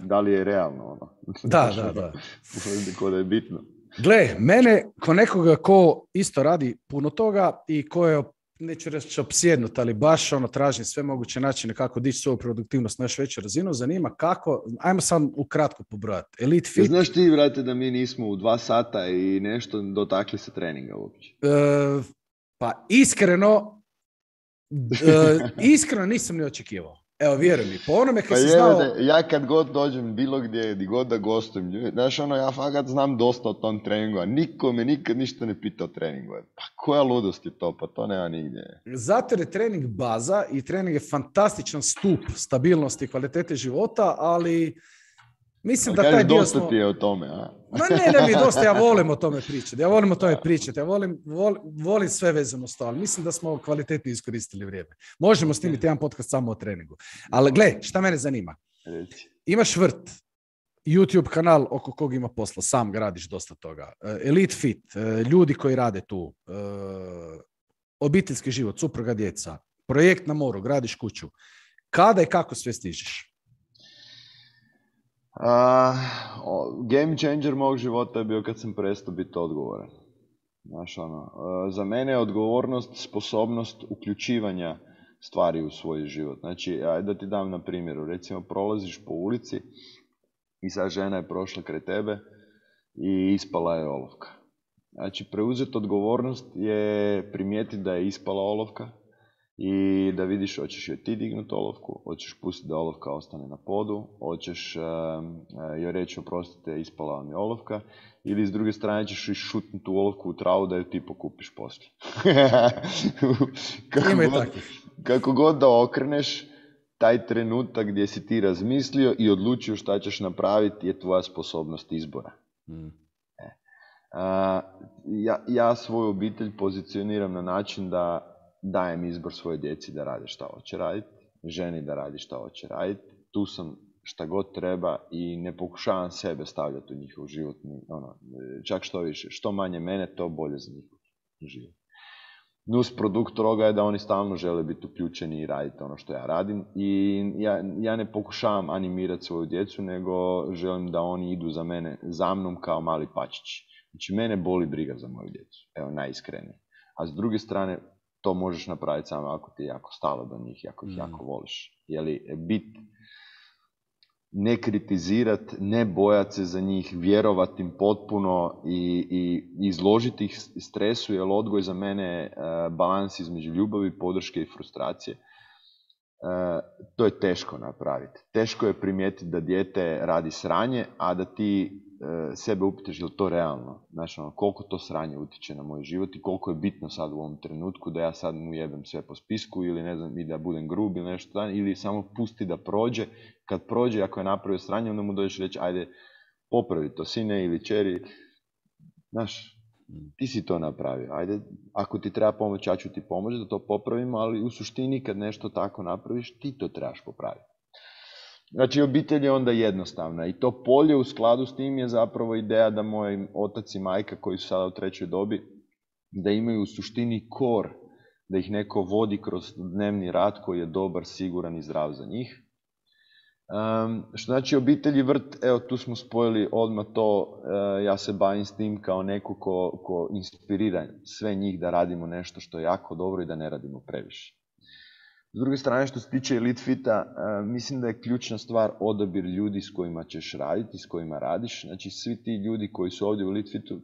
da li je realno Da. Ko da je bitno. Gle, mene, ko nekoga ko isto radi puno toga i ko je, neću reći opsjednut, ali baš tražim sve moguće načine kako dići svoju produktivnost na još veću razinu, zanima kako, ajmo sam ukratko pobrojati. Elite Fit. Znaš ti, brate, da mi nismo u 2 sata i nešto dotakli se treninga uopće? Pa iskreno nisam ni očekivao. Evo, vjeruj mi, po onome kad si znao... Ja kad god dođem bilo gdje god da gostujem, znaš ja fakat znam dosta o tom treningu, a niko me nikad ništa ne pita o treningu. Pa koja ludost je to, pa to nema nigdje. Zato je trening baza i trening je fantastičan stup stabilnosti i kvalitete života, ali mislim da taj dio dosta ti je o tome, a? Ma ne mi je dosta, ja volim o tome pričati. Ja volim sve vezano s to, ali mislim da smo kvalitetno iskoristili vrijeme. Možemo snimiti jedan podcast samo o treningu. Ali gle, šta mene zanima? Imaš vrt, YouTube kanal oko kog ima posla, sam gradiš dosta toga. Elite Fit, ljudi koji rade tu, obiteljski život, supruga, djeca, projekt na moru, gradiš kuću. Kada i kako sve stižeš? Game changer mog života je bio kad sam prestao biti odgovoran. Znaš, za mene je odgovornost sposobnost uključivanja stvari u svoj život. Znači, ajde da ti dam na primjeru. Recimo, prolaziš po ulici i sad žena je prošla kraj tebe i ispala je olovka. Znači, preuzeti odgovornost je primijetiti da je ispala olovka i da vidiš hoćeš joj ti dignuti olovku, hoćeš pustiti da olovka ostane na podu, hoćeš joj reći oprostite, ispala vam je olovka, ili s druge strane ćeš išutnuti tu olovku u travu da ju ti pokupiš poslije. Kako god da okreneš, taj trenutak gdje si ti razmislio i odlučio šta ćeš napraviti je tvoja sposobnost izbora. Ja svoju obitelj pozicioniram na način da dajem izbor svoje djeci da rade šta hoće raditi, ženi da radi šta hoće raditi, tu sam šta god treba i ne pokušavam sebe stavljati u njihov život, čak što više, što manje mene, to bolje za njihov život. Nus produkt toga je da oni stalno žele biti uključeni i raditi ono što ja radim i ja ne pokušavam animirati svoju djecu, nego želim da oni idu za mnom kao mali pačići. Znači, mene boli briga za moju djecu, evo, najiskrenije. A s druge strane, to možeš napraviti samo ako ti je jako stalo do njih, ako ih jako voliš. Ne kritizirat, ne bojat se za njih, vjerovat im potpuno i izložiti ih stresu, jer odgoj za mene je balans između ljubavi, podrške i frustracije. To je teško napraviti. Teško je primijetiti da dijete radi sranje, a da ti sebe upitaš je li to realno. Znači, koliko to sranje utječe na moj život i koliko je bitno sad u ovom trenutku da ja sad mu jebem sve po spisku ili ne znam, i da budem grub ili nešto, ili samo pusti da prođe. Kad prođe, ako je napravio sranje, onda mu dođeš reći ajde popravi to, sine ili čeri. Znaš, ti si to napravio. Ajde, ako ti treba pomoć, ja ću ti pomoći da to popravimo, ali u suštini kad nešto tako napraviš, ti to trebaš popraviti. Znači, obitelj je onda jednostavna i to polje u skladu s tim je zapravo ideja da moj otac i majka koji su sada u trećoj dobi, da imaju u suštini kor, da ih neko vodi kroz dnevni rad koji je dobar, siguran i zdrav za njih. Što znači obitelj i vrt, evo tu smo spojili odmah to, ja se bavim s tim kao neko ko inspirira sve njih da radimo nešto što je jako dobro i da ne radimo previše. S druge strane, što se tiče Elite Fita, mislim da je ključna stvar odabir ljudi s kojima ćeš raditi, s kojima radiš. Znači, svi ti ljudi koji su ovdje u Elite Fitu,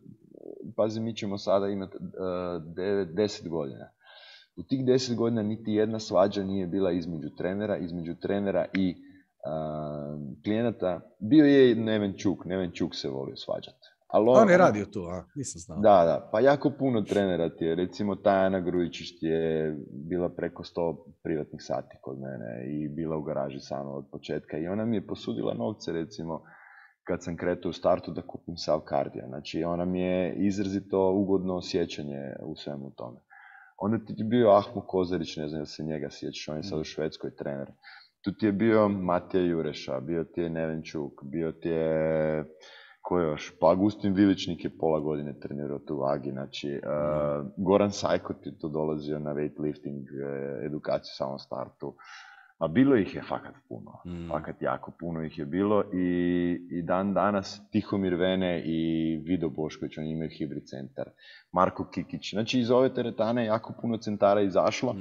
pazi, mi ćemo sada imati 10 godina. U tih 10 godina niti jedna svađa nije bila između trenera i klijenata. Bio je Neven Čuk se volio svađati. On je radio tu, nisam znao. Da, pa jako puno trenera ti je, recimo Tajana Grujičić ti je bila preko 100 privatnih sati kod mene i bila u garaži sama od početka i ona mi je posudila novce, recimo, kad sam kretao u startu da kupim sav kardija. Znači, ona mi je izrazito ugodno osjećanje u svemu tome. Onda ti je bio Ahmo Kozarić, ne znam da se njega sjećaš, on je sad u Švedskoj trener. Tu ti je bio Matija Jureša, bio ti je Neven Čuk, bio ti je... Ko još? Pa Agustin Viličnik je pola godine trenirao tu vagi, znači Goran Sajkot je tu dolazio na weightlifting edukaciju samom startu, a bilo ih je fakat puno, fakat jako puno ih je bilo i dan danas Tihomir Vene i Vido Bošković, oni imaju hibrid centar, Marko Kikić, znači iz ove teretane jako puno centara izašlo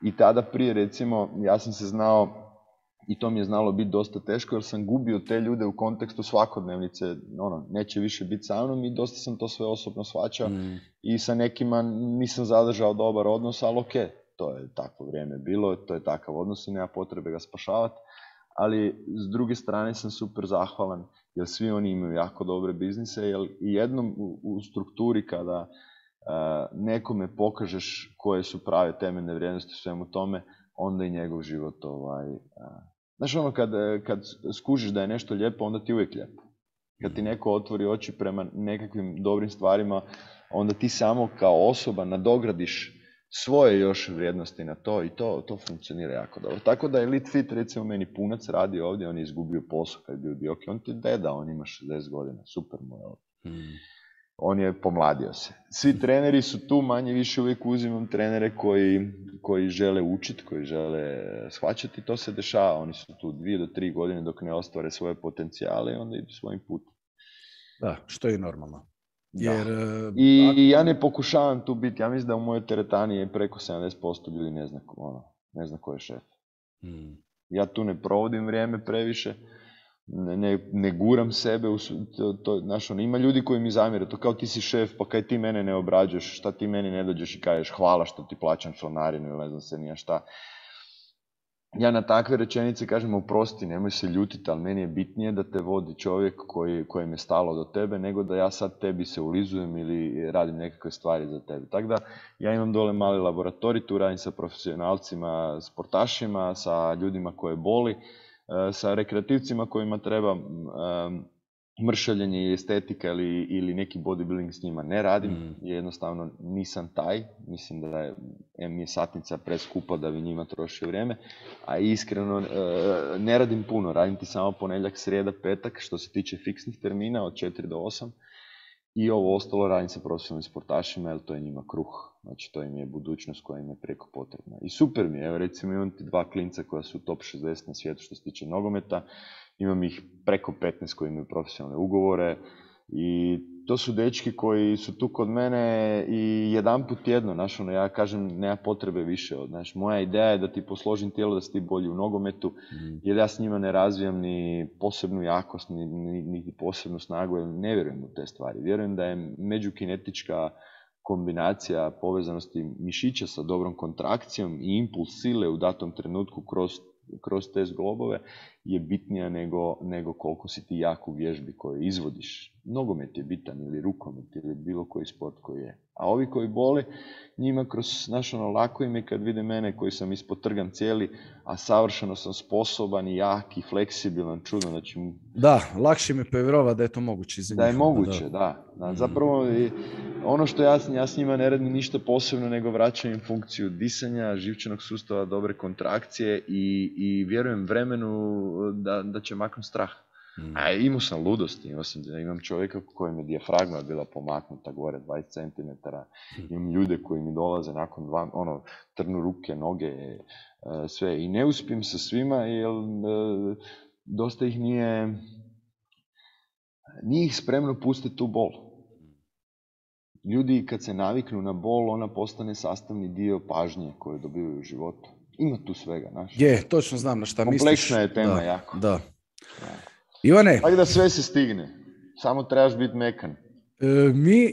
i tada prije recimo ja sam se znao i to mi je znalo biti dosta teško jer sam gubio te ljude u kontekstu svakodnevnice, neće više biti sa mnom i dosta sam to sve osobno shvaćao i sa nekima nisam zadržao dobar odnos, ali okej, to je takvo vrijeme bilo, to je takav odnos i nema potrebe ga spašavati. Ali s druge strane sam super zahvalan jer svi oni imaju jako dobre biznise, jer jednom u strukturi kada nekome pokažeš koje su prave temeljne vrijednosti u svemu tome, onda i njegov život znaš ono, kad skužiš da je nešto lijepo, onda ti uvijek lijepo. Kad ti neko otvori oči prema nekakvim dobrim stvarima, onda ti samo kao osoba nadogradiš svoje još vrijednosti na to i to funkcionira jako dobro. Tako da Elite Fit, recimo meni punac radi ovdje, on je izgubio posao kad je bio Dioki, on ti deda, on ima 60 godina, super mu je ovdje. On je pomladio se. Svi treneri su tu, manje više uvijek uzimam trenere koji žele učiti, koji žele shvaćati, to se dešava, oni su tu 2 do 3 godine dok ne ostvare svoje potencijale i onda idu svojim putem. Da, što je normalno. Jer, I ja ne pokušavam tu biti, ja mislim da u mojoj teretani je preko 70% ljudi ne zna ko je šef. Ja tu ne provodim vrijeme previše, ne guram sebe, ima ljudi koji mi zamjere, to kao ti si šef, pa kaj ti mene ne obrađuješ, šta ti meni ne dođeš i kažeš hvala što ti plaćam članarinu ili ne znam se nija šta. Ja na takve rečenice kažem oprosti, nemoj se ljutiti, ali meni je bitnije da te vodi čovjek kojem je stalo do tebe, nego da ja sad tebi se ulizujem ili radim nekakve stvari za tebe. Tako da ja imam dole mali laboratorij, tu radim sa profesionalcima, sportašima, sa ljudima koje boli, sa rekreativcima kojima treba mršavljenje i estetika ili neki bodybuilding s njima ne radim, jednostavno nisam taj, mislim da mi je satnica preskupa da bi njima trošio vrijeme, a iskreno ne radim puno, radim ti samo ponedjeljak, srijeda, petak, što se tiče fiksnih termina od 4 do 8 i ovo ostalo radim sa profesionalnim sportašima jer to je njima kruh, znači to im je budućnost koja im je preko potrebna. I super mi je, evo recimo imam ti 2 klinca koja su top 60 na svijetu što se tiče nogometa, imam ih preko 15 koji imaju profesionalne ugovore i to su dečki koji su tu kod mene i jedanput tjedno, znaš, ja kažem, nema potrebe više. Znaš, moja ideja je da ti posložim tijelo, da si ti bolji u nogometu, jer ja s njima ne razvijam ni posebnu jakost, ni posebnu snagu, jer ne vjerujem u te stvari. Vjerujem da je međukinetička kombinacija povezanosti mišića sa dobrom kontrakcijom i impuls sile u datom trenutku kroz te zglobove je bitnija nego koliko si ti jak u vježbi koju izvodiš. Nogomet je bitan ili rukomet ili bilo koji sport koji je. A ovi koji boli, njima kroz lako im je kad vide mene koji sam ispotrgan cijeli, a savršeno sam sposoban i jak i fleksibilan, čudno da će mu... Da, lakše mi povjerovati da je to moguće. Da je moguće, da. Zapravo, ono što ja s njima ne radim ništa posebno, nego vraćam im funkciju disanja, živčanog sustava, dobre kontrakcije i vjerujem vremenu da će maknuti strah. A imao sam ludosti, imam čovjeka kojem je dijafragma bila pomaknuta gore 20 cm, imam ljude koji mi dolaze nakon trnu ruke, noge, sve. I ne uspijem sa svima, jer dosta ih nije ih spremno pustiti u bol. Ljudi kad se naviknu na bol, ona postane sastavni dio pažnje koju dobivaju u životu. Ima tu svega, znaš. Je, točno znam na šta misliš. Kompleksna je tema jako. Da. Ivane. Tako da sve se stigne. Samo trebaš biti mekan.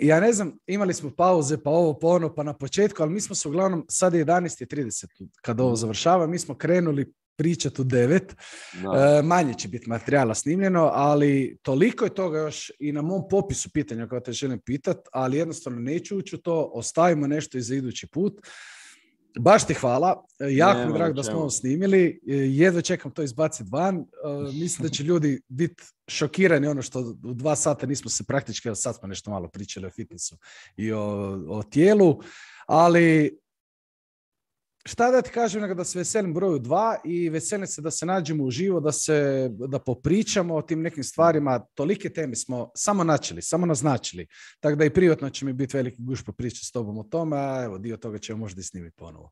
Ja ne znam, imali smo pauze, pa ovo, pa ono, pa na početku, ali mi smo se uglavnom, sad je 11:30 kada ovo završava, mi smo krenuli pričati u 9. Manje će biti materijala snimljeno, ali toliko je toga još i na mom popisu pitanja koja te želim pitati, ali jednostavno neću ući u to, ostavimo nešto i za idući put. Baš ti hvala, jako mi drago da smo ovo snimili, jedva čekam to izbaciti van, mislim da će ljudi biti šokirani ono što u 2 sata nismo se praktički, sad smo nešto malo pričali o fitnessu i o tijelu, ali šta da ti kažem nego da se veselim broju 2 i veselim se da se nađemo uživo, da popričamo o tim nekim stvarima. Tolike teme smo samo naznačili. Tako da i privatno će mi biti veliki guš popričati s tobom o tome, a evo dio toga ćemo možda i snimiti ponovo.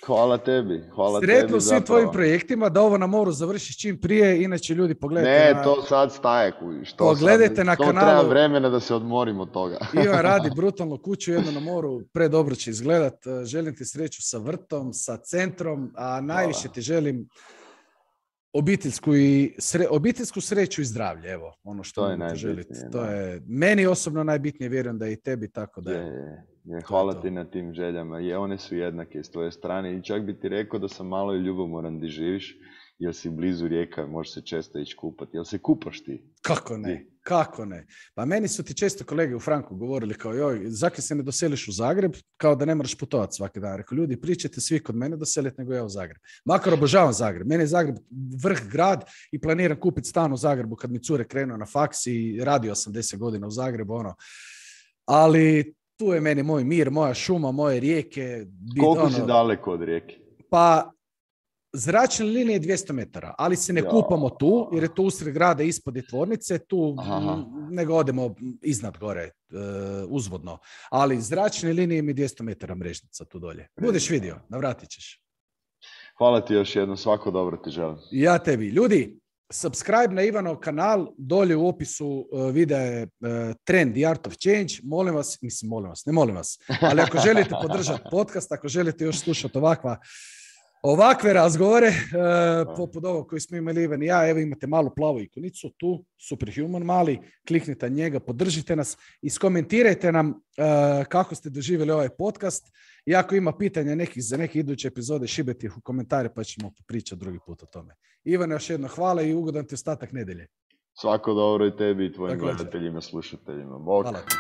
Hvala tebi. Sretno u svim tvojim projektima, da ovo na moru završiš čim prije, inače ljudi pogledajte. To sad staje. Pogledajte na kanalu. To treba vremena da se odmorimo od toga. Ivan radi brutalnu kuću, jedno na moru, predobro će izgledat. Želim ti sreću sa vrtom, sa centrom, a najviše ti želim obiteljsku sreću i zdravlje, evo, ono što mogu želiti. To je meni osobno najbitnije, vjerujem da je i tebi, tako da hvala ti na tim željama. One su jednake s tvoje strane i čak bi ti rekao da sam malo i ljubomoran di živiš, jer si blizu rijeka, možeš se često ići kupati. Jel se kupaš ti? Kako ne? Kako ne? Pa meni su ti često kolege u Franku govorili kao, joj, zakaj se ne doseliš u Zagreb, kao da ne moraš putovati svaki dan. Rekao, ljudi, pričajte svi kod mene doseliti nego ja u Zagreb. Makar obožavam Zagreb. Meni je Zagreb vrh grad i planiram kupiti stan u Zagrebu kad mi cure krenu na faks i radio sam 10 godina u Zagrebu, Ali tu je meni moj mir, moja šuma, moje rijeke. Koliko si daleko od rijeke? Pa, zračne linije 200 metara, ali se ne kupamo tu, jer je to usred grada ispod je tvornice, tu nego odemo iznad gore, uzvodno. Ali zračne linije mi 200 metara mrežnica tu dolje. Budeš vidio, navratit ćeš. Hvala ti još jednom, svako dobro ti želim. Ja tebi. Ljudi, subscribe na Ivanov kanal, dolje u opisu videa je Trend The Art of Change. Molim vas, ali ako želite podržati podcast, ako želite još slušati ovakve razgovore, poput ovog koji smo imali Ivan i ja, evo imate malu plavu ikonicu tu, Superhuman mali, kliknite na njega, podržite nas, iskomentirajte nam kako ste doživjeli ovaj podcast i ako ima pitanja za neke iduće epizode, šibajte ih u komentare pa ćemo pričati drugi put o tome. Ivan, još jedno hvala i ugodan ti ostatak nedelje. Svako dobro i tebi i tvojim gledateljima, slušateljima. Bog. Hvala ti.